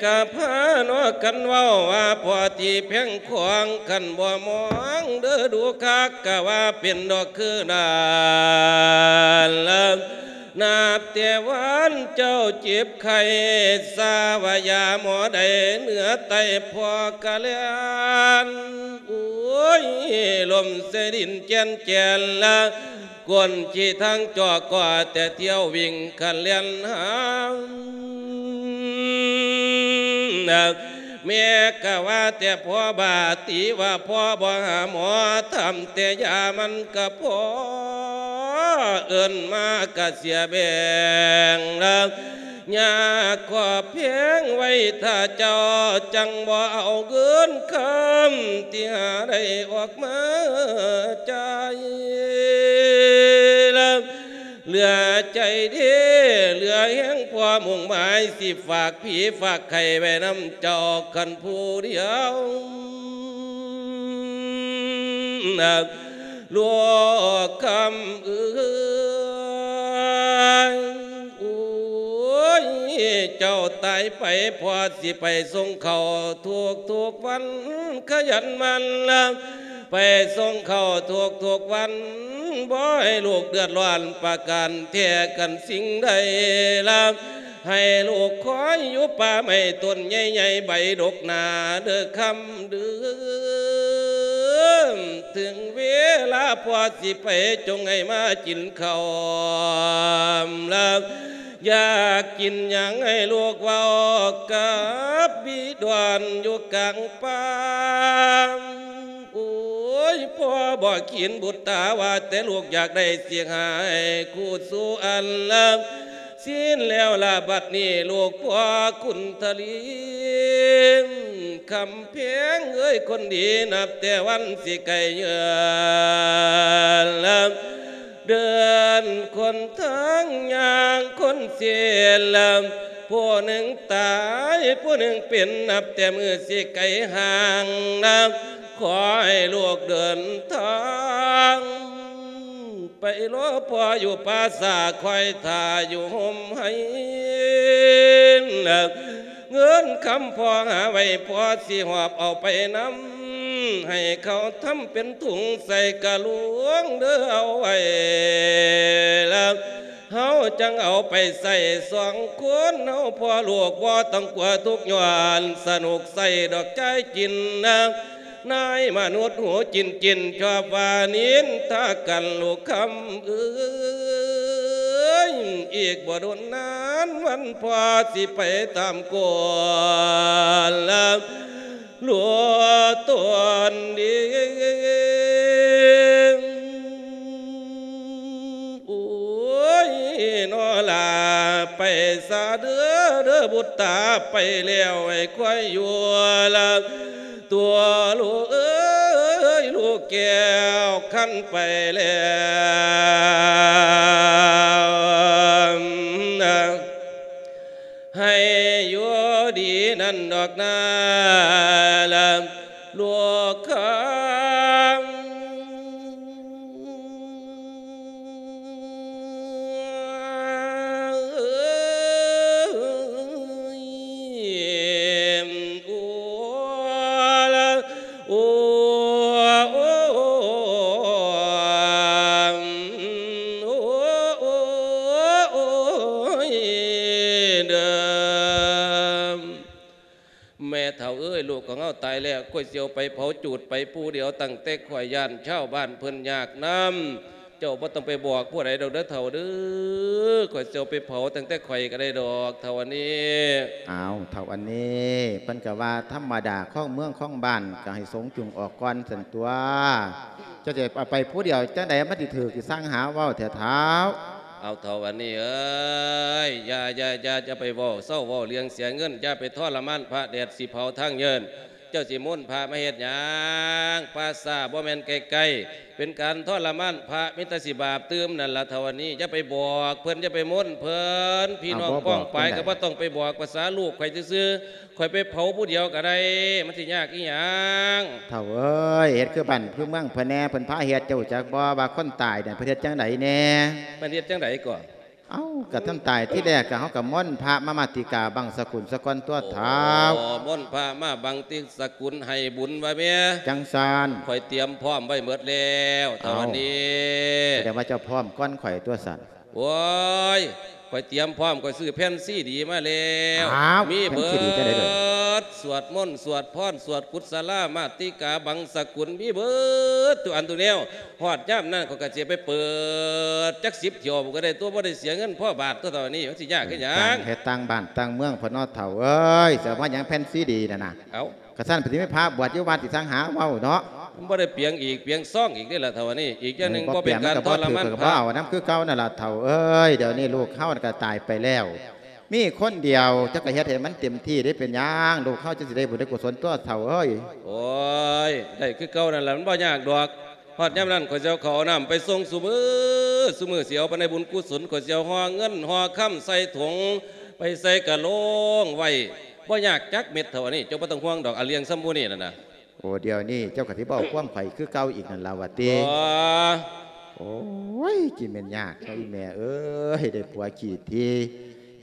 ກະພາເນາະກັນເວົ້າວ່າພໍ່ທີ່ແພງຂອງ ຄັນບໍ່ມອງເດີດູຄັກ ກະວ່າເປັນດອກຄືນັ້ນລະ ນັບແຕ່ວັນເຈົ້າເຈັບໄຂ້ ຊາວະຢາໝໍໃດເໜືອໃຕ້ ພໍ່ກະແລ່ນ ໂອ້ຍ ລົ້ມໃສ່ດິນແຈນແຈນລະ ກົ້ນຂີ້ທັງຈອກ ກໍແຕ່ທ່ຽວວິ່ງຄັນແລ່ນຫາ ແມ່ກະວ່າແຕ່ພໍ່ບາ ຕີວ່າພໍ່ບໍ່ຫາໝໍ ຖາມແຕ່ຢາມັນກະພໍ ເອີ້ນມາກະເສຍແບງລະ ຍາກຂອບແພງໄວ້ຖ້າເຈົ້າ ຈັ່ງບໍ່ເອົາເງິນຄຳ ທີ່ຫາໄດ້ອອກມາຈ່າຍລະ ເຫຼືອໃຈເດ້ ເຫຼືອແຮງພໍມຸ່ງໝາຍ ຊິຝາກຜີຝາກໄຂ້ໄວ້ນຳເຈົ້າຄັນຜູ້ດຽວ ລູກຄຳເອີຍ ໂອ້ຍ ເຈົ້າຕາຍໄປ ພໍ່ຊິໄປສົ່ງເຂົ້າທຸກໆວັນ ຂະຫຍັນໝັ່ນລະ ໄປສົ່ງເຂົ້າທຸກໆວັນ ບໍ່ໃຫ້ລູກເດືອດຮ້ອນປະການແທ້ກັນສິ່ງໃດລະ ໃຫ້ລູກຄອຍຢູ່ປ່າໄມ້ຕົ້ນໃຫຍ່ໆ ໃບດົກໜາເດີຄຳເດີ ເຖິງເວລາພໍ່ຊິໄປ ຈົ່ງໃຫ້ມາກິນເຂົ້າລະ ຢາກກິນຫຍັງໃຫ້ລູກເວົ້າກັບບິດອນຢູ່ກາງປ່າ ໂອ້ຍ ພໍ່ບໍ່ຂີນບຸດຕາ ວ່າແຕ່ລູກຢາກໄດ້ຊິໃຫ້ຄູ່ສູ່ອັນລະ ສິ້ນແລ້ວລະບັດນີ້ລູກພໍ່ຄຸນທະລີ ຄຳແພງເອີຍຄົນດີ ນັບແຕ່ວັນຊິໄກເຍືອນລະ ເດີນຄົນທາງຍ່າງຄົນເສນລະ ຜູ້ໜຶ່ງຕາຍຜູ້ໜຶ່ງເປັນ ນັບແຕ່ມື້ຊິໄກຫ່າງນະ ຂໍໃຫ້ລູກເດີນທາງ ໄປລໍພໍ່ຢູ່ປ່າຊ້າ ຄອຍຖ້າຢູ່ຮົ່ມໄຮ່ ເງິນຄຳພໍ່ຫາໄວ້ ພໍ່ຊິຫອບເອົາໄປນຳ ໃຫ້ເຂົາທຳເປັນຖົງໃສ່ກະລວງເດີເອົາໄວ້ລະ ເຮົາຈັ່ງເອົາໄປໃຊ້ສອງຄົນ ເຮົາພໍ່ລູກບໍ່ຕ້ອງກົວທຸກຍ້ອນ ສະໜຸກໃຊ້ດອກຈ່າຍກິນນະ ນາຍມະນຸດຫູຈິ້ນໆ ຊອບວ່ານິນທາກັນລູກຄຳເອີຍ ອີກບໍ່ດົນນານວັນພໍ່ຊິໄປຕາມກົດລະ ຫຼວງຕົນດີ ໂອ້ຍ ນໍລາ ໄປສາເດີ ເດີບຸດຕາ ໄປແລ້ວໃຫ້ຄວາຍຢູ່ລະ ຕົວລູກເອີຍ ລູກແກ້ວ ຄັນໄປແລ້ວ ໃຫ້ຢູ່ດີນັ້ນດອກນາລະ ລູກຄຳເອີຍ ເອີຍ ລູກຂອງເຮົາຕາຍແລ້ວ ຂ້ອຍຊິເອົາໄປເຜົາຈູດໄປຜູ້ດຽວ ຕັ້ງແຕ່ຂ້ອຍຢ້ານຊາວບ້ານເພິ່ນຍາກນຳ. ເຈົ້າບໍ່ຕ້ອງໄປບອກຜູ້ໃດດອກເດີເຖົ້າເດີ ຂ້ອຍຊິເອົາໄປເຜົາຕັ້ງແຕ່ຂ້ອຍກໍໄດ້ດອກ ເຖົ້າອັນນີ້. ອ້າວ ເຖົ້າອັນນີ້ ເພິ່ນກໍວ່າທຳມະດາ ຄອງເມືອງຄອງບ້ານ ກໍໃຫ້ສົງຈຸງອອກກ່ອນຊັ້ນຕົວະ. ເຈົ້າຊິເອົາໄປຜູ້ດຽວ ຈັ່ງໃດມັນຊິຖືກ ຊິຊ່າງຫາເວົ້າແທ້ເຖົ້າ. ເອົາ ເຖົ້າອັນນີ້ເອີຍ ຢ່າ ຢ່າ ຢ່າ ຢ່າໄປເວົ້າ ເຊົາເວົ້າເລື່ອງເສຍເງິນ ຢ່າໄປທໍລະມານພະ ແດດຊິເຜົາທາງເຍີ້ນ. ເຈົ້າຊິມົນພະມາເຮັດຫຍັງ? ປ່າຊ້າບໍ່ແມ່ນໃກ້ໆ ເປັນການທໍລະມານພະ ມີແຕ່ຊິບາບຕື່ມນັ້ນລະ ເຖົ້າອັນນີ້. ຢ່າໄປບອກເພິ່ນ ຢ່າໄປມົນເພິ່ນ ພີ່ນ້ອງປ້ອງປາຍກໍບໍ່ຕ້ອງໄປບອກ. ພາສາລູກຂ້ອຍຊື່ໆ ຂ້ອຍໄປເຜົາຜູ້ດຽວກໍໄດ້ ມັນຊິຍາກອີຫຍັງ? ເຖົ້າເອີຍ ເຮັດຄືບ້ານຄືເມືອງເພິ່ນແດ່ ເພິ່ນພາເຮັດ ເຈົ້າຮູ້ຈັກບໍ່ວ່າຄົນຕາຍນັ້ນເພິ່ນເຮັດຈັ່ງໃດແດ່? ມັນເຮັດຈັ່ງໃດກໍ? ເອົ້າ ກໍທ່ານຕາຍທີແລກ ກໍເຮົາກໍມົນພະມາ ມາຕິກາບັງສະກຸນສາກ່ອນຕົວະເຖົ້າ. ອໍ ມົນພະມາບັງຕິສະກຸນໃຫ້ບຸນວ່າແມ່. ຈັ່ງຊັ້ນ ຂ້ອຍຕຽມພ້ອມໄວ້ໝົດແລ້ວ ເຖົ້າອັນນີ້. ສະແດງວ່າເຈົ້າພ້ອມກ່ອນຂ້ອຍຕົວະຊັ້ນ. ໂອ້ຍ ຂ້ອຍຕຽມພ້ອມ ຂ້ອຍຊື້ແຜ່ນຊີດີມາແລ້ວ. ອ້າວ ມີເບີດ ແຜ່ນຊີດີຈັ່ງໃດເດີ? ສວດມົນ ສວດພອນ ສວດກຸດສະລາ ມາຕິກາ ບັງສະກຸນ ມີເບີດທຸກອັນທຸກແນວ. ຮອດຍາມນັ້ນ ຂ້ອຍກໍຊິໄປເປີດຈັກສິບຖ້ຽວກໍໄດ້ຕົວະ ບໍ່ໄດ້ເສຍເງິນພໍບາດຕົວະ ເທົ່ານີ້. ມັນຊິຍາກຄືຫຍັງ? ເຮັດຕ່າງບ້ານຕ່າງເມືອງພຸ້ນເນາະ ເຖົ້າເອີຍ. ຊິເອົາມາຫຍັງແຜ່ນຊີດີນັ້ນນະ? ເອົ້າ ກະຊັ້ນ ເພິ່ນຊິມີພະບວດຢູ່ວັດອີກຕ່າງຫາກເວົ້າເນາະ. ມັນບໍ່ໄດ້ປຽງອີກປຽງຊອງອີກເດ້ລະເຖົ້າອັນນີ້. ບໍ່ເປັນຫຍັງ ເຂົາບໍ່ເອົານຳຄືເກົ່ານັ້ນລະເຖົ້າເອີຍ. ດຽວນີ້ລູກເຮົາກໍຕາຍໄປແລ້ວ ມີຄົນດຽວ ເຈົ້າກໍເຮັດໃຫ້ມັນເຕັມທີ່ເດ້. ເປັນຫຍັງ ລູກເຮົາຈັ່ງຊິໄດ້ບຸນໄດ້ກຸສົນຕົວະເຖົ້າເອີຍ? ໂອ້ຍ ໄດ້ຄືເກົ່ານັ້ນລະ ມັນບໍ່ຍາກດອກ. ຮອດຍາມນັ້ນ ຂ້ອຍຊິເອົາເຂົ້າເອົານ້ຳໄປສົ່ງຊຸມື້ ຊຸມື້ຊິເອົາໄປໃນບຸນກຸສົນ. ຂ້ອຍຊິເອົາຫໍ່ເງິນຫໍ່ຄຳໃສ່ຖົງ ໄປໃສ່ກະໂລງໄວ້ ບໍ່ຍາກຈັກເມັດເທົ່າອັນນີ້. ເຈົ້າບໍ່ຕ້ອງຫ່ວງດອກ ອັນເລື່ອງຊຳໝູ່ນີ້ນັ້ນນະ. ໂອ້ ດຽວນີ້ເຈົ້າກໍຊິເວົ້າຄວາມຂ້ອຍຄືເກົ່າອີກນັ້ນລະຫວາຕິ? ບໍ່. ໂອ້ຍ ຊິແມ່ນຍາກເນາະ ອີ່ແມ່ເອີຍ ໄດ້ຜົວຂີ້ຖີ່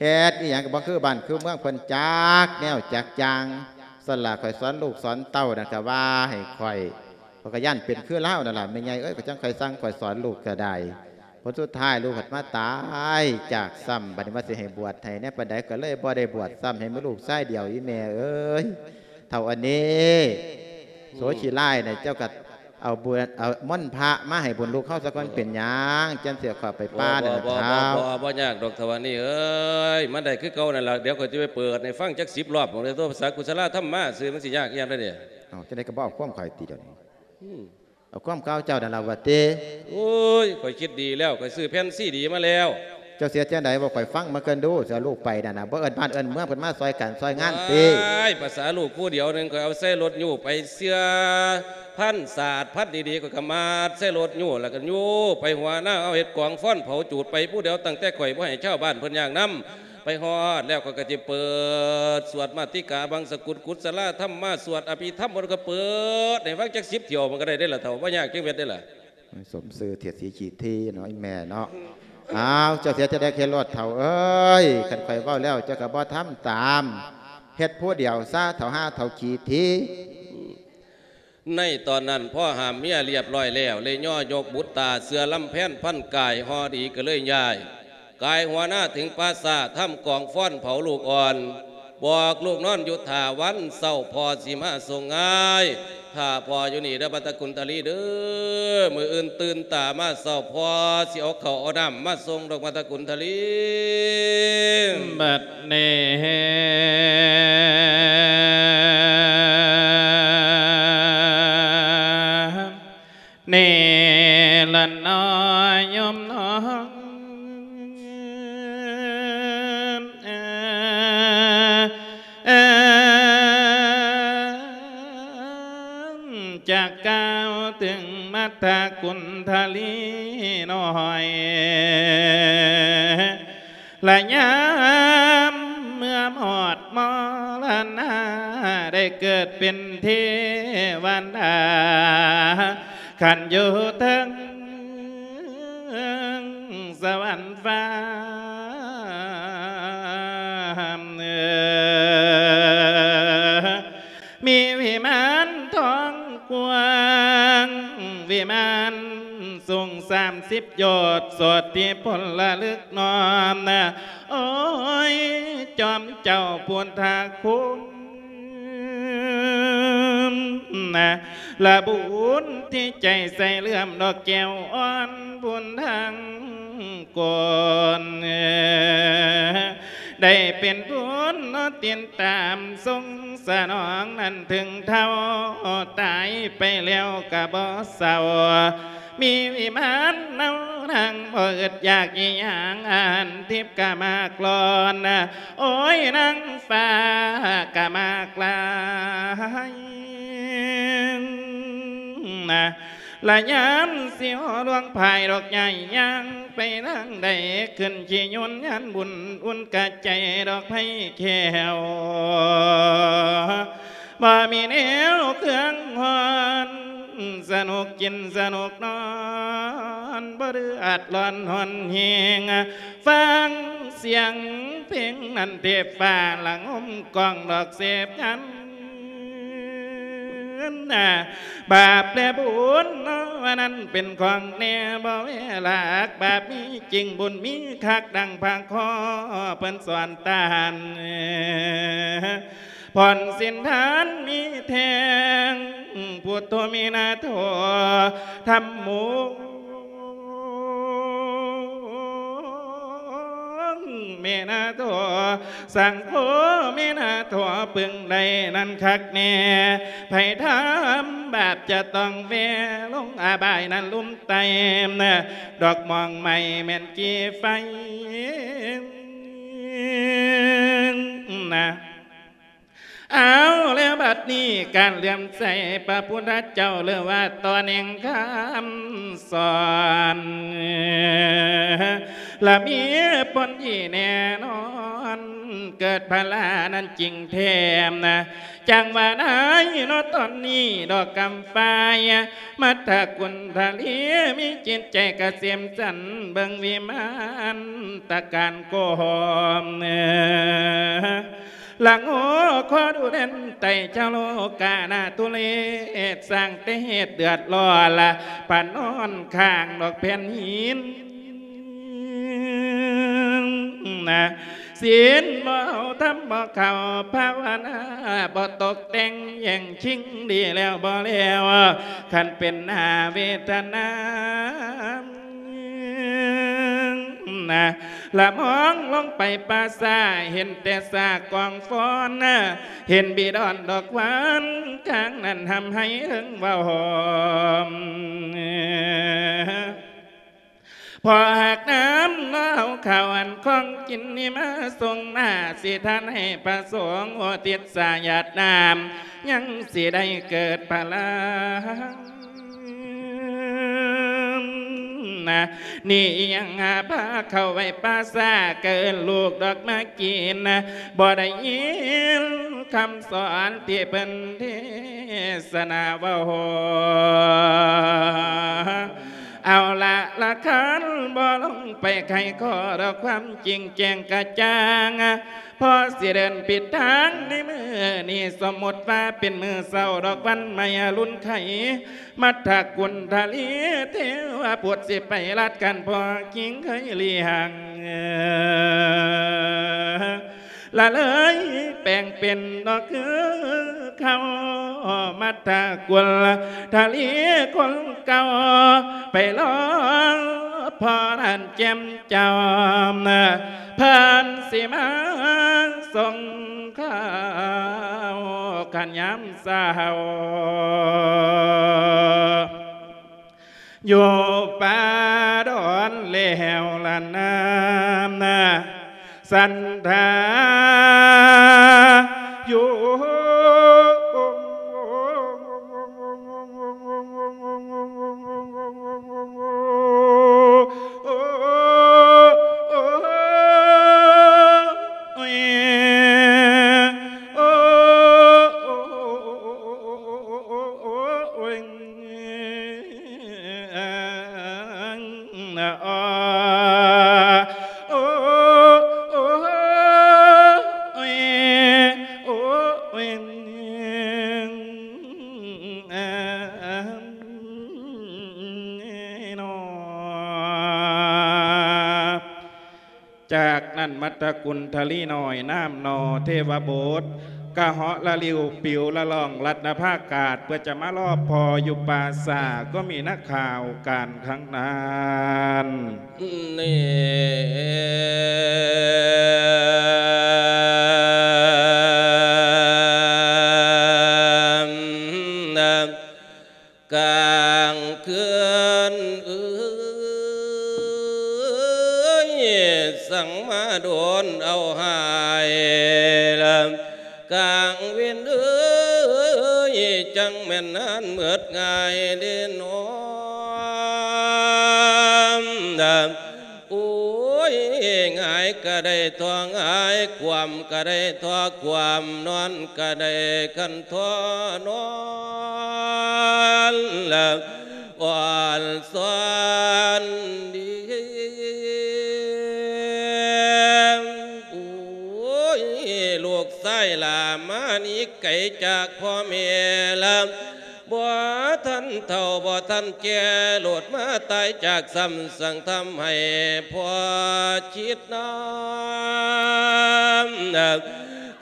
ເຮັດອີ່ຫຍັງກໍບໍ່ຄືບ້ານຄືເມືອງເພິ່ນຈັກແນວຈັກຢ່າງ. ຊັ້ນລະ ຂ້ອຍສອນລູກສອນເຕົ້ານັ້ນກໍວ່າໃຫ້ຂ້ອຍ ຂ້ອຍກໍຢ້ານເປັນຄືລາວນັ້ນລະ ແມ່ໃຫຍ່ເອີຍ. ຂ້ອຍຈັ່ງຄ່ອຍສັ່ງຂ້ອຍສອນລູກກໍໄດ້ ຜົນສຸດທ້າຍລູກພັດມາຕາຍຈາກຊ້ຳ. ບັດນີ້ວ່າຊິໃຫ້ບວດໃຫ້ແດ່ປານໃດ ກໍເລີຍບໍ່ໄດ້ບວດຊ້ຳ ໃຫ້ມີລູກຊາຍດຽວ ອີ່ແມ່ເອີຍ. ເຖົ້າອັນນີ້ ໂສຂີ້ລ້າຍນີ້ ເຈົ້າກໍເອົາບຸນ ເອົາມົນພະມາໃຫ້ບຸນລູກເຮົາສາກ່ອນ. ເປັນຫຍັງ ຈັ່ງຊິເອົາເຂົ້າໄປປ່ານັ້ນນະເຖົ້າ? ບໍ່ ບໍ່ ບໍ່ຍາກດອກເຖົ້າອັນນີ້ເອີຍ ມັນໄດ້ຄືເກົ່ານັ້ນລະ. ດຽວຂ້ອຍຊິໄປເປີດໃຫ້ຟັງຈັກສິບລອບ ເວົ້າແຕ່ພາສາກຸສະລາທຳມາຊື່ ມັນຊິຍາກອີ່ຫຍັງເດ້ນີ້? ເອົ້າ ຈັ່ງໃດກໍບໍ່ເອົາຄວາມຂ້ອຍຕິດຽວນີ້? ອືມ ເອົາຄວາມເກົ່າເຈົ້ານັ້ນລະຫວາຕິ? ໂອ້ຍ ຂ້ອຍຄິດດີແລ້ວ ຂ້ອຍຊື້ແຜ່ນຊີດີມາແລ້ວ. ເຈົ້າຊິເຮັດຈັ່ງໃດ ເວົ້າຂ້ອຍຟັງມາກ່ອນດູ. ຊິເອົາລູກໄປນັ້ນນະ ບໍ່ເອີ້ນບ້ານເອີ້ນເມືອງເພິ່ນມາຊ່ອຍກັນຊ່ອຍງານຕິ? ວ້າຍ ພາສາລູກຜູ້ດຽວໜຶ່ງ ຂ້ອຍເອົາໃສ່ລົດຍູ້ໄປເຊື່ອ ພັນສາດພັນດີໆ ຂ້ອຍກໍມັດໃສ່ລົດຍູ້ ແລ້ວກໍຍູ້ໄປຫົວນາ ເອົາເຮັດກອງຟອນເຜົາຈູດໄປຜູ້ດຽວ ຕັ້ງແຕ່ຂ້ອຍບໍ່ໃຫ້ຊາວບ້ານເພິ່ນຍາກນຳ. ໄປຮອດແລ້ວ ຂ້ອຍກໍຊິເປີດສວດມາຕິກາບັງສະກຸນ ກຸສະລາທຳມາ ສວດອະພິທຳ ແລ້ວກໍເປີດໃຫ້ຟັງຈັກສິບຖ້ຽວ ມັນກໍໄດ້ເດ້ລະເຖົ້າ ບໍ່ຍາກຈັກເມັດເດ້ລະ. ສົມຊື່ເທດສີຂີ້ຖີ່ເນາະ ອີ່ແມ່ເນາະ. ອ້າວ ເຈົ້າເສຍຈະໄດ້ເຄໂລດເຖົ້າເອີຍ ຄັນຂ້ອຍເວົ້າແລ້ວ ເຈົ້າກໍບໍ່ທຳຕາມ ເຮັດຜູ້ດຽວຊະເຖົ້າ ຫາເຖົ້າຂີ້ຖີ່. ໃນຕອນນັ້ນ ພໍຫ້າມເມຍລຽບລ້ອຍແລ້ວ ເລີຍຍໍຍົກບຸດຕາ ເສື້ອລຳແພນພັນກາຍ ຫໍ່ດີກໍເລີຍຍ້າຍ ກາຍຫົວໜ້າເຖິງປ່າຊ້າ ທຳກອງຟອນເຜົາລູກອ່ອນ ບອກລູກນອນຢູ່ຖ້າ ວັນເຊົ້າພໍ່ຊິມາສົ່ງງາຍ. ຖ້າພໍ່ຢູ່ນີ້ເດີ ບັດຕະກຸນທະລີເດີ ມື້ອື່ນຕື່ນຕາມາເຊົ້າ ພໍ່ຊິເອົາເຂົ້າເອົານ້ຳມາສົ່ງດອກ ບັດຕະກຸນທະລີ. ບັດນີ້ນີ້ລະເນາະໂຍມນ້ອງ ຈະກ່າວເຖິງບັດຕະກຸນທະລີນ້ອຍ ລະຍາມເມື່ອມອດມໍລະນາ ໄດ້ເກີດເປັນເທວະດາ ຄັນຢູ່ເທິງສະຫວັນຟ້າ ມີວິມານທອງກວ້າງ ວິມານສູງສາມສິບໂຍດ ໂສດທິພົນລະລຶກນ້ອມນະ ໂອ້ຍ ຈອມເຈົ້າພຸດທະຄຸນ ນະ ລະບຸນທີ່ໃຈໃສ່ເຫຼື້ອມດອກແກ້ວອ່ອນບຸນທາງກອນ ໄດ້ເປັນບຸນເນາະ ຕິດຕາມຊົງສະໜອງນັ້ນ ເຖິງເຖົ້າຕາຍໄປແລ້ວກະບໍ່ເສົ້າ ມີວິມານເອົານາງ ບໍ່ອຶດຢາກອີຫຍັງ ອາຫານທິບກະມາກລ້ອນ ໂອ້ຍ ນາງຟ້າກະມາກຫຼາຍນະ ລະຍາມຊິຮອດດວງພາຍດອກໃຫຍ່ ຍ່າງໄປທາງໃດ ຂຶ້ນຂີ່ຍົນຍານບຸນ ອຸ່ນກະໃຈດອກໄພແຂວ ບໍ່ມີແນວເຄື່ອງຮ້ອນ ສະໜຸກກິນສະໜຸກນອນ ບໍ່ດື້ອາດຮ້ອນຮ້ອນແຮງ ຟັງສຽງເພງນັ້ນເທບຟ້າ ລະງົມກ້ອງດອກເສບງັນ ບາບແລະບຸນເນາະ ວ່ານັ້ນເປັນຂອງແນ່ ບໍ່ແວລາກ ບາບມີຈິງ ບຸນມີຄັກ ດັ່ງພະຂໍເພິ່ນສອນຕາຫັ້ນ ຜ່ອນສິນທານມີແທ້ງ ພຸດໂທເມນາໂທ ທຳໂມເມນາໂທ ສັງໂຄເມນາໂທ ເພິ່ງໄດ້ນັ້ນຄັກແນ່ ໃຜທຳບາບຈະຕ້ອງແວ່ລົງອະບາຍນັ້ນ ລຸ່ມໄຕ ດອກມ່ວງໄມ້ແມ່ນກີ່ໄຟນະ. ເອົາແລ້ວບັດນີ້ ການເຫຼື້ອມໃສພະພຸດທະເຈົ້າ ຫຼືວ່າຕໍ່ແໜ່ງຄຳສອນ ລະມີຜົນດີແນ່ນອນ ເກີດພະລານັ້ນຈິງແທ້ນະ ຈັ່ງວ່າໄດ້ເນາະຕອນນີ້ ດອກກຳຝ້າຍ ມັດທະກຸນທະລີ ມີຈິດໃຈກະເສມສັນ ເບິ່ງວິມານຕະການກອມ ລະໂງຂໍດູແລນໄຕ ຊາວໂລການາທຸເລດ ສ້າງແຕ່ເຫດເດືອດຮ້ອນ ລະປະນອນຂ້າງດອກແຜ່ນຫີນນະ ສິນບໍ່ເອົາ ທຳບໍ່ເຂົ້າ ພາວະນາບໍ່ຕົກແຕ່ງ ແຍ່ງຊິງດີແລ້ວບໍ່ແລ້ວ ຄັນເປັນໜ້າເວທະນາ ນະ ລະມອງລົງໄປປ່າຊ້າ ເຫັນແຕ່ຊາກກອງຟອນ ເຫັນບີດອນດອກຫວານ ກາງນັ້ນຮ່ຳໄຫ້ເທິງເວົ້າຫອມ ພໍຫາກນ້ຳເນາະ ເອົາເຂົ້າອັນຂອງກິນນີ້ມາສົ່ງໜ້າ ຊິທານໃຫ້ພະສົງອຸທິດສາຍາດນ້ຳ ຍັງຊິໄດ້ເກີດພະລານະ ນີ້ອີ່ຫຍັງຫາພາເຂົ້າໄວ້ປ່າຊ້າ ກະເອີ້ນລູກດອກມາກິນນະ ບໍ່ໄດ້ຍິນຄຳສອນທີ່ເພິ່ນເທສະນາເວົ້າ ເອົາລະ ລະຄັນບໍ່ລົງໄປໄຂຂໍ້ດອກຄວາມຈິງແຈ້ງກະຈ່າງ ພໍຊິເດີນຜິດທາງໃນມື້ນີ້ ສົມມຸດວ່າເປັນມື້ເຊົ້າດອກວັນໃໝ່ອະລຸນໄຂ ມັດທະກຸນທະລີເທວະພຸດ ຊິໄປລັດກັນພໍກິງໄຄລີຫັງ ລະເລີຍແປງເປັນດອກຄືເຂົາ ມັດທະກຸນທະລີຄົນເກົ່າ ໄປລໍພໍ່ນັ້ນແຈ່ມຈ້ຳ ເພິ່ນຊິມາສົ່ງຂ່າວ ຄັນຍາມເຊົ້າ ຢູ່ປ່າດອນແລ້ວລະນາ ສັນທາຢູ່ ຈາກນັ້ນ ມັດທະກຸນທະລີນ້ອຍ ນາມໜໍເທວະບຸດ ກະເຫາະລະລິວປິວລະລ່ອງລັດນະພາກາດ ເພື່ອຈະມາລໍພໍ່ຢູ່ປ່າຊ້າ ກໍມີນັກຂ່າວການຄັ້ງນັ້ນ. ນີ້ ກາງຄືນເອີຍ ສັງມາດົນເອົາຫາຍລະ ກາງເວັນເອີຍ ຈັ່ງແມ່ນນານເໝິດງ່າຍເດນໍ. ໂອ້ຍ ຫງາຍກະໄດ້ທໍ່ຫງາຍ ຄວ່ຳກະໄດ້ທໍ່ຄວ່ຳ ນອນກະໄດ້ຄັນທໍ່ນອນ ອ່ອນຊອນດີ. ໂອ້ຍ ລູກຊາຍຫຼ້າມາໜີໄກຈາກພໍ່ແມ່ລະ ບໍ່ທັນເຖົ້າບໍ່ທັນແກ່ ໂລດມາຕາຍຈາກຊ້ຳ ສັງທຳໃຫ້ພໍ່ຄິດນຳ.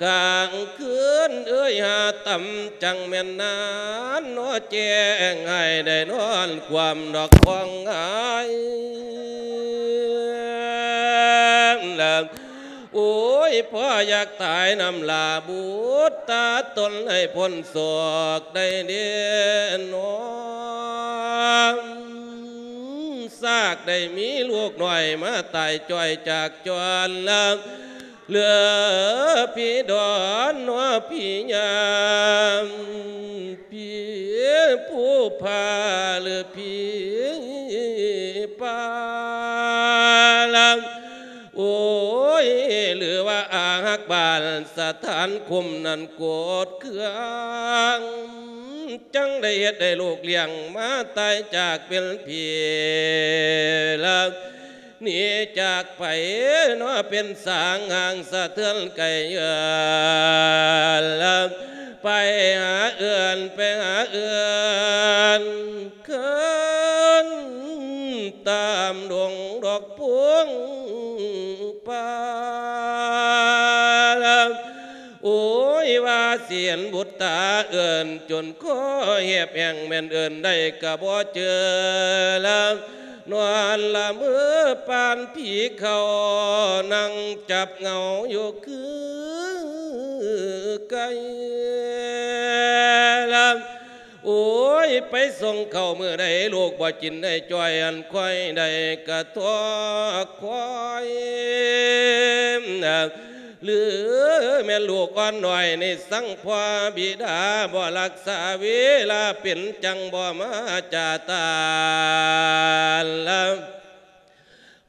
ກາງຄືນເອີຍຫາຕ່ຳ ຈັ່ງແມ່ນນານນໍ ແຈ້ງໃຫ້ໄດ້ນອນຄວ່ຳດອກຄອງຫາຍ. ໂອ້ຍ ພໍ່ຢາກຕາຍນຳລາບຸດຕາຕົນ ໃຫ້ພົ້ນໂສກໄດ້ເດນໍ. ຊາກໄດ້ມີລູກນ້ອຍມາຕາຍຈ້ອຍຈາກຈອນລະ ເຫຼືອຜີດອນນໍ ຜີຍາມ ຜີຜູ້ພາ ຫຼື ຜີປ່າລະ ໂອ້ຍ ຫຼືວ່າອາຮັກບ້ານສະຖານຄຸມນັ້ນໂກດເຄືອງ ຈັ່ງໄດ້ເຮັດໃຫ້ລູກລ້ຽງມາຕາຍຈາກເປັນຜີລະ ໜີຈາກໄປເນາະ ເປັນສາງຫ່າງສະເທືອນໄກເອື້ອນລະ ໄປຫາເອື້ອນ ໄປຫາເອື້ອນ ເຂີນຕາມດົງດອກພວງປ່າລະ ໂອ້ຍ ວ່າຊິເຫັນບຸດຕາເອີ້ນ ຈົນຄໍແຫບແຫ້ງ ແມ່ນເອີ້ນໄດ້ກະບໍ່ເຈີລະ ນອນລະເມີປານຜີເຂົ້າ ນັ່ງຈັບເງົາຢູ່ຄືໄກ່ລະ ໂອ້ຍ ໄປສົ່ງເຂົ້າມື້ໃດ ລູກບໍ່ກິນໄດ້ຈ້ອຍ ອັນຂ້ອຍໄດ້ກະທໍຄວາຍ ຫຼືແມ່ນລູກອ່ອນນ້ອຍນີ້ ສັງພໍ່ບິດາບໍ່ລັກສາເວລາ ເປັນຈັ່ງບໍ່ມາຈາຕາລະ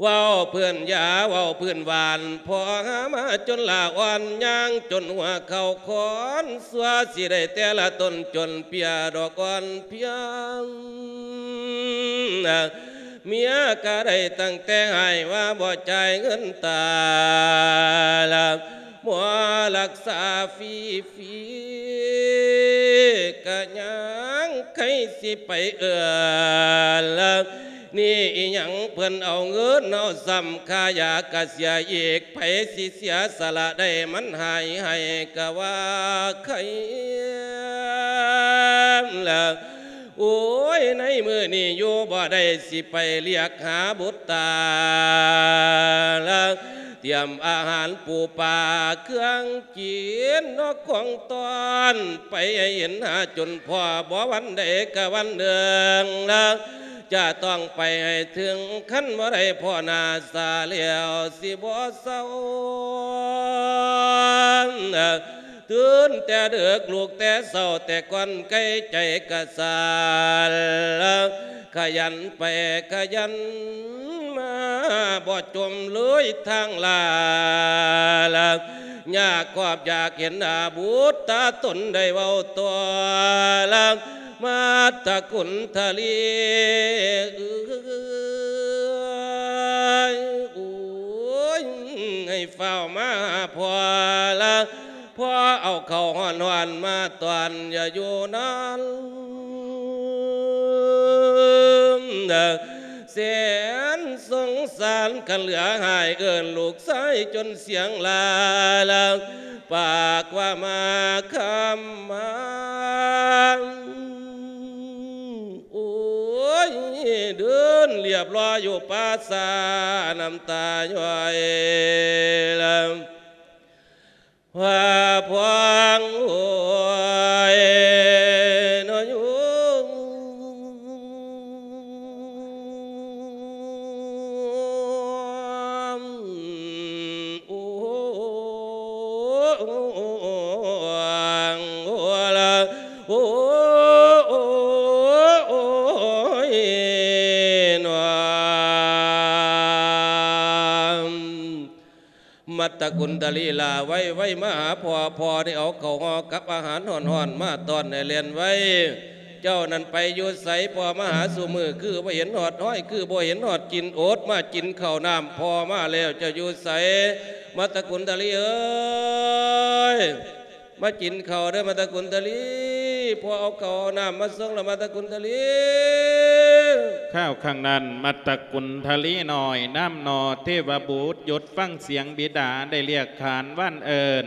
ເວົ້າພື້ນຢາ ເວົ້າພື້ນຫວານ ພໍ່ຫາມາຈົນຫຼ້າອ່ອນ ຍ່າງຈົນຫົວເຂົ່າຄອນ ຊົ່ວຊິໄດ້ແຕ່ລະຕົນຈົນເປຍດອກອ່ອນພຽງ ເມຍກະໄດ້ຕັ້ງແຕ່ໃຫ້ວ່າບໍ່ຈ່າຍເງິນຕາລະ ໝໍລັກສາຟຣີຟຣີ ກະຍັງໃຄ່ຊິໄປເອື້ອນລະ ນີ້ອີ່ຫຍັງເພິ່ນເອົາເງິນເອົາຊ້ຳ ຄ່າຢາກະເສຍອີກ ໃຜຊິເສຍສະລະໄດ້ ມັນຫາຍໃຫ້ກະວ່າໄຄລະ ໂອ້ຍ ໃນມື້ນີ້ຢູ່ບໍ່ໄດ້ ຊິໄປລຽກຫາບຸດຕາລະ ຕຽມອາຫານປູປາເຄື່ອງກິນ ນອກຂອງຕ້ອນ ໄປໃຫ້ເຫັນຫາຈົນພໍ້ ບໍ່ວັນໃດກະວັນໜຶ່ງລະ ຈະຕ້ອງໄປໃຫ້ເຖິງ ຄັນບໍ່ໄດ້ພໍ້ໜ້າສາແລ້ວ ຊິບໍ່ເຊົາ ຕື່ນແຕ່ເດິກ ລຸກແຕ່ເຊົ້າ ແຕ່ກ່ອນໄກ ໃຈກະສັ່ນ ຂະຫຍັນໄປຂະຫຍັນມາ ບໍ່ຈົມເລີຍທາງລາລະ ຍາກຄອບຢາກເຫັນໜ້າບຸດຕາຕົນ ໄດ້ເວົ້າຕໍ່ລະ ມາດຕະກຸນທະລີ ເອີຍ ໂອ້ຍ ໃຫ້ຟ້າວມາຫາພໍ່ລະ ພໍ່ເອົາເຂົ້າຮ້ອນໆມາຕ້ອນ ຢ່າຢູ່ນານ ແສນສົງສານຄັນເຫຼືອຫາຍ ເອີ້ນລູກຊາຍຈົນສຽງລາລະ ປາກວ່າມາຄຳມາ ໂອ້ຍ ເດີນລຽບລ້ອຍຢູ່ປ່າຊ້າ ນ້ຳຕາຍ້ອຍລະ ວ່າພວງໂອ້ຍ ນອຍ ໂອ້ ໂອ້ ໂອ້ ໂອ້ ໂອ້ຍ ນວມ ມັດຕະກຸນທະລີ ຫຼ້າໄວໆ ມາຫາພໍ່ ພໍ່ໄດ້ເອົາເຂົ້າຫໍ່ກັບອາຫານຮ້ອນໆ ມາຕ້ອນໃຫ້ແລ່ນໄວ. ເຈົ້ານັ້ນໄປຢູ່ໃສ? ພໍ່ມາຫາຊຸມື້ ຄືບໍ່ເຫັນຮອດຮອຍ ຄືບໍ່ເຫັນຮອດກິ່ນ ອົດມາກິນເຂົ້ານ້ຳ ພໍ່ມາແລ້ວ ເຈົ້າຢູ່ໃສ? ມັດຕະກຸນທະລີເອີຍ ມາກິນເຂົ້າເດີ ມັດຕະກຸນທະລີ ພໍ່ເອົາເຂົ້າເອົານ້ຳມາສົ່ງລະ ມັດຕະກຸນທະລີ. ຄາວຂ້າງນັ້ນ ມັດຕະກຸນທະລີນ້ອຍ ນາມໜໍ່ເທວະບຸດ ຢຸດຟັງສຽງບິດາໄດ້ລຽກຂານວານເອີ້ນ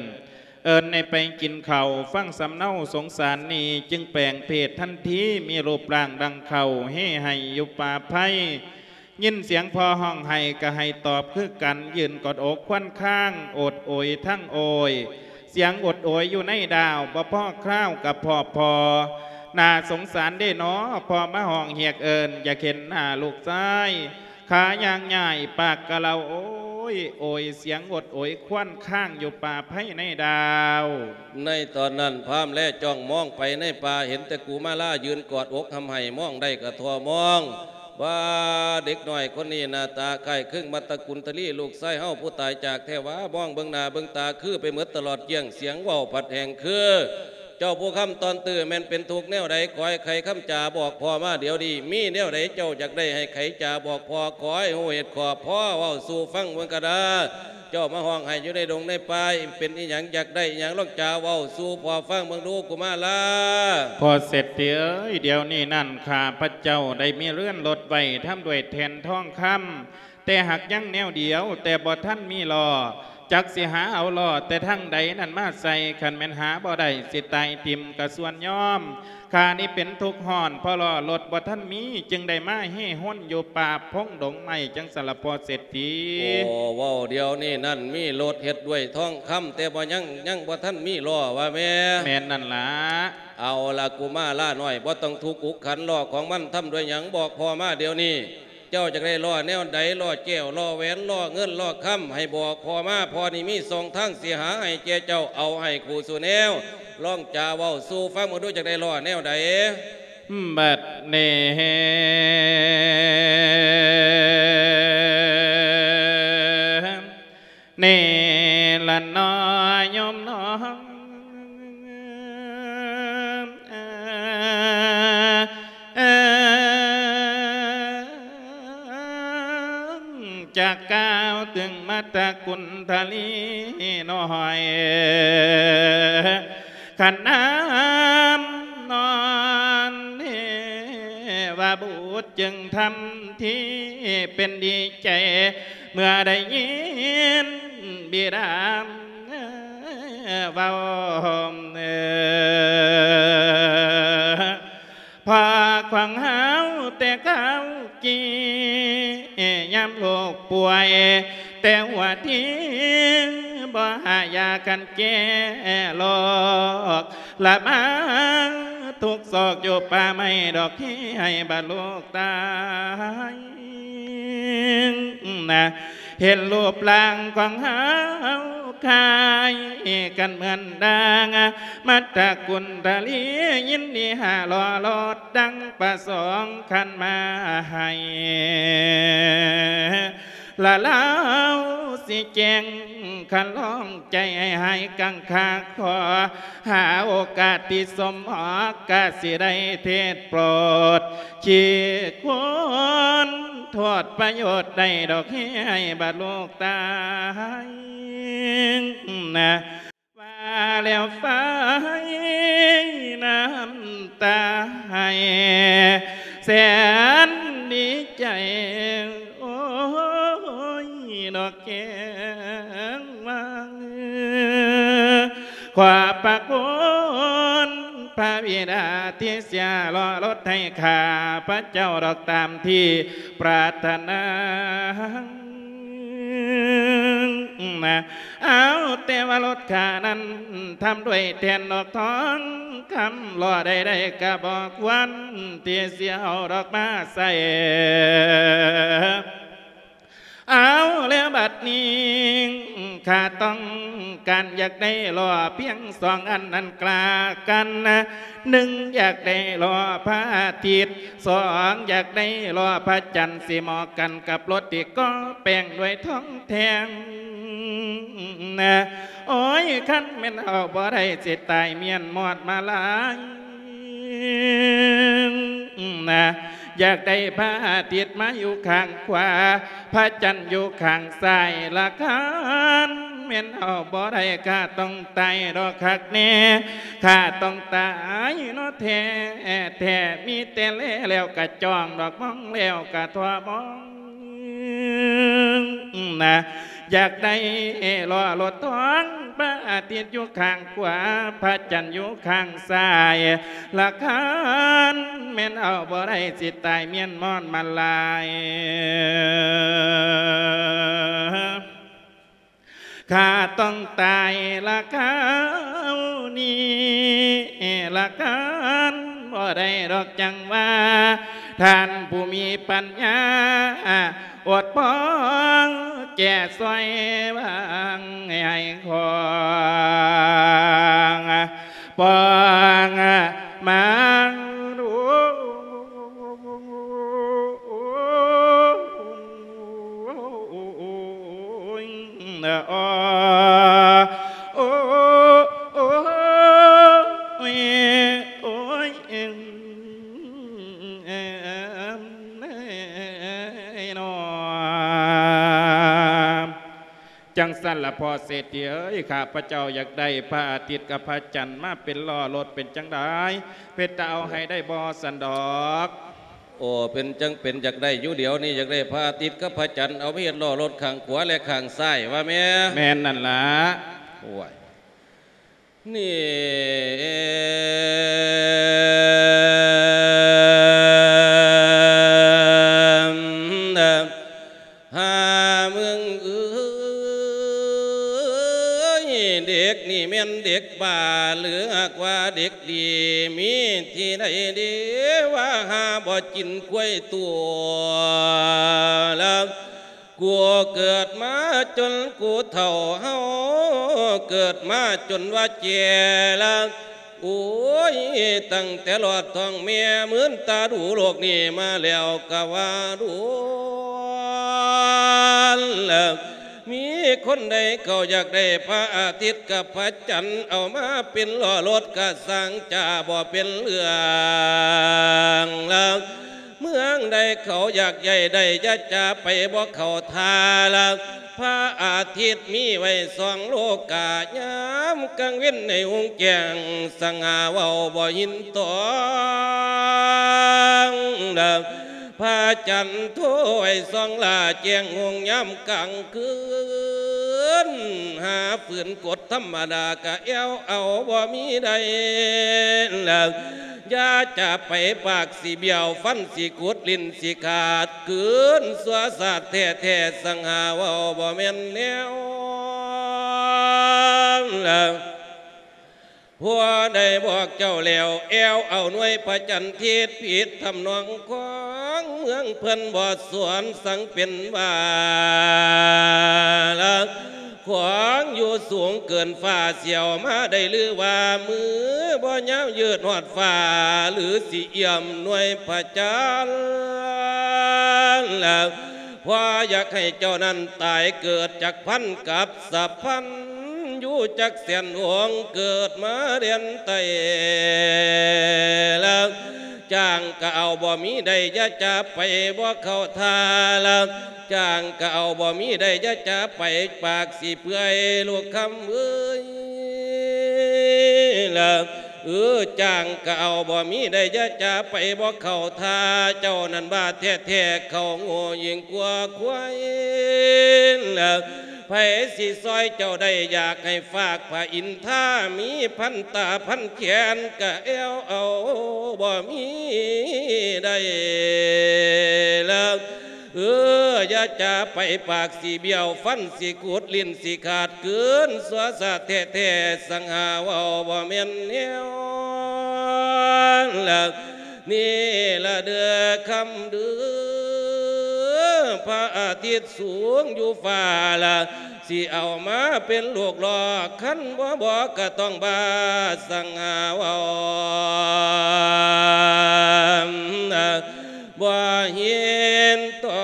ເອີ້ນໃຫ້ໄປກິນເຂົ້າ. ຟັງສຳເນົາສົງສານນີ້ ຈຶ່ງແປງເພດທັນທີ ມີຮູບຮ່າງດັ່ງເຂົ້າ ເຮໄຫ້ຢູ່ປ່າໄພ. ຍິນສຽງພໍ່ຮ້ອງໄຫ້ກະໄຫ້ຕອບຄືກັນ ຢືນກອດອົກຄວນຄາງ ໂອດໂອຍທັງໂອຍ ສຽງໂອດໂອຍຢູ່ໃນດາວ ບໍ່ພໍຄາວກະພໍພໍ. ໜ້າສົງສານເດນໍ ພໍ່ມາຮ້ອງຮຽກເອີ້ນ ຢາກເຫັນໜ້າລູກຊາຍ ຂາຍ່າງຍ້າຍ ປາກກະເລົາໂອຍໂອຍ ສຽງໂອດໂອຍຄວນຄາງຢູ່ປ່າໄພໃນດາວ. ໃນຕອນນັ້ນ ພາມແລຈ້ອງມອງໄປໃນປ່າ ເຫັນແຕ່ກຸມາລາຢືນກອດອົກຮ່ຳໄຫ້ ມອງໄດ້ກະທໍ່ມອງ ວ່າເດັກນ້ອຍຄົນນີ້ໜ້າຕາຄ້າຍຄືງມັດຕະກຸນທະລີ ລູກຊາຍເຮົາຜູ້ຕາຍຈາກແທ້ຫວາ ມອງເບິ່ງໜ້າເບິ່ງຕາຄືໄປໝົດຕະຫຼອດກ້ຽງ ສຽງເວົ້າພັດແຮງຄື ເຈົ້າຜູ້ຄຳຕອນຕື້ ແມ່ນເປັນທຸກແນວໃດ ຂໍໃຫ້ໄຂຄຳຈາບອກພໍ່ມາດຽວນີ້ ມີແນວໃດເຈົ້າຢາກໄດ້ໃຫ້ໄຂຈາບອກພໍ່ ຂໍໃຫ້ຮູ້ເຫດຂໍ້ ພໍ່ເວົ້າສູ່ຟັງເບິ່ງກະດາ. ເຈົ້າມາຮ້ອງໄຫ້ຢູ່ໃນດົງໃນປ່າ ເປັນອີ່ຫຍັງ ຢາກໄດ້ອີ່ຫຍັງ ລອງຈາເວົ້າສູ່ພໍ່ຟັງເບິ່ງດູ ກຸມາລາ. ພໍ່ເສດຖີເອີຍ ດຽວນີ້ນັ້ນ ຂ້າພະເຈົ້າໄດ້ມີເຮືອນລົດໄວ້ ທຳດ້ວຍແທ່ນທອງຄຳ ແຕ່ຫາກຍັງແນວດຽວ ແຕ່ບໍ່ທັນມີລໍ້ ຈັກຊິຫາເອົາລໍ້ແຕ່ທາງໃດນັ້ນມາໃສ່ ຄັນແມ່ນຫາບໍ່ໄດ້ ຊິຕາຍຖິ້ມກະສ່ວນຍອມ. ຂ້ານີ້ເປັນທຸກຮ້ອນ ເພາະລໍ້ລົດບໍ່ທັນມີ ຈຶ່ງໄດ້ມາເຮ່ຮົນຢູ່ປ່າພົງດົງໄມ້ ຈັ່ງຊັ້ນລະພໍ່ເສດຖີ. ໂອ້ ເວົ້າດຽວນີ້ນັ້ນ ມີລົດເຮັດດ້ວຍທອງຄຳ ແຕ່ບໍ່ຍັງ ຍັງບໍ່ທັນມີລໍ້ວ່າແມ່. ແມ່ນນັ້ນລະ. ເອົາລະ ກຸມາລານ້ອຍ ບໍ່ຕ້ອງທຸກອຸກຂັນ ລໍ້ຂອງມັນທຳດ້ວຍຫຍັງ ບອກພໍ່ມາດຽວນີ້. ເຈົ້າຢາກໄດ້ລໍ້ແນວໃດ ລໍ້ແກ້ວ ລໍ້ແຫວນ ລໍ້ເງິນ ລໍ້ຄຳ ໃຫ້ບອກພໍ່ມາ ພໍ່ນີ້ມີຊ່ອງທາງຊິຫາໃຫ້ແກ່ເຈົ້າ ເອົາໃຫ້ຄູ່ສູ່ແນວ ລອງຈາເວົ້າສູ່ຟັງເບິ່ງດູ ຢາກໄດ້ລໍ້ແນວໃດ. ບັດນີ້ ນີ້ລະເນາະໂຍມເນາະ ຈະກ່າວເຖິງມາດຕະກຸນທະລີນ້ອຍ ຂັນນ້ຳນອນເທວະບຸດຈຶ່ງທຳທີ່ເປັນດີໃຈ ເມື່ອໄດ້ຍິນບິດາເວົ້າ ພໍ່ຂອງເຮົາແຕ່ເກົ່າກີ້ ຍາມລູກປ່ວຍແຕ່ຫົວທີ ບໍ່ຫາຢາກັນແກ້ລອກ ລະມາທຸກຊອກຢູ່ປ່າໄມ້ດອກ ທີ່ໃຫ້ບາດລູກຕາຍນະ ເຫັນຮູບຮ່າງຂອງເຮົາຄ້າຍກັນເໝືອນດັ່ງ ມາດຕະກຸນທະລີ ຍິນດີຫາລໍລອດ ດັ່ງປະສົງຂັນມາໃຫ້ ລະລາວຊິແຈ້ງຄັນລອງໃຈໃຫ້ຫາຍກັງຂາ ຂໍຫາໂອກາດທີ່ສົມເໝາະ ກະຊິໄດ້ເທດໂປດ ຂີ້ຄວນໂທດປະໂຫຍດໄດ້ດອກ ເຮັດໃຫ້ບາດລູກຕາຍນະ ວ່າແລ້ວໄຟນ້ຳຕາໄຫ້ ແສນດີໃຈ ໂອ້ຍ ດອກແກ້ງວ່າງ ພະຄຸນພະບິດາທີ່ເສຍລໍລົດໃຫ້ຂ້າພະເຈົ້າດອກຕາມທີ່ປາດຖະໜາ. ເອົາແຕ່ວ່າລົດຂ້ານັ້ນທຳດ້ວຍແທ່ນດອກທອງຄຳ ລໍ້ໃດໆກະບໍ່ຄວນທີ່ຊິເອົາດອກມາໃສ່. ເອົາແລ້ວບັດນີ້ ຂ້າຕ້ອງການຢາກໄດ້ລໍ້ພຽງສອງອັນນັ້ນກະລະກັນ. ໜຶ່ງ ຢາກໄດ້ລໍ້ພະອາທິດ, ສອງ ຢາກໄດ້ລໍ້ພະຈັນ ຊິເໝາະກັນກັບລົດທີ່ກໍ່ແປງດ້ວຍທອງແທ່ງ. ໂອ້ຍ ຄັນແມ່ນເອົາບໍ່ໄດ້ ຊິຕາຍມ້ຽນມອດມາລາຍ. ຢາກໄດ້ພະອາທິດມາຢູ່ຂ້າງຂວາ, ພະຈັນຢູ່ຂ້າງຊ້າຍລະຄັນ ແມ່ນເອົາບໍ່ໄດ້ ຂ້າຕ້ອງຕາຍດອກຄັກແນ່, ຂ້າຕ້ອງຕາຍເນາະແທ້ໆ. ມີແຕ່ແລແລ້ວກະຈ້ອງດອກ, ມອງແລ້ວກະທໍ່ມອງ. ນະ ຢາກໄດ້ລໍ້ລົດທອງ ພະອາທິດຢູ່ຂ້າງຂວາ ພະຈັນຢູ່ຂ້າງຊ້າຍ ລະຄັນແມ່ນເອົາບໍ່ໄດ້ ຊິຕາຍມ້ຽນມອດມາລາຍ. ຂ້າຕ້ອງຕາຍລະຄາວນີ້ລະຄັນ ບໍ່ໄດ້ດອກ ຈັ່ງວ່າທ່ານຜູ້ມີປັນຍາ ອົດພໍແກ້ຊ່ອຍວາງໃຫ້ຂອງປອງມາດູ. ຈັ່ງຊັ້ນລະພໍ່ເສດຖີເອີຍ, ຂ້າພະເຈົ້າຢາກໄດ້ພະອາທິດກັບພະຈັນມາເປັນລໍ້ລົດ ເປັນຈັ່ງໃດ ເປັນຕາເອົາໃຫ້ໄດ້ບໍ່ຊັ້ນດອກ? ໂອ້ ເປັນຈັ່ງເປັນ ຢາກໄດ້ຢູ່ດຽວນີ້, ຢາກໄດ້ພະອາທິດກັບພະຈັນ ເອົາມາເຮັດລໍ້ລົດຂ້າງຂວາ ແລະ ຂ້າງຊ້າຍ ວ່າແມ່? ແມ່ນນັ້ນລະ. ໂອ້ຍ ນີ້ ຫາເມືອງເອີຍ ເດັກນີ້ແມ່ນເດັກບ້າ ຫຼືຫາກວ່າເດັກດີ ມີທີ່ໃດເດ ວ່າຫາບໍ່ກິນຄວາຍຕົວລະ. ກູເກີດມາຈົນກູເຖົ້າ ເຮົາເກີດມາຈົນວ່າແກ່ລະ. ໂອ້ຍ ຕັ້ງແຕ່ລອດທ້ອງແມ່ ໝືນຕາດູໂລກນີ້ມາແລ້ວກະວ່າດົນລະ. ມີຄົນໃດເຂົາຢາກໄດ້ພະອາທິດກັບພະຈັນ ເອົາມາເປັນລໍ້ລົດກະຊ່າງຈາ ບໍ່ເປັນເລື່ອງລະ. ເມືອງໃດເຂົາຢາກໄດ້ໄດ້ ຢ່າຈາໄປບໍ່ເຂົ້າທ່າລະ. ພະອາທິດມີໄວ້ສອງໂລກາ ຍາມກາງເວັນໃນຮຸ່ງແຈ້ງ ສະຫງ່າເວົ້າບໍ່ຍິນຕ້ອງລະ. ພະຈັນໂທໄວ້ສອງລ້າ ແຈ້ງຮຸ່ງຍາມກາງຄືນ ຫາຝືນກົດທຳມະດາກະແອວເອົາບໍ່ມີໄດ້ລະ. ຢ່າຈາໄປ ປາກຊິບ້ຽວ ຟັນຊິກຸດ ຫຼິ້ນຊິຂາດ ຄືນຊົ່ວຊາດແທ້ໆ ສັງຫາເວົ້າບໍ່ແມ່ນແນວລະ. ຜົວໄດ້ບອກເຈົ້າແລ້ວ ແອວເອົາໜ່ວຍພະຈັນ ທິດຜິດທຳນອງຂອງເມືອງ ເພິ່ນບໍ່ສວນສັງເປັນວ່າລະ. ຂວາງຢູ່ສູງເກີນຟ້າ ສຽວມາໄດ້ຫຼືວ່າ ມືບໍ່ຍາວຍືດຮອດຟ້າ ຫຼືຊິເອື້ອມໜ່ວຍພະຈັນລະ. ພໍ່ຢາກໃຫ້ເຈົ້ານັ້ນຕາຍເກີດຈັກພັນກັບສະພັນ ຢູ່ຈັກແສນອົງ ເກີດມາແດນໃຕ້ລະ. ຈ້າງກະເອົາບໍ່ມີໄດ້ ຢ່າຈາໄປບໍ່ເຂົ້າທ່າລະ. ຈ້າງກະເອົາບໍ່ມີໄດ້ ຢ່າຈາໄປ ປາກຊິເປື່ອຍລູກຄຳເອີຍລະ. ເອີ ຈ້າງກໍເອົາ ບໍ່ມີໄດ້ ຢ່າຈາໄປ ບໍ່ເຂົ້າທ່າ ເຈົ້ານັ້ນວ່າແທ້ໆ ເຂົາໂງ່ຍິ່ງກວ່າຄວາຍ. ໃຜຊິຊ່ອຍເຈົ້າໄດ້ ຢາກໃຫ້ຟາກພະອິນທາ ມີພັນຕາພັນແຂນ ກະແອວເອົາ ບໍ່ມີໄດ້ລະ. ເອີ ຢ່າຈາໄປ ປາກຊິບ້ຽວ ຟັນຊິກຸດ ຫຼິ້ນຊິຂາດ ກືນຊົ່ວຊາດແທ້ໆ ສັງຫາເວົ້າບໍ່ແມ່ນແນວລະ. ນີ້ລະເດີຄຳເດີ ພະອາທິດສູງຢູ່ຟ້າລະ ຊິເອົາມາເປັນລູກຫຼອກ ຄັນບໍ່ບອກກະຕ້ອງບາ ສັງຫາເວົ້າ ບໍ່ເຫັນຕ້ອ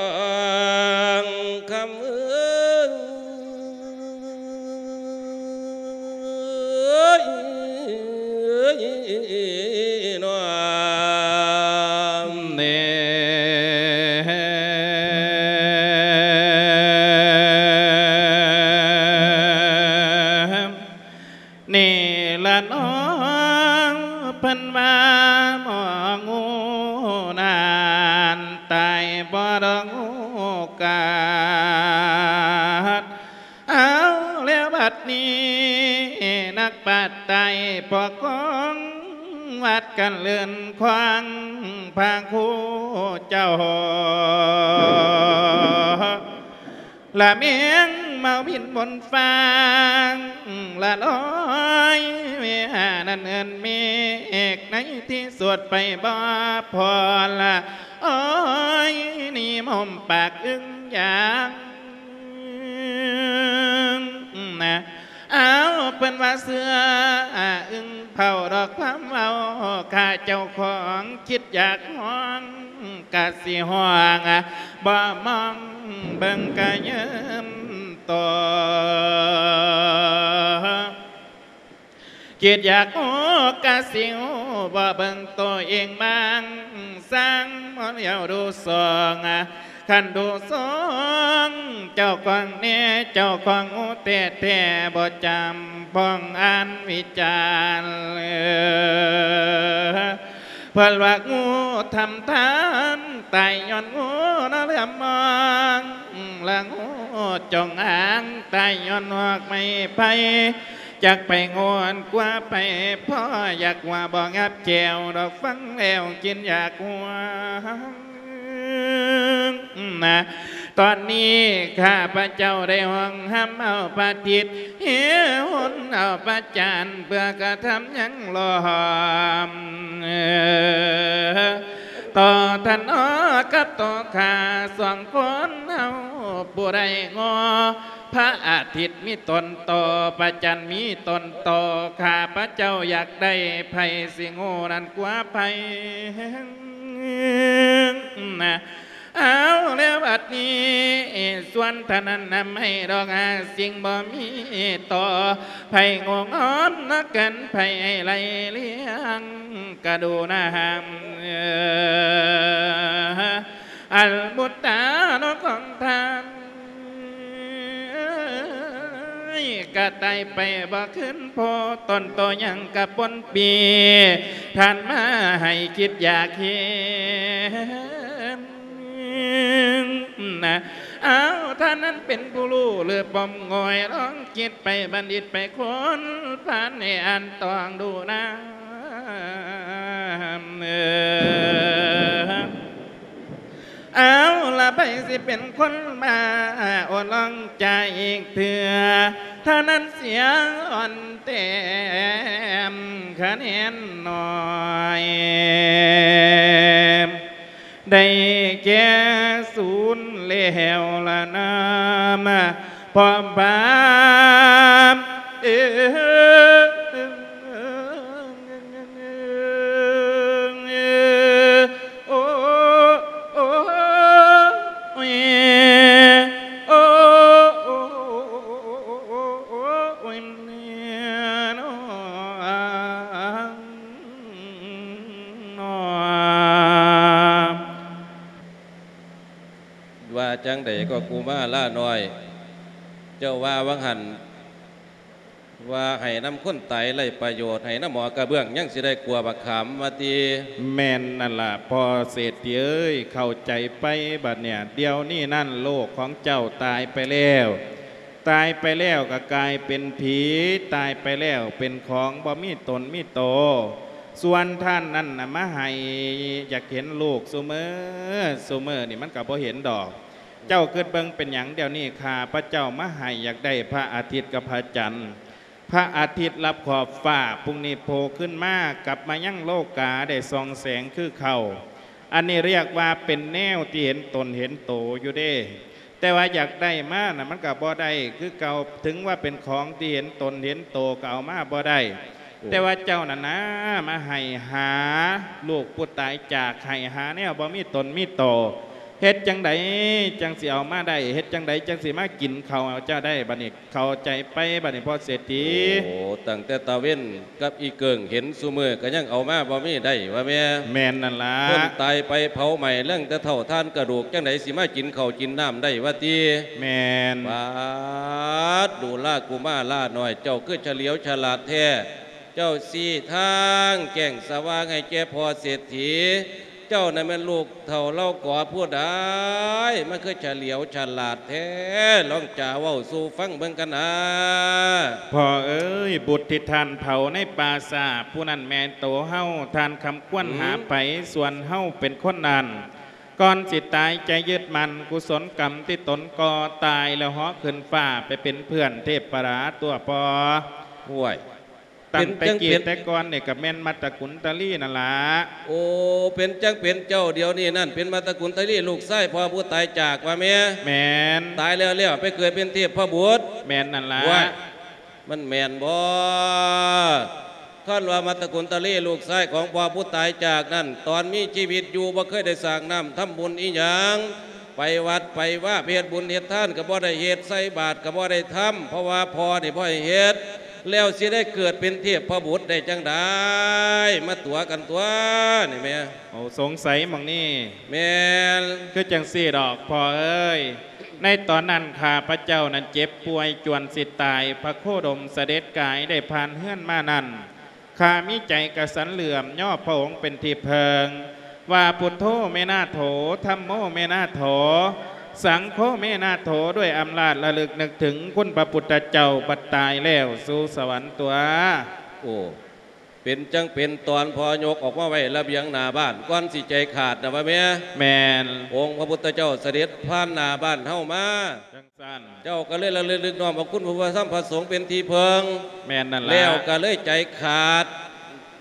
ງຄຳເອີຍ ນ້ອມເນ. ນີ້ລະນ້ອງ ເພິ່ນວ່າໝໍງູນັ້ນ ຕາຍບໍ່ດອກໂອກາດ. ເອົາແລ້ວບັດນີ້ ນັກປາດຕາຍພວກຂອງວັດກັນເລື່ອນຂວາງພະຄູເຈົ້າ ລະແມງເມົາບິນບົນຟ້າ ລະລອຍແມ່ນັ້ນເອີ້ນເມກ ໃນທີ່ສຸດໄປບໍ່ພໍລະ ໂອ້ຍ ນີ້ໝົມປາກອຶ່ງຢາງນະ. ອ້າວ ເພິ່ນວ່າເສືອອາອຶ່ງ ເຝົ້າດອກຄວາມເວົ້າ ຂ້າເຈົ້າຂອງຄິດຢາກຮ້ອງ ກະຊິຮ້ອງ ບໍ່ມອງເບິ່ງກະຍືມໂຕ ຄິດຢາກຮູ້ກະຊິຮູ້ ບໍ່ເບິ່ງໂຕເອງບາງ ສ້າງບໍ່ລ້ຽວດູສອງ ຄັນດູສອງເຈົ້າຂອງແນ່ ເຈົ້າຂອງຮູ້ແທ້ໆ ບໍ່ຈຳພອງອ່ານວິຈານ ເພິ່ນວ່າງູທຳທານ ຕາຍຍ້ອນງູນະເຫຼືອມມອງ ລະງູຈົງອາງ ຕາຍຍ້ອນຫອກໄມ້ໄຜ່ ຈັກໄປງວນກວ່າໄປພໍ ຢາກວ່າບໍ່ງັບແຈວດອກ ຟັງແລ້ວຄິດຢາກຫົວ ນະ. ຕອນນີ້ຂ້າພະເຈົ້າໄດ້ຮ້ອງຮຳເອົາພະທິດ ເຫຫົນເອົາພະຈັນ ເພື່ອກະທຳຍັງລ້ອມ ຕໍ່ທ່ານອອກກັບຕໍ່ຂ້າສອງຄົນເຮົາ ຜູ້ໃດງໍ ພະອາທິດມີຕົນຕໍ່ ພະຈັນມີຕົນຕໍ່ ຂ້າພະເຈົ້າຢາກໄດ້ໃຜ ຊິງູນັ້ນກວ່າໃຜ ນະ. ເອົາແລ້ວບັດນີ້ ສ່ວນທ່ານນັ້ນນຳໃຫ້ດອກຫາສິ່ງບໍ່ມີຕໍ່ ໃຜງູງອມນະກັນ ໃຜໃຫ້ໄລ່ລ້ຽງກະດູນະຫາມ ອັນບຸດຕານອກຂອງທ່ານ ກະຕາຍໄປບໍ່ຄືນພໍ ຕົນໂຕຍັງກະປົນປີ ທ່ານມາໃຫ້ຄິດຢາກເຫັນນະ. ອ້າວ ທ່ານນັ້ນເປັນຜູ້ຮູ້ຫຼືປ້ອມງອຍ ລອງຄິດໄປບັນດິດໄປຄົ້ນ ທ່ານໃຫ້ອ່ານຕ້ອງດູນະ. ເອີ ເອົາລະ ໃຜຊິເປັນຄົນມາໂອ້ລອງຈາອີກເທື່ອ ທ່ານນັ້ນເສຍອ່ອນແຕ້ມຄະແນນໜ້ອຍ ໄດ້ແກ່ສູນແລ້ວລະນາ ພ້ອມພາມ ເອີ ໂອ້ ໂອ້ ໂອ້ ໂອ້ ໂອ້ຍ ແນ່ນອນ ວ່າຈັ່ງໃດກໍກຸມາລານ້ອຍ ເຈົ້າວ່າຫວ່າງຫັ້ນ ວ່າໃຫ້ນຳຄົນຕາຍໄຮ້ປະໂຫຍດ ໃຫ້ນຳໝໍກະເບື້ອງ ຍັງຊິໄດ້ກົວບັກຂາມວ່າຕິ. ແມ່ນນັ້ນລະພໍ່ເສດຖີເອີຍ ເຂົ້າໃຈໄປບາດເນີ້ຍ. ດຽວນີ້ນັ້ນໂລກຂອງເຈົ້າຕາຍໄປແລ້ວ, ຕາຍໄປແລ້ວກໍກາຍເປັນຜີ, ຕາຍໄປແລ້ວເປັນຂອງບໍ່ມີຕົນມີໂຕ. ສ່ວນທ່ານນັ້ນນະມາໃຫ້ ຢາກເຫັນລູກຊຸມື້, ຊຸມື້ນີ້ມັນກໍບໍ່ເຫັນດອກ. ເຈົ້າຄິດເບິ່ງເປັນຫຍັງດຽວນີ້ຂ້າພະເຈົ້າມາໃຫ້ ຢາກໄດ້ພະອາທິດກັບພະຈັນ. ພະອາທິດລັບຂອບຟ້າ, ພຸ່ງນີ້ໂຜ່ຂຶ້ນມາ, ກັບມາຍັງໂລກາໄດ້ສ່ອງແສງຄືເກົ່າ. ອັນນີ້ຮຽກວ່າເປັນແນວທີ່ເຫັນຕົນເຫັນໂຕຢູ່ເດ້. ແຕ່ວ່າຢາກໄດ້ມານະ ມັນກໍບໍ່ໄດ້ຄືເກົ່າ, ເຖິງວ່າເປັນຂອງທີ່ເຫັນຕົນເຫັນໂຕກໍເອົາມາບໍ່ໄດ້. ໂອ້ ແຕ່ວ່າເຈົ້ານັ້ນນະ ມາໃຫ້ຫາລູກຜູ້ຕາຍຈາກ, ໃຫ້ຫາແນວບໍ່ມີຕົນມີໂຕ. ເຮັດຈັ່ງໃດຈັ່ງຊິເອົາມາໄດ້? ເຮັດຈັ່ງໃດຈັ່ງຊິມາກິນເຂົ້າເຈົ້າໄດ້? ບັດນີ້ເຂົ້າໃຈໄປ ບັດນີ້ພໍ່ເສດຖີ. ໂອ້ ຕັ້ງແຕ່ຕາເວັນກັບອີເກີ້ງເຫັນຊຸມື້ ກໍຍັງເອົາມາບໍ່ມີໄດ້ວ່າແມ່. ແມ່ນນັ້ນລະ. ຄົນຕາຍໄປເຜົາໄໝ້ ເຫຼືອແຕ່ເທົ່າທານກະດູກ ຈັ່ງໃດຊິມາກິນເຂົ້າກິນນ້ຳໄດ້ວ່າຕິ. ແມ່ນ. ປາດ ດູລາກຸມາລານ້ອຍ ເຈົ້າຄືສະຫຼຽວສະຫຼາດແທ້. ເຈົ້າຊີ້ທາງແຈ້ງສະຫວ່າງໃຫ້ແກ່ພໍ່ເສດຖີ. ເຈົ້ານັ້ນແມ່ນລູກເຖົ້າເຫຼົ່າກໍຜູ້ໃດ ມັນຄືສະຫຼຽວສະຫຼາດແທ້? ລອງຈາເວົ້າສູ່ຟັງເບິ່ງກັນນາ. ພໍ່ເອີຍ, ບຸດທີ່ທ່ານເຜົາໃນປ່າຊ້າ ຜູ້ນັ້ນແມ່ນໂຕເຮົາ, ທ່ານຄຳຄວນຫາ ອືມ ໃຜ ສ່ວນເຮົາເປັນຄົນນັ້ນ. ກ່ອນຊິຕາຍໃຈຍຶດໝັ້ນ, ກຸສົນກຳທີ່ຕົນກໍ່ຕາຍແລ້ວເຫາະຂຶ້ນຟ້າໄປເປັນເພື່ອນເທບປະດາຕົວະພໍ່. ຫ້ວຍ ຕັ້ງແຕ່ ເປັນ ຈັ່ງ ເກີດ ເປັນ ແຕ່ກ່ອນນີ້ກໍແມ່ນມັດຕະກຸນຕະລີນັ້ນລະ. ໂອ້ ເປັນຈັ່ງເປັນເຈົ້າດຽວນີ້ນັ້ນ ເປັນມັດຕະກຸນຕະລີ ລູກຊາຍພໍ່ຜູ້ຕາຍຈາກວ່າແມ່. ແມ່ນ. ຕາຍແລ້ວໆ ໄປເກີດເປັນເທບພະບຸດ. ແມ່ນນັ້ນລະ. ວ້າຍ ມັນແມ່ນບໍ່? ຄັນວ່າມັດຕະກຸນຕະລີ ລູກຊາຍຂອງພໍ່ຜູ້ຕາຍຈາກນັ້ນ ຕອນມີຊີວິດຢູ່ບໍ່ເຄີຍໄດ້ສ້າງນ້ຳທຳບຸນອີ່ຫຍັງ. ໄປວັດໄປວາ ໄປເຮັດບຸນເຮັດທານກໍບໍ່ໄດ້ເຮັດ, ໃສ່ບາດກໍບໍ່ໄດ້ທຳ ເພາະວ່າພໍ່ນີ້ບໍ່ໃຫ້ເຮັດ, ແລ້ວຊິໄດ້ເກີດເປັນເທບພະບຸດໄດ້ຈັ່ງໃດ? ມາຕົວະກັນຕົວະນີ້ແມ່. ໂອ້ ສົງໄສໝ່ອງນີ້. ແມ່ນ. ຄືຈັ່ງຊີ້ດອກພໍ່ເອີຍ, ໃນຕອນນັ້ນຂ້າພະເຈົ້ານັ້ນເຈັບປ່ວຍຈວນຊິຕາຍ, ພະໂຄດົມສະເດັດກາຍໄດ້ຜ່ານເຮືອນມານັ້ນ, ຂ້າມີໃຈກະສັນເຫຼື້ອມຍໍພະອົງເປັນທີ່ເພິ່ງ, ວ່າ ພຸດໂທ ເມນາໂຖ, ທຳໂມ ເມນາໂຖ, ສັງໂຄ ເມນາໂຖ, ດ້ວຍອຳນາດລະລຶກນຶກເຖິງຄຸນພະພຸດທະເຈົ້າ, ບັດຕາຍແລ້ວສູ່ສະຫວັນຕົວະ. ໂອ້ ເປັນຈັ່ງເປັນຕອນພໍ່ຍົກອອກມາໄວ້ລະບຽງໜ້າບ້ານ ກ່ອນຊິໃຈຂາດນະວ່າແມ່. ແມ່ນ. ອົງພະພຸດທະເຈົ້າສະເດັດຜ່ານໜ້າບ້ານເຮົາມາ. ເຈົ້າກໍເລີຍລະລຶກນຶກນ້ອມເອົາຄຸນພະທຳພະສົງເປັນທີ່ເພິ່ງ. ແມ່ນນັ້ນລະ. ແລ້ວກໍເລີຍໃຈຂາດ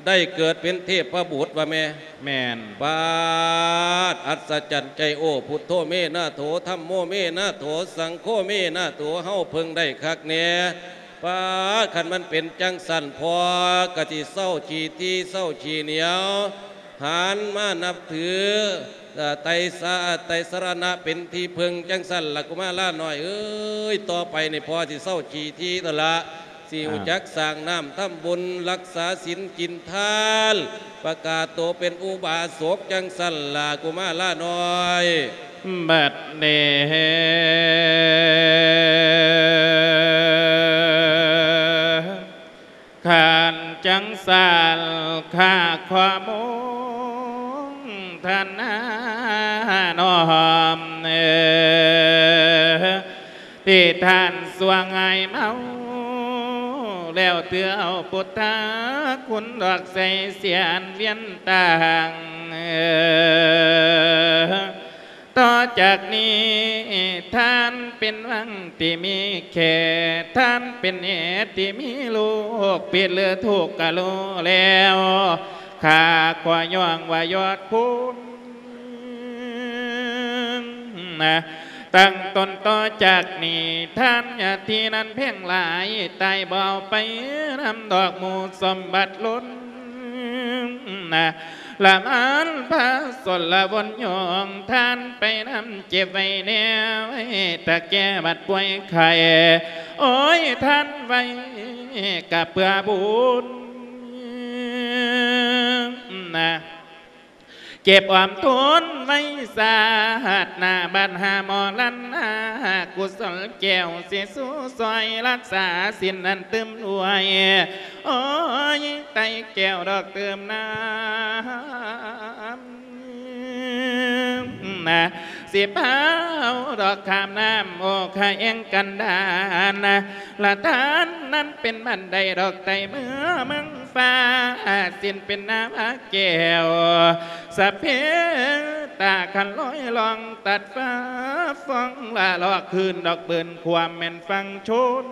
ໄດ້ເກີດເປັນເທບພະບຸດວ່າແມ່. ແມ່ນ. ປາດ ອັດສະຈັນໃຈໂອ້ ພຸດໂທ ເມນາໂຖ, ທຳໂມ ເມນາໂຖ, ສັງໂຄ ເມນາໂຖ, ເຮົາເພິ່ງໄດ້ຄັກແນ່. ປາດ ຄັນມັນເປັນຈັ່ງຊັ້ນ ພໍ່ກໍຊິເຊົາຂີ້ຖີ່ເຊົາຂີ້ໜຽວ ຫັນມານັບຖື ເອີ ໄຕສາ ໄຕສະລະນະເປັນທີ່ເພິ່ງ ຈັ່ງຊັ້ນລະ ກຸມາລານ້ອຍເອີຍ. ຕໍ່ໄປນີ້ພໍ່ຊິເຊົາຂີ້ຖີ່ໂຕລະ ຊິຮູ້ຈັກ ອ່າ ສ້າງນ້ຳທຳບຸນ ຮັກສາສິນກິນທານ ປະກາດໂຕເປັນອຸບາສົກ ຈັ່ງຊັ້ນລະ ກຸມາລານ້ອຍ. ບັດນີ້ ຄັນຈັ່ງຊັ້ນ ຂ້າຂໍໂມທະນານ້ອມ ທີ່ທ່ານຊ່ວງຫາຍເມົາ ແລ້ວຖືເອົາພຸດທະຄຸນດອກໃສ່ສຽນວຽນຕາງ. ຕໍ່ຈາກນີ້ທ່ານເປັນວັງທີ່ມີແຂກ, ທ່ານເປັນເຫດທີ່ມີໂລກ, ຜິດຫຼືຖືກກະຮູ້ແລ້ວ, ຂ້າຂໍຍ້ອງວ່າຍອດຄຸນນະ. ຕັ້ງຕົ້ນຕໍ່ຈາກນີ້ ທ່ານຍາດທີ່ນັ້ນແພງຫຼາຍ, ຕາຍບໍ່ເອົາໄປນຳດອກໝູ່ສົມບັດລົ້ນນະ. ລະມານພະສົນລະວົນຍອງທ່ານໄປນຳ ເກັບໄວ້ແນວໄວ້ ຖ້າແກ່ບາດປ່ວຍໄຂ້ ໂອ້ຍ ທ່ານໄວ້ກະເພື່ອບຸນນະ. ເກັບອອມທຸນ ໄປຊາດໜ້າບັດຫາໝໍລັນນາ ກຸສົນແກ້ວຊິສູ່ຊ່ອຍລັກສາສິນນັ້ນຕື່ມດ້ວຍ ໂອ້ຍ ໄຕ້ແກ້ວດອກຕື່ມນ້ຳ ນະ ຊິພາເອົາດອກຂ້າມນ້ຳ ໂອຄະແອງກັນດານນະ ລະທານນັ້ນເປັນບັນໄດດອກໄຕ່ເມືອເມືອງຟ້າ ສິນເປັນນາວາແກ້ວ ສະເພຕາຄັນລອຍລ່ອງຕັດຟ້າຟອງ ລະລອກຄືນດອກບືນຄວາມແມ່ນຝັ່ງຊົນ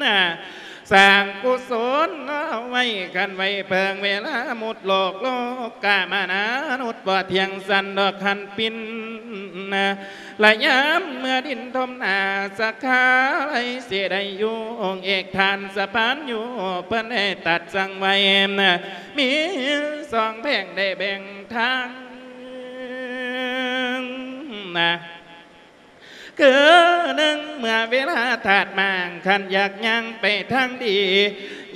ນະ ສ້າງກຸສົນເອົາໄວ້ ຄັນໄວ້ເພິ່ງເວລາໝົດໂລກ ໂລກາມານານຸດບໍ່ທ່ຽງສັນດອກຄັນປິ່ນນະ ລະຍາມເມື່ອດິນຖົມໜ້າ ສັກຂາໄລຊິໄດ້ຢູ່ ອົງເອກທ່ານສະພານຢູ່ ເພິ່ນໄດ້ຕັດສັ່ງໄວ້ນະ ມີສອງແພ່ງໄດ້ແບ່ງທາງນະ ຄືໜຶ່ງ ເມື່ອເວລາທາດໝາງ ຄັນຢາກຍ່າງໄປທາງດີ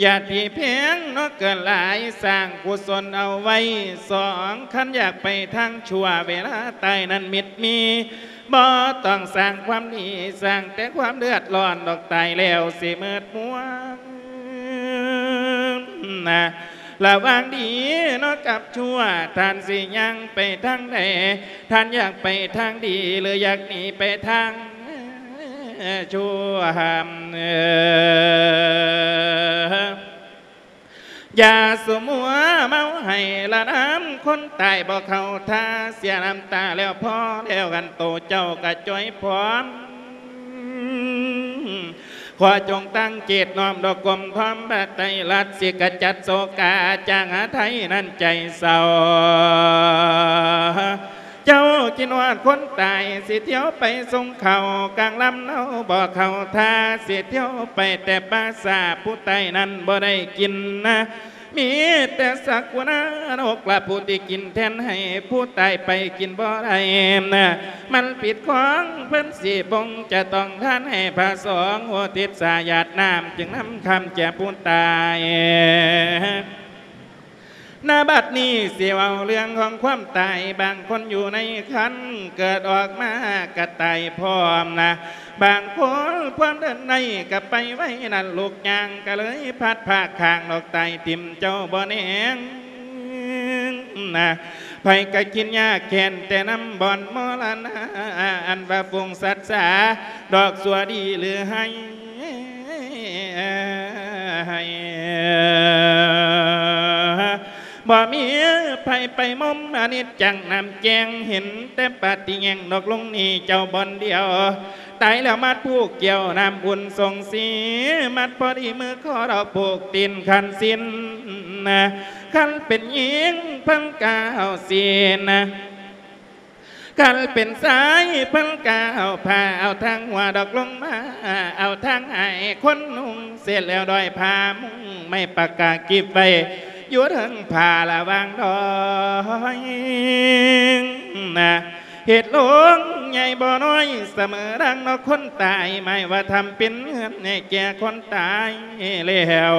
ຢ່າຕີແພງເນາະເກີນຫຼາຍ ສ້າງກຸສົນເອົາໄວ້ ສອງ ຄັນຢາກໄປທາງຊົ່ວ ເວລາຕາຍນັ້ນມິດມີ ບໍ່ຕ້ອງສ້າງຄວາມດີ ສ້າງແຕ່ຄວາມເດືອດຮ້ອນດອກ ຕາຍແລ້ວຊິເມີດມ່ວນນະ ລະຫວ່າງດີເນາະກັບຊົ່ວ ທ່ານຊິຍ່າງໄປທາງໃດ? ທ່ານຢາກໄປທາງດີ ຫຼື ຢາກໜີໄປທາງຊົ່ວ? ຢ່າສຸມົວເມົາໃຫ້ລະນຳ ຄົນຕາຍບໍ່ເຂົ້າທ່າ ເສຍນ້ຳຕາແລ້ວພໍແລ້ວກັນ ໂຕເຈົ້າກະຈ່ອຍພ້ອມ ຂໍຈົ່ງຕັ້ງຈິດນ້ອມດອກກົມພ້ອມພະໄຕລັດ ຊິກະຈັດໂສກາຈາງຫາໄທນັ້ນໃຈເສົ້າ ເຈົ້າຄິດຮອດຄົນຕາຍ ຊິທ່ຽວໄປສົ່ງເຂົ້າ ກາງລຳເນົາບໍ່ເຂົ້າທ່າ ຊິທ່ຽວໄປແຕ່ປ່າຊ້າ ຜູ້ຕາຍນັ້ນບໍ່ໄດ້ກິນນະ ມີແຕ່ສັກກຸນານົກລະຜູ້ທີ່ກິນແທນໃຫ້ ຜູ້ຕາຍໄປກິນບໍ່ໄດ້ນະ ມັນຜິດຂອງເພິ່ນ ສີບົງຈະຕ້ອງທານໃຫ້ພະສົງ ອຸທິດສາຢາດນ້ຳ ຈຶ່ງນຳຄຳແກ່ຜູ້ຕາຍ. ນະບັດນີ້ຊິເວົ້າເລື່ອງຂອງຄວາມຕາຍ ບາງຄົນຢູ່ໃນຄັນ ເກີດອອກມາກະຕາຍພ້ອມນະ ບາງຄົນຄວາມເດີນໄດ້ກະໄປໄວນັ້ນ ລຸກຍ່າງກະເລີຍພັດພາກຂ້າງ ດອກຕາຍຖິ້ມເຈົ້າບໍ່ແນງນະ ໃຜກະຄິດຍາກແຄ້ນແຕ່ນຳບ່ອນມໍລະນະ ອັນວ່າຝູງສັດສາ ດອກຊົ່ວດີຫຼືໄຮ້ ບໍ່ມີໃຜໄປມຸມ ອະນິດຈັງນ້ຳແຈ້ງ ເຫັນແຕ່ປາຕິແຍງ ດອກລົງນີ້ເຈົ້າບ່ອນດຽວ ຕາຍແລ້ວມັດຜູກກ່ຽວ ນ້ຳອຸ່ນສົງສີ ມັດພໍດີມືຂໍດອກຜູກຕີນຂັນສິນ ຄັນເປັນຍິງເພິ່ນກະເອົາສີນ ຄັນເປັນຊາຍເພິ່ນກະເອົາຜ້າ ເອົາທາງຫົວດອກລົງມາ ເອົາທາງໃຫ້ຄົນນຸ່ງ ເສັດແລ້ວດອຍຜ້າມຸ້ງ ໄມ້ປາກກາກິບໄວ້ຢູ່ເທິງຜ້າລະຫວ່າງດອຍນະ ເຮັດໂລງໃຫຍ່ບໍ່ນ້ອຍ ສະເໝີດັ່ງນອກຄົນຕາຍ ໝາຍວ່າທຳເປັນເຮືອນໃຫ້ແກ່ຄົນຕາຍແລ້ວ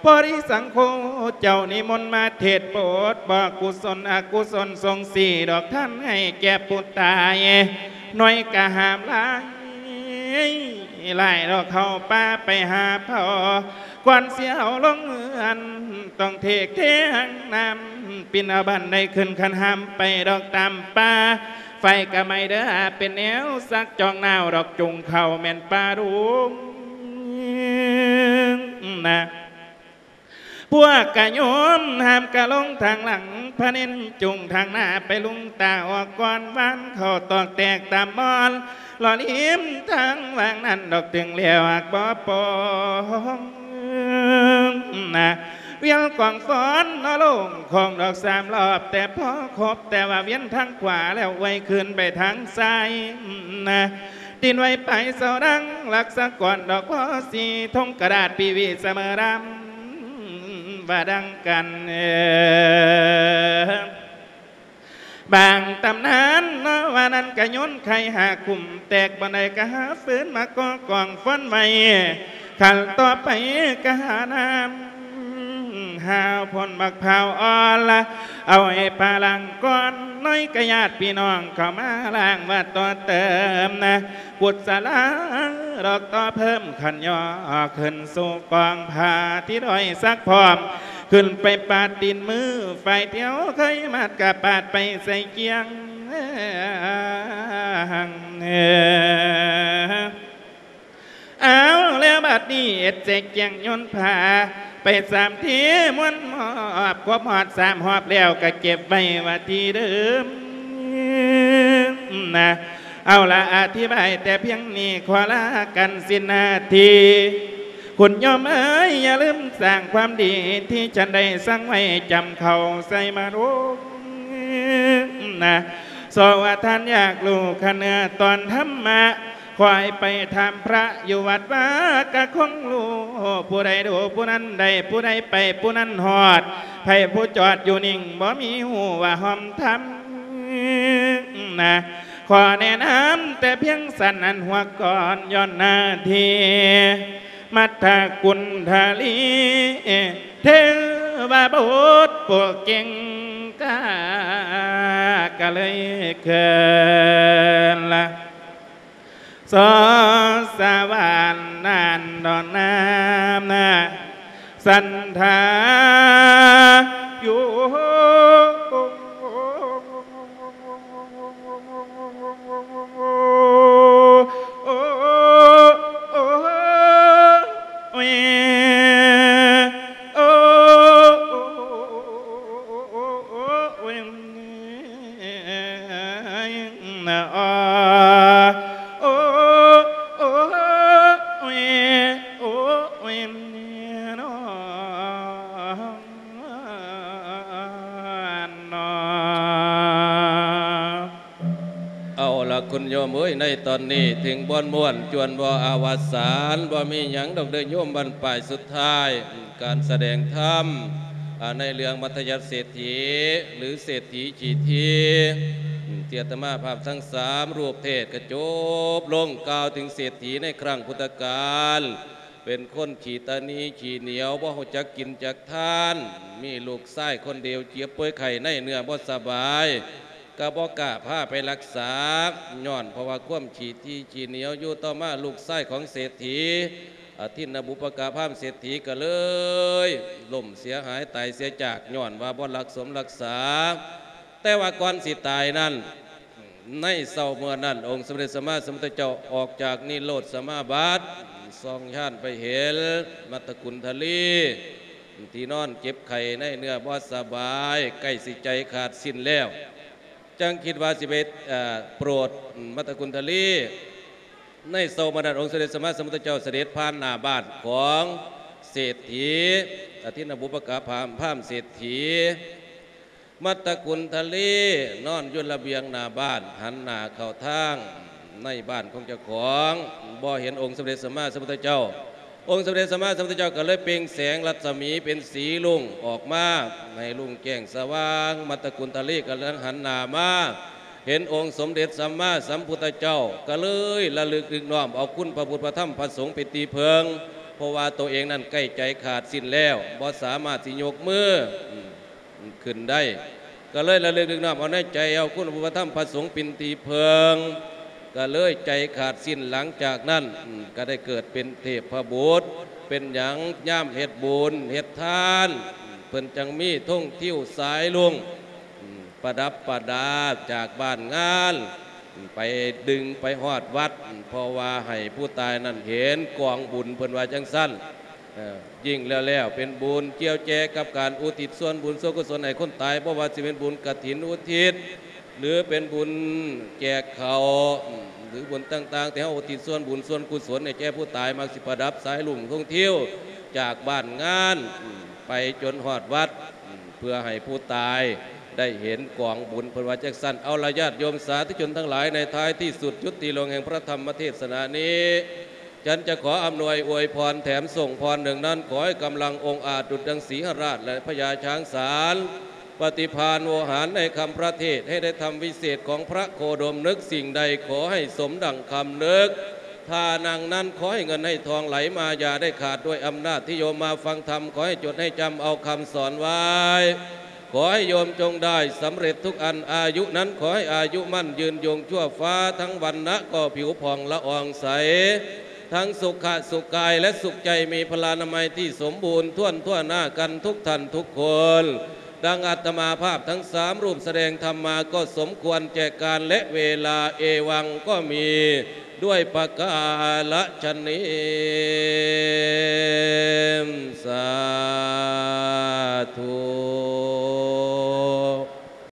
ພໍດີສັງໂຄເຈົ້ານິມົນມາເທດໂປດ ບອກກຸສົນອະກຸສົນ ສົ່ງສີດອກທານໃຫ້ແກ່ຜູ້ຕາຍ ໜ້ອຍກະຫ້າມຫຼາຍ ຫຼາຍດອກເຂົ້າປ່າໄປຫາເຜົາ ກ່ອນຊິເອົາລົງເຮືອນ ຕ້ອງເທກເທຫາງນ້ຳ ປິ່ນເອົາບັນໄດຂຶ້ນຄັນຫ້າມໄປດອກຕາມປ່າ ໄຟກະໄໝ້ເດີ ເປັນແນວສັກຈອງໜາວ ດອກຈຸງເຂົ້າແມ່ນປ່າດຸງນະ ພວກກະໂຍມຫ້າມກະລົງທາງຫຼັງ ພະເນັນຈຸງທາງໜ້າໄປ ລຸງຕາອອກກ່ອນ ຫວ່ານເຂົ້າຕອກແຕກຕາມບ່ອນ ລໍລິມທາງຫວ່າງນັ້ນ ດອກເຖິງແລ້ວຫາກບໍ່ປອງນະ ວຽນກອງຟ້ອນເນາະ ລົງຂອງດອກສາມລອບ ແຕ່ພໍຄົບ ແຕ່ວ່າວຽນທາງຂວາແລ້ວ ອວຍຄືນໄປທາງຊ້າຍນະ ຕິນໄວ້ປາຍເສົາດັງ ລັກສະກອນດອກພໍສີ ທົ່ງກະດາດປີວີສະເໝີດຳ ວ່າດັ່ງກັນ ບາງຕຳນານເນາະ ວ່ານັ້ນກະໂຍນໄຂ່ຫາຂຸມ ແຕກບ່ອນໃດກະຫາຟືນມາກໍ່ກອງຟອນໄວ້ ຂັ້ນຕໍ່ໄປກະຫານ້ຳ ຫາວໂພນບັກພ້າວອ່ອນລະ ເອົາໃຫ້ປາລ້າງກ່ອນ ນ້ອຍກະຍາດພີ່ນ້ອງເຂົ້າມາລ້າງວັດຕໍ່ເຕີມນະ ກຸດສະລາດອກຕໍ່ເພີ່ມ ຂັນຍໍຂຶ້ນສູ່ກອງຜ້າທີ່ດອຍສັກພ້ອມ ຂຶ້ນໄປປາດຕີນມື ຝ່າຍດຽວເຄີຍມັດກະປາດໄປໃສ່ກຽງ. ເອົາແລ້ວບັດນີ້ເຮັດແຈກແຈງໂຍນຜ້າໄປສາມທີ ມ່ວນມອບຄົບຮອດສາມຮອບແລ້ວກະເກັບໄວ້ວ່າທີ່ເດີມນະ. ເອົາລະ ອະທິບາຍແຕ່ພຽງນີ້ ຂໍລາກັນສິ້ນໜ້າທີ່. ຄຸນໂຍມເອີຍ ຢ່າລືມສ້າງຄວາມດີທີ່ທ່ານໄດ້ສັ່ງໄວ້ ຈຳເຂົ້າໃສ່ມາໂນນະ. ສອງວ່າທ່ານຢາກຮູ້ຂັ້ນເນື້ອຕອນທຳມະ ຄ່ອຍໄປຖາມພະຢູ່ວັດວາກະຄົງຮູ້ ຜູ້ໃດຮູ້ຜູ້ນັ້ນໄດ້ ຜູ້ໃດໄປຜູ້ນັ້ນຮອດ ໃຜຜູ້ຈອດຢູ່ນິ່ງບໍ່ມີຮູ້ວ່າຮ່ອມທຳນະ. ຂໍແນະນຳແຕ່ພຽງຊັ້ນ ອັນຫົວກ່ອນຍ້ອນໜ້າທີ່ ມັດທະກຸນທະລີ ເທວະບົດຜູ້ເກັ່ງກ້າ ກະເລີຍເກີນລະ ສອສະຫວານນານດອນນາມນາ ສັນທາຍຸ. ເອົາລະ ຄຸນໂຍມເອີຍ ໃນຕອນນີ້ເຖິງບ່ອນມ່ວນ ຈວນບໍ່ອາວະສານ ບໍ່ມີຫຍັງດອກເດີໂຍມ ບັ້ນປາຍສຸດທ້າຍ ການສະແດງທຳ ອາ ໃນເລື່ອງມັດທະຍັດເສດຖີ ຫຼື ເສດຖີຂີ້ຖີ່ ທີ່ອາດຕະມາພາບທັງສາມຮູບເທດກະຈົບລົງ ກ່າວເຖິງເສດຖີໃນຄັ້ງພຸດທະການ ເປັນຄົນຂີ້ຕະໜີຂີ້ໜຽວ ບໍ່ຮູ້ຈັກກິນຈັກທານ ມີລູກຊາຍຄົນດຽວ ເຈັບປ່ວຍໄຂ້ໃນເນື້ອບໍ່ສະບາຍ ກະບໍ່ກ້າພາໄປລັກສາ ຍ້ອນເພາະວ່າຄວາມຂີ້ຖີ່ຂີ້ໜຽວຢູ່. ຕໍ່ມາລູກຊາຍຂອງເສດຖີ ອະທິນນະບຸບປະກະພາມເສດຖີ ກະເລີຍລົ້ມເສຍຫາຍຕາຍເສຍຈາກ ຍ້ອນວ່າບໍ່ລັກສົມລັກສາ. ແຕ່ວ່າກ່ອນຊິຕາຍນັ້ນ ໃນເຊົ້າເມື່ອນັ້ນ ອົງສົມເດັດສຳມາສຳພຸດທະເຈົ້າອອກຈາກນິໂຣດສະມາບັດ ສ່ອງຍານໄປເຫັນມັດທະກຸນທະລີ ທີ່ນອນເຈັບໄຂ້ໃນເນື້ອບໍ່ສະບາຍ ໃກ້ຊິໃຈຂາດສິ້ນແລ້ວ ຈັ່ງຄິດວ່າຊິໄປ ເອີ ໂປດມັດທະກຸນທະລີ. ໃນເຊົ້າມື້ນັ້ນ ອົງສົມເດັດສຳມາສຳພຸດທະເຈົ້າສະເດັດຜ່ານໜ້າບ້ານຂອງເສດຖີ ອະທິນນະບຸບປະກະພາມ ພາມເສດຖີ ມັດທະກຸນທະລີ ນອນຢູ່ລະບຽງໜ້າບ້ານ ຫັນໜ້າເຂົ້າທາງໃນບ້ານຂອງເຈົ້າຂອງ ບໍ່ເຫັນອົງສົມເດັດສຳມາສຳພຸດທະເຈົ້າ. ອົງສົມເດັດສຳມາສຳພຸດທະເຈົ້າກະເລີຍເປັ່ງແສງລັດສະໝີເປັນສີລຸ້ງອອກມາ ໃຫ້ລຸ້ງແຈ້ງສະຫວ່າງ. ມັດທະກຸນທະລີກຳລັງຫັນໜ້າມາ ເຫັນອົງສົມເດັດສຳມາສຳພຸດທະເຈົ້າ ກະເລີຍລະລຶກນຶກນ້ອມເອົາຄຸນພະພຸດພະທຳພະສົງເປັນທີ່ເພິ່ງ ເພາະວ່າໂຕເອງນັ້ນໃກ້ໃຈຂາດສິ້ນແລ້ວ ບໍ່ສາມາດຊິຍົກມື ອືມ ຂຶ້ນໄດ້ ກະເລີຍລະລຶກນຶກນ້ອມເອົາໃນໃຈ ເອົາຄຸນພະທຳພະສົງເປັນທີ່ເພິ່ງ ກະເລີຍໃຈຂາດສິ້ນ. ຫຼັງຈາກນັ້ນ ອືມ ກະໄດ້ເກີດເປັນເທບພະບຸດ ເປັນຫຍັງ ຍາມເຮັດບຸນເຮັດທານ ເພິ່ນຈັ່ງມີທົງທິວສາຍລຸ້ງ ອືມ ປະດັບປະດາຈາກບ້ານງານ ອືມ ໄປດຶງໄປຮອດວັດ ອືມ ເພາະວ່າໃຫ້ຜູ້ຕາຍນັ້ນເຫັນກອງບຸນ ເພິ່ນວ່າຈັ່ງຊັ້ນ. ເອີ ຍິ່ງແລ້ວໆ ເປັນບຸນກ່ຽວແຈກັບການອຸທິດສ່ວນບຸນສ່ວນກຸສົນໃຫ້ຄົນຕາຍ ບໍ່ວ່າຊິເປັນບຸນກະຖິນອຸທິດ ຫຼື ເປັນບຸນແຈກເຂົ້າ ອືມ ຫຼື ບຸນຕ່າງໆ ທີ່ເຮົາອຸທິດສ່ວນບຸນສ່ວນກຸສົນໃຫ້ແກ່ຜູ້ຕາຍ ມັກຊິປະດັບສາຍລຸ້ງທົງທິວຈາກບ້ານງານ ອືມ ໄປຈົນຮອດວັດ ອືມ ເພື່ອໃຫ້ຜູ້ຕາຍໄດ້ເຫັນກອງບຸນ ເພິ່ນວ່າຈັ່ງຊັ້ນ. ເອົາລະ ຍາດໂຍມສາທຸຊົນທັງຫຼາຍ ໃນທ້າຍທີ່ສຸດ ຈຸດທີ່ລົງແຫ່ງພະທຳມະເທດສະນານີ້ ສັນຈະຂໍອຳນວຍອວຍພອນແຖມສົ່ງພອນໜຶ່ງນັ້ນ ຂໍໃຫ້ກຳລັງອົງອາດດຸດດັ່ງສີຫະລາດ ແລະ ພະຍາຊ້າງສານ ປະຕິພານໂວຫານໃນຄຳພະເທດ ໃຫ້ໄດ້ທຳວິເສດຂອງພະໂຄດົມ ນຶກສິ່ງໃດຂໍໃຫ້ສົມດັ່ງຄຳນຶກ ທ່ານັ່ງນັ້ນ ຂໍໃຫ້ເງິນໃຫ້ທອງໄຫຼມາຢ່າໄດ້ຂາດ ດ້ວຍອຳນາດທີ່ໂຍມມາຟັງທຳ ຂໍໃຫ້ຈົດໃຫ້ຈຳເອົາຄຳສອນໄວ້ ຂໍໃຫ້ໂຍມຈົ່ງໄດ້ສຳເລັດທຸກອັນ ອາຍຸນັ້ນຂໍໃຫ້ອາຍຸໝັ້ນຍືນຍົງຊົ່ວຟ້າ ທັງວັນນະກໍຜິວຜ່ອງລະອອງໃສ ທັງສຸຂະສຸກາຍ ແລະ ສຸກໃຈ ມີພະລານາໄມທີ່ສົມບູນຖ້ວນທົ່ວໜ້າກັນທຸກທ່ານທຸກຄົນ. ດັ່ງອາດຕະມາພາບທັງສາມຮູບສະແດງທຳມາກໍສົມຄວນແກ່ການ ແລະ ເວລາ ເອວັງກໍມີດ້ວຍປະກາລະຊະນີ ສາທຸ.